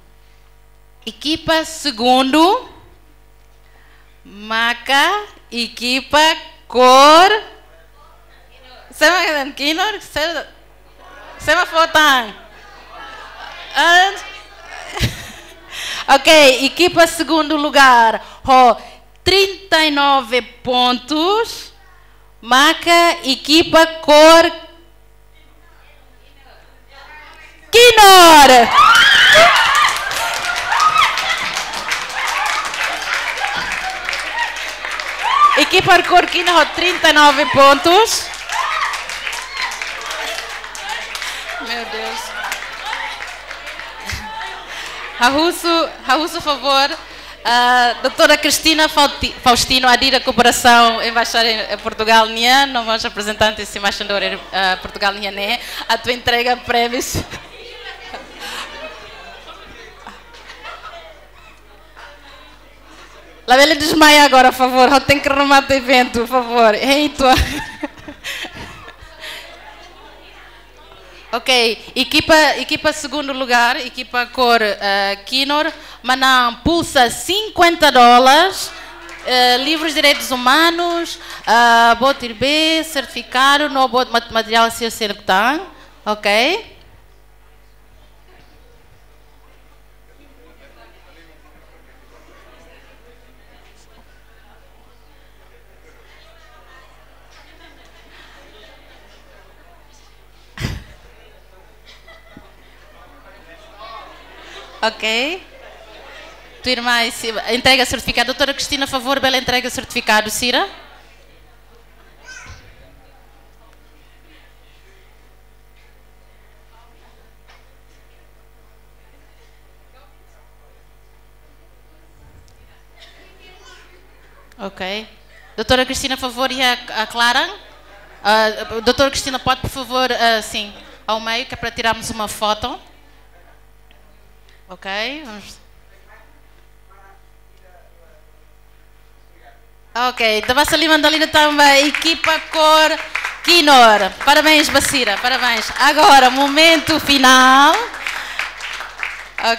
ekipa segundu maka ekipa kór. Sé mak tan kinur, sé, sé mak fó tan. An-, ok, ekipa segundu lugar ho trinta e nove pontos, maka ekipa kór kinur. Ekipa kór kinur ho trinta e nove pontos. Meu Deus. Ha'u husu, ha'u husu favór, ah, doutora Cristina Fauti-, Faustino, Adida Kooperasaun, Embaixada em Portugal nian, no mós reprezentante husi embaixadór, ah, Portugal nian ne'e, atu entrega prémius. Labele desmaia agora, favór. Ha'u tenke remata eventu, favór. Eita. Ok, ekipa, ekipa segundu lugar, ekipa kór, eh, Kinor, manán pulsa cinquenta dólares, eh, livros de direitos humanos, ah, botir B, certificado, no bot mat-, materiál sira seluk tan, ok? Ok. Tuirmai, si-, entrega sertifikadu. Doutora Cristina, favór, bele entrega sertifikadu sira. Ok. Doutora Cristina, favór, iha, ah, klaran? Ah, doutora Cristina, pode, por favor, ah, sim, ao meio, que é para tirarmos uma foto. Ok, vamos. Ok, ita basa liman dala ida tan ba ekipa kór Kinor. Parabéns ba sira, parabéns. Agora, momento final.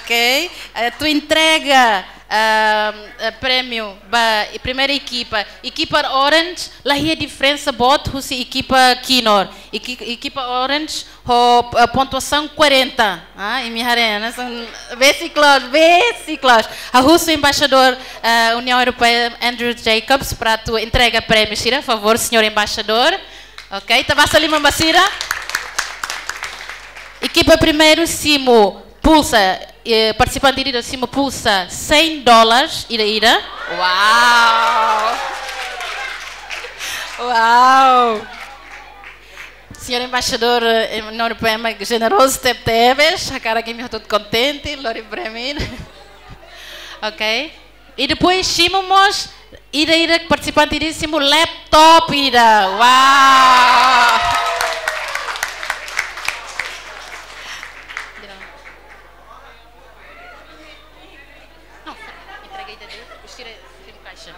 Ok, eh, atu entrega, ah, eh, prémiu ba primeira ekipa. Ekipa Orange, la iha diferensa boot husi ekipa Kinor. Eki-, ekipa Orange ho, eh, pontuasaun quarenta. Ah, imi haree, hanesan besik loos, besik loos. Ha'u husu embaixadór, eh, Uniaun Europeia, Andrew Jacobs, para atu entrega prémiu sira, favór, señór embaixadór. Ok, ita basa liman ba sira. Ekipa primeiru simu pulsa, eh, partisipante ida simu pulsa cem dólares ida-ida. Uau! Uau! Señór embaixadór, eh, Nor Pema jenerozu tebetebes, hakarak imi hotu kontente, lori prémiu. Ok. I depois simu mós, ida-ida partisipante ida simu laptop ida. Uau! Não, entrega ida-ida, depois tira, tira o caixa.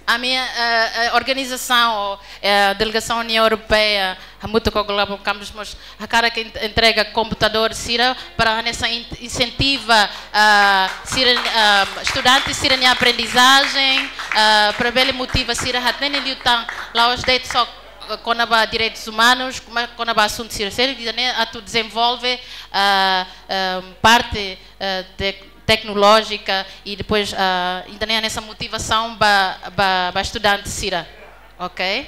Ami, eh, eh, organizasaun, eh, delegasaun Uniaun Europeia, hamutuk ho Global Campus mós hakarak en-, entrega komputadór sira para hanesan in-, insentiva, ah, sira, ah, estudante sira-nia aprendizajen, ah, para bele motiva sira hatene liután la'ós de'it só, eh, kona-ba direitus umanus, mas kona-ba asuntu sira seluk, ida-ne'e atu dezenvolve, ah, ah, parte, eh, tek-, teknolójika i depois, ah, ida-ne'e hanesan motivasaun ba, ba, ba estudante sira. Ok?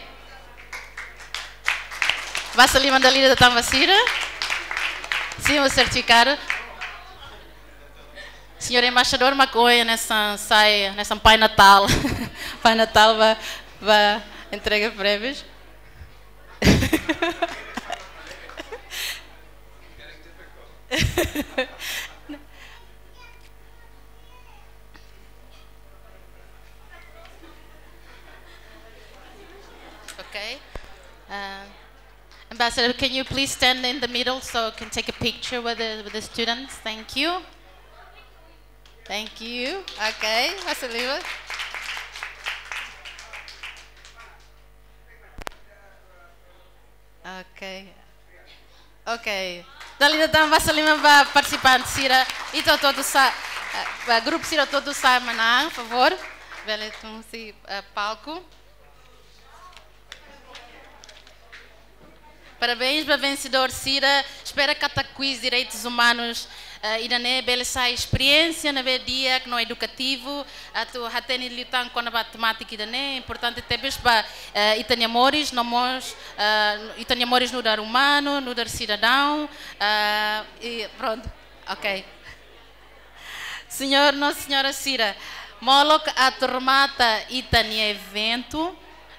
Basa liman dala ida tan ba sira. Simu sertifikadu. Señór embaixadór, mak ohin hanesan sai, hanesan Pai Natál. Pai Natál ba, ba entrega prémius. Okay. Uh, Ambassador, can you please stand in the middle so we can take a picture with the, with the students? Thank you. Thank you. Okay, Ambassador. Ok. Ok. Dala ida tan basa liman ba partisipante sira. Ita hotu-hotu sa'e, eh, ba grupu sira hotu-hotu sa'e manán, favór. Bele tun husi, eh, palku. Parabéns ba vensedór sira. Espera katak kuiz direitus umanus, eh, ida-ne'e bele sai esperiénsia ne'ebé di'ak no edukativu, atu hatene liután kona-ba temátika ida-ne'e, importante tebes ba, eh, ita-nia moris, no mós, eh, ita-nia moris nu'udar umanu, nu'udar sidadaun, eh, i prontu. Ok. Señór no señora sira, molok atu remata ita-nia eventu,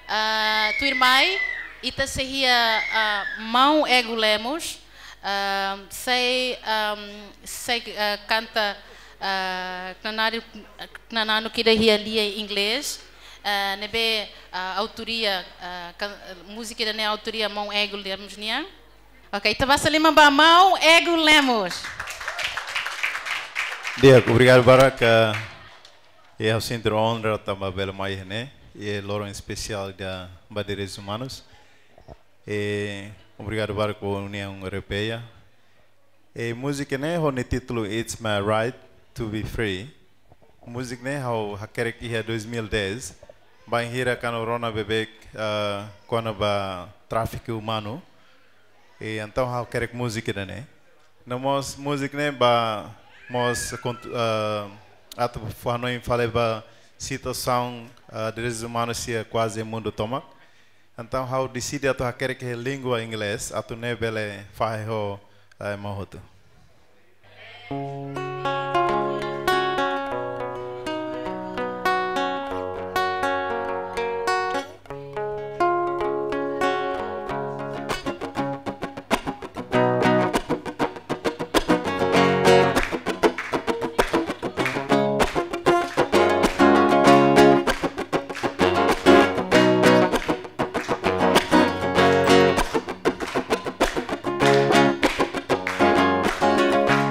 ah, tuirmai, ita sei iha, ah, maun Ego Lemos, ah, sei, ah, sei, ah, kanta, ah, knananu, knananu ida iha lian inglés, ah, ne'ebé, ah, autoria, ah, kan-, múzika ida-ne'e autoria maun Ego Lemos nian. Ok, ita basa liman ba maun Ego Lemos. Di'ak, obrigadu barak, eh, E ha'u sente onra tanba bele mai iha ne'e, e loron espesiál ba direitus umanus. E obrigadu barak ba Uniaun Europeia. E múzika ne'e ho nia títulu It's My Right to Be Free. Múzika ne'e ha'u hakerek iha dois mil e dez, bainhira kuandu rona beibeik, ah, kona-ba tráfiku umanu. E entaun ha'u hakerek múzika ida-ne'e. No mós múzika ne'e ba mós kont-, ah, atu fó hanoin fali ba situasaun, ah, direitus umanus iha kuaze mundu tomak. Entaun ha'u deside atu hakerek iha língua inglés, atu nune'e bele fahe ho, eh, ema hotu.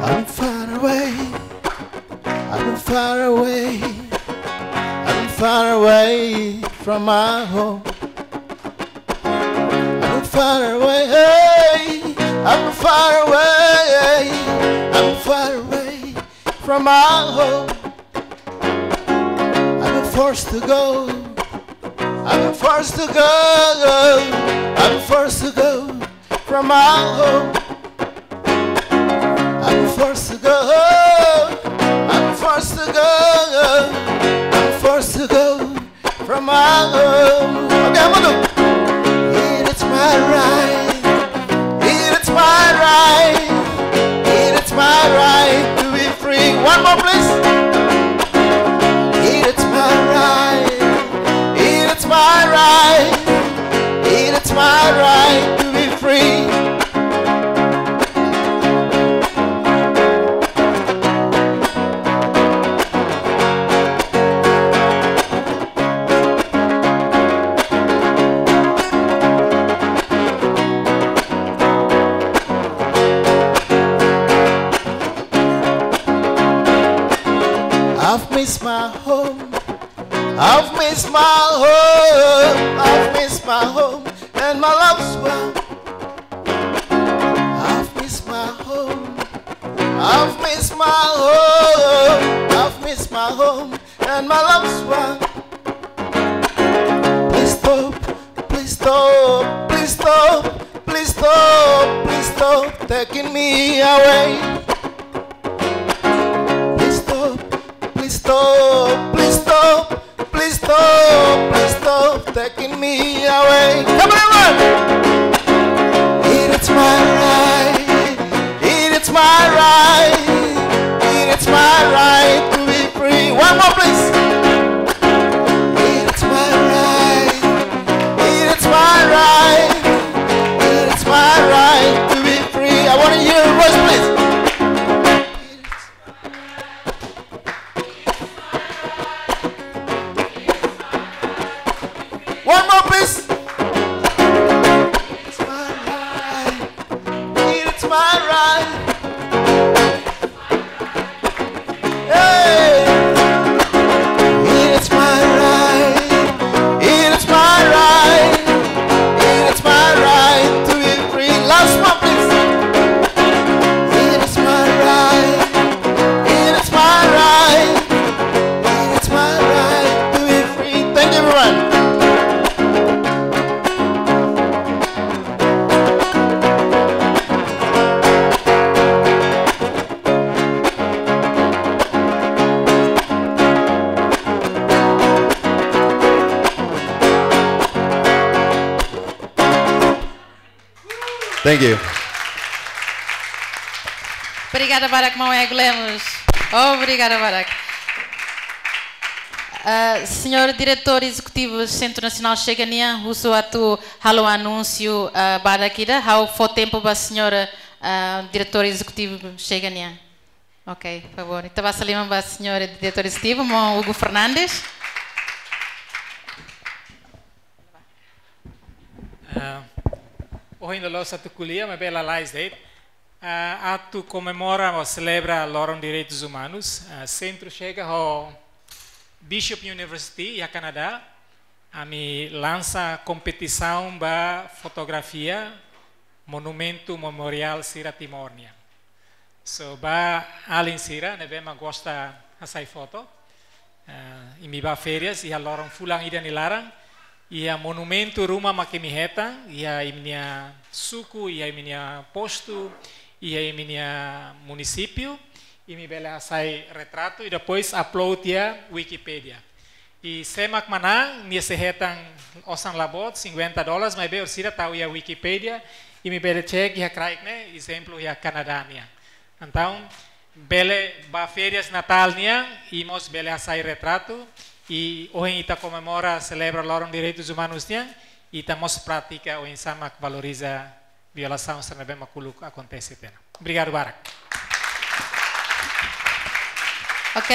I'm far away, I'm far away, I'm far away from my home. I'm far away, I'm far away, I'm far away from my home. I'm forced to go, I'm forced to go, I'm forced to go from my home. I'm forced to go, I'm forced to go, I'm forced to go from my home. Okay, vamos. It is my right, it is my right, it is my right to be free. One more, please. It is my right, it is my right, it is my right to be free. I've missed my home. I've missed my home. I've missed my home and my loved one. I've missed my home. I've missed my home. I've missed my home and my loved one. Please stop, please stop, please stop, please stop, please stop taking me away. Please stop, please stop, please stop, please stop, please stop taking me away. Come on, everyone! It is my right, it is my right, it is my right to be free. One more, please. It is my right, it is my right, it is my right to be free. I wanna hear your voice, please. One more, please. It's my right. It's my right. Hey. It's my right. It's my right. It's my right to be free. Last one, please. It is my right. It is my right. It is my right to be free. Thank you, everyone. Thank you. Obrigada barak, maun Ego Lemos. Obrigada barak. Ah, señór diretór ezekutivu Sentru Nasionál Chega nian, husu atu halo anúnsiu, ah, badak ida, ha'u fó tempu ba señór, ah, diretór ezekutivu Chega nian. Ok, favór. Ita basa liman ba señór diretór ezekutivu, maun Hugo Fernandes. Ah, ohin loloos atu ko'alia, maibé lalais de'it. Ah, atu komemora ou selebra Loron Direitus Umanus, ah, Sentru Chega ho Bishop University iha Kanadá, ami lansa kompetisaun ba fotografia monumentu memoriál sira Timor nian. So, ba alin sira ne'ebé mak gosta hasai foto, eh, imi bá férias iha loron fulan ida nia laran, iha monumentu ruma mak imi hetan iha imi-nia suku, iha imi-nia postu, iha imi-nia munisípiu, imi bele hasai retratu i depois upload iha Wikipedia. I sé mak manán, nia sei hetan osan la boot, cinquenta dólares, maibé orsida tau iha Wikipedia, imi bele cek iha kraik ne'e, ezemplu iha Kanadá nian. Entaun, bele bá férias Natál nian, i mós bele hasai retratu, i ohin ita komemora, selebra Loron Direitus Umanus nian, ita mós pratika oinsá mak valoriza violasaun sira ne'ebé mak uluk akontese tiha ona. Obrigadu barak. Ok.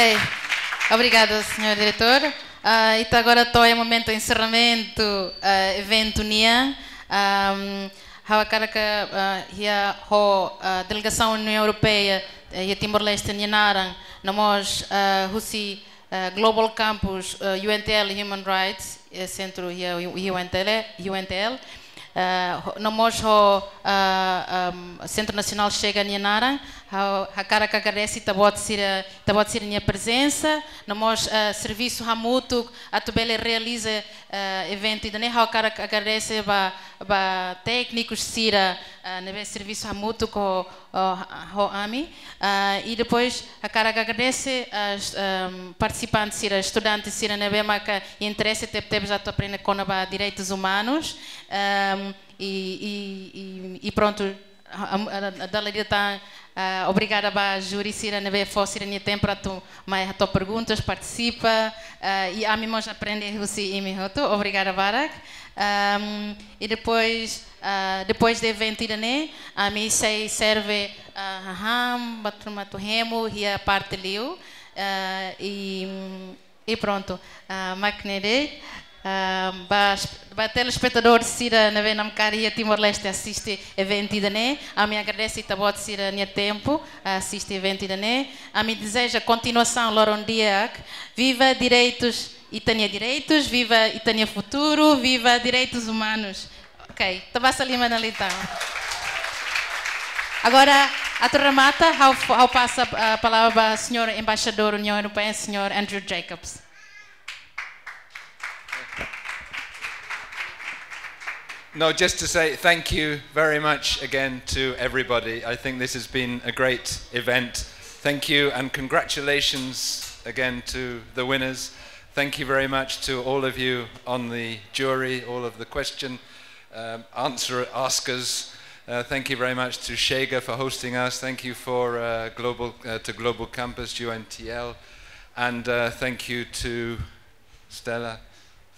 Obrigada, senhor diretor. Ah, ita agora to'o iha momentu enserramentu, ah, eventu nian. Ahm, ha'u hakarak, ah, iha ho, ah, delegasaun Uniaun Europeia, eh, iha Timor-Leste nia naran, no mós, ah, husi, eh, Global Campus, eh, U N T L Human Rights, eh, sentru iha U-, U N T L, U N T L. Eh, ho-, no mós ho, ah, ahm, Sentru Nasionál Chega nia naran, ha'u hakarak agradese ita-boot sira, ita-boot sira-nia prezensa, no mós, eh, servisu hamutuk atu bele realiza, eh, eventu ida-ne'e, ha'u hakarak agradese ba, ba téknikus sira, eh, ne'ebé servisu hamutuk ho, ho, ho ami. Ah, i depois, hakarak agradese, ah, est-, ahm, partisipante sira, estudante sira ne'ebé maka interese tebetebes atu aprende kona-ba direitus umanus. Ahm, i, i, i, i prontu, ah, am-, ah, dala ida tan, ah, obrigada ba júri sira ne'ebé fó sira-nia tempu atu mai hato'o perguntas, partisipa, ah, i ami mós aprende husi imi hotu. Obrigada barak. Ahm, i depois, ah, depois de eventu ida-ne'e, ami sei serve, ah, hahán, ba turma atu hemu, iha parte liu, ah, i, i prontu, ah, mak ne'e de'it, ah, ba, ba telespetadór sira ne'ebé namkari iha Timor-Leste asiste eventu ida-ne'e, ami agradese ita-boot sira-nia tempu, asiste eventu ida-ne'e, ami dezeja kontinuasaun loron di'ak, viva direitus, ita-nia direitus, viva ita-nia futuru, viva direitus umanus. Ok, ita basa liman ona liután. Agora, atu remata, ha'u, ha'u pasa, ah, palavra ba señór Embaixadór Uniaun Europeia, señór Andrew Jacobs. No, just to say thank you very much again to everybody. I think this has been a great event. Thank you and congratulations again to the winners. Thank you very much to all of you on the jury, all of the question, um, answer askers. Uh, thank you very much to Chega for hosting us. Thank you for, uh, Global, uh, to Global Campus, U N T L, and, uh, thank you to Stella.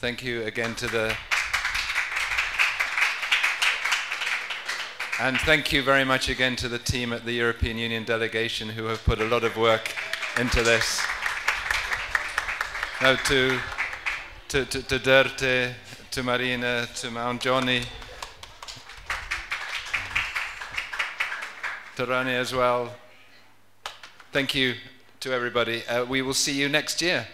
Thank you again to the, and thank you very much again to the team at the European Union delegation who have put a lot of work into this. No, to, to, to, to Derte, to Marina, to Mount Johnny, to Rani as well. Thank you to everybody. Uh, we will see you next year.